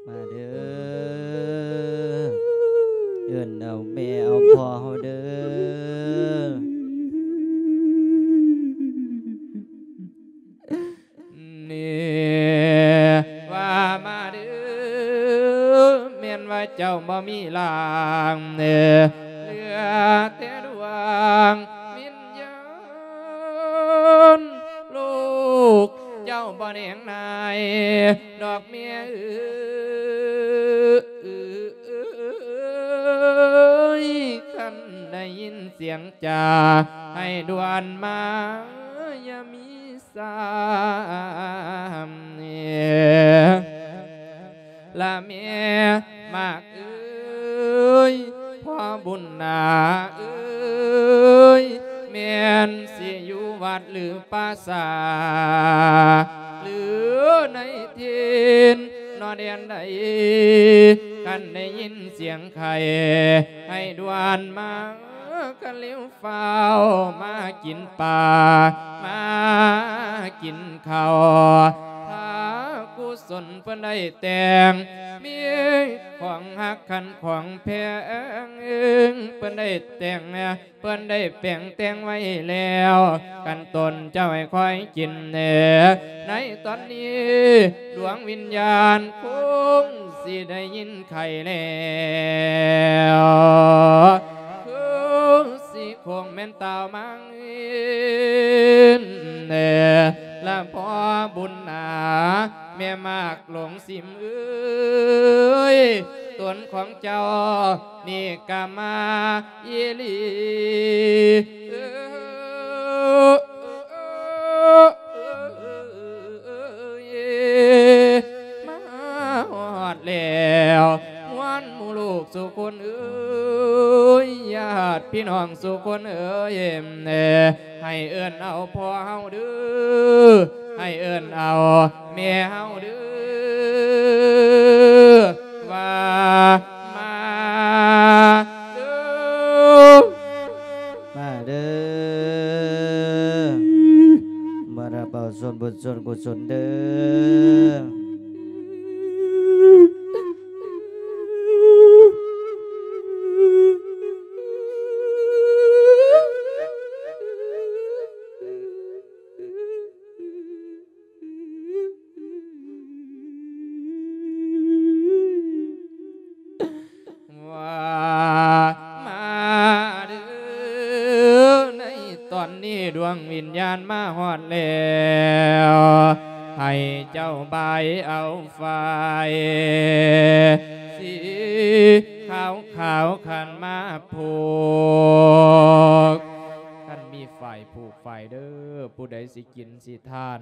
ມາເດີ ເອີ້ນເອົາແມ່ເອົາພໍ່ເຮົາເດີ. ນີ້ວ່າມາເດີ ແມ່ນວ່າເຈົ້າບໍ່ມີຮ່າງ ເຫຼືອແຕ່ດວງວິນຍານ ລູກເຈົ້າບໍ່ແນງນາຍດອກແມ່ເອີຍ ຄັນໄດ້ຍິນສຽງຈາໃຫ້ດ່ວນມາ ຢ່າມີ ຊ້ຳເນ ລະແມ່ໝາກເອີຍ ພໍ່ບຸນນາເອີຍ ແມ່ນຊິຢູ່ວັດຫຼືປ່າຊ້າ ຫຼືໃນຖິ່ນນອນແດນໃດ ຄັນໄດ້ຍິນສຽງໄຄ ໃຫ້ດ່ວນມາ ກະເລວຟ້າວມາກິນປາ ມາກິນເຂົ້າ ພາກຸສົນເພິ່ນໄດ້ແຕ່ງ ມີຂອງຮັກຄັນຂອງແພງ ເພິ່ນໄດ້ແຕ່ງ ເພິ່ນໄດ້ແປງແຕ່ງໄວ້ແລ້ວ ຄັນຕົນເຈົ້າໃຫ້ຄອຍກິນແດ່ ໃນຕອນນີ້ດວງວິນຍານຄົງຊິໄດ້ຍິນ ໄຂ້ແລ້ວ ຄືຊິຄົງແມ່ນຕາວມັງແນ່ ລະພໍ່ບຸນນາ ແມ່ໝາກຫຼົງສິມເອີຍ ຕົນຂອງເຈົ້ານີ້ກະມາອີ່ຫຼີ ມາຮອດແລ້ວ ມວນໝູ່ລູກສູ່ຄົນເອີຍ ຍາດພີ່ນ້ອງສູ່ຄົນເອີຍ ໃຫ້ເອີ້ນເອົາພໍ່ເຮົາເດີ ໃຫ້ເອີ້ນເອົາແມ່ເຮົາເດີ ວ່າມາເດີ ມາເດີ ມາຮັບເອົາສ່ວນບຸນສ່ວນກຸສົນເດີ. ວ່າມາເດີ ໃນຕອນນີ້ດວງວິນຍານມາຮອດແລ້ວ ໃຫ້ເຈົ້າບາຍເອົາຝ້າຍສີຂາວໆ ຄັນມາຜູກ ຄັນມີຝ້າຍຜູກຝ້າຍເດີ ຜູ້ໃດຊິກິນຊິທານ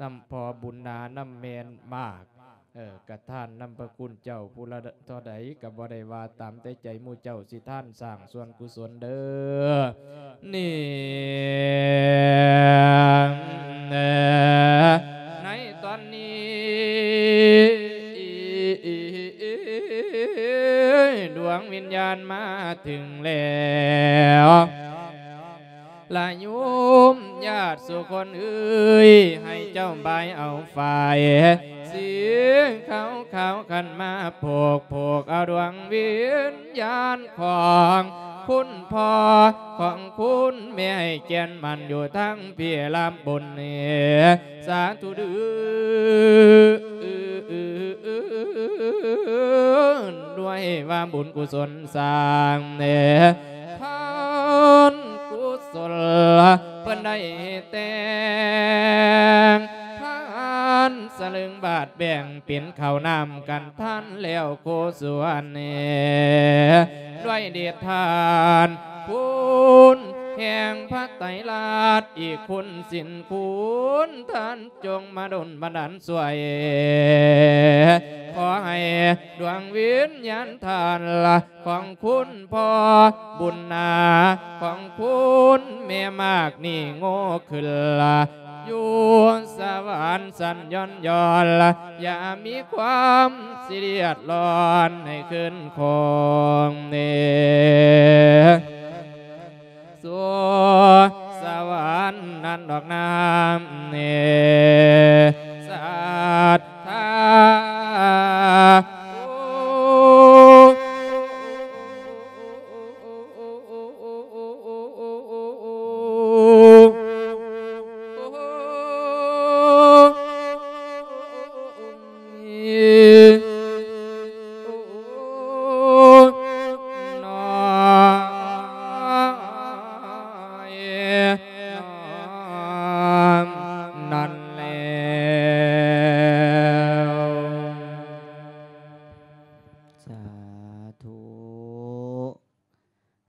ນຳພໍ່ບຸນນາ ນຳແມ່ໝາກ ເອີ ກະທານນຳພະຄຸນເຈົ້າຜູ້ລະເທົ່າໃດກະບໍ່ໄດ້ວ່າ ຕາມແຕ່ໃຈໝູ່ເຈົ້າຊິທານສ້າງສ່ວນກຸສົນເດີ. ນີ້ ໃນຕອນນີ້ ດວງວິນຍານ ມາເຖິງແລ້ວ ລະໂຍມຍາດສຸຄົນເອີຍ ໃຫ້ເຈົ້າບາຍເອົາຝ້າຍ ສີຂາວໆ ຂັນມາຜູກ ຜູກເອົາດວງວິນຍານຂອງຄຸນພໍ່ ຂອງຄຸນແມ່ ໃຫ້ແກ່ນໝັ້ນຢູ່ທາງພີ້ລຳບຸນນີ້ ສາທຸເດີ້ ດ້ວຍວ່າບຸນກຸສົນສ້າງແດ່ ທານກຸສົນ ເພິ່ນໄດ້ແຕ່ງ ທານສະເຫຼີງບາດແບ່ງ ເປັນເຂົ້ານ້ຳກັນທານແລ້ວໂຄສວນແດ່ ດ້ວຍເດດທານຄຸນແຫ່ງພະໄຕລັດ ອີກຄຸນສິນຄຸນທ່ານ ຈົ່ງມາດົນບັນດານຊ່ວຍ ຂໍໃຫ້ດວງວິນຍານທ່ານລະ ຂອງຄຸນພໍ່ບຸນນາ ຂອງຄຸນແມ່ມາກນີ້ໂງ່ຂຶ້ນລະ ຢູ່ສະຫວັນຊັ້ນຍ້ອນໆ ລະ ຢ່າມີຄວາມຊິເດືອດຮ້ອນໃຫ້ຂຶ້ນຄອງເນ ສູ່ສະຫວັນນັ້ນດອກນາເນ ສັດທາ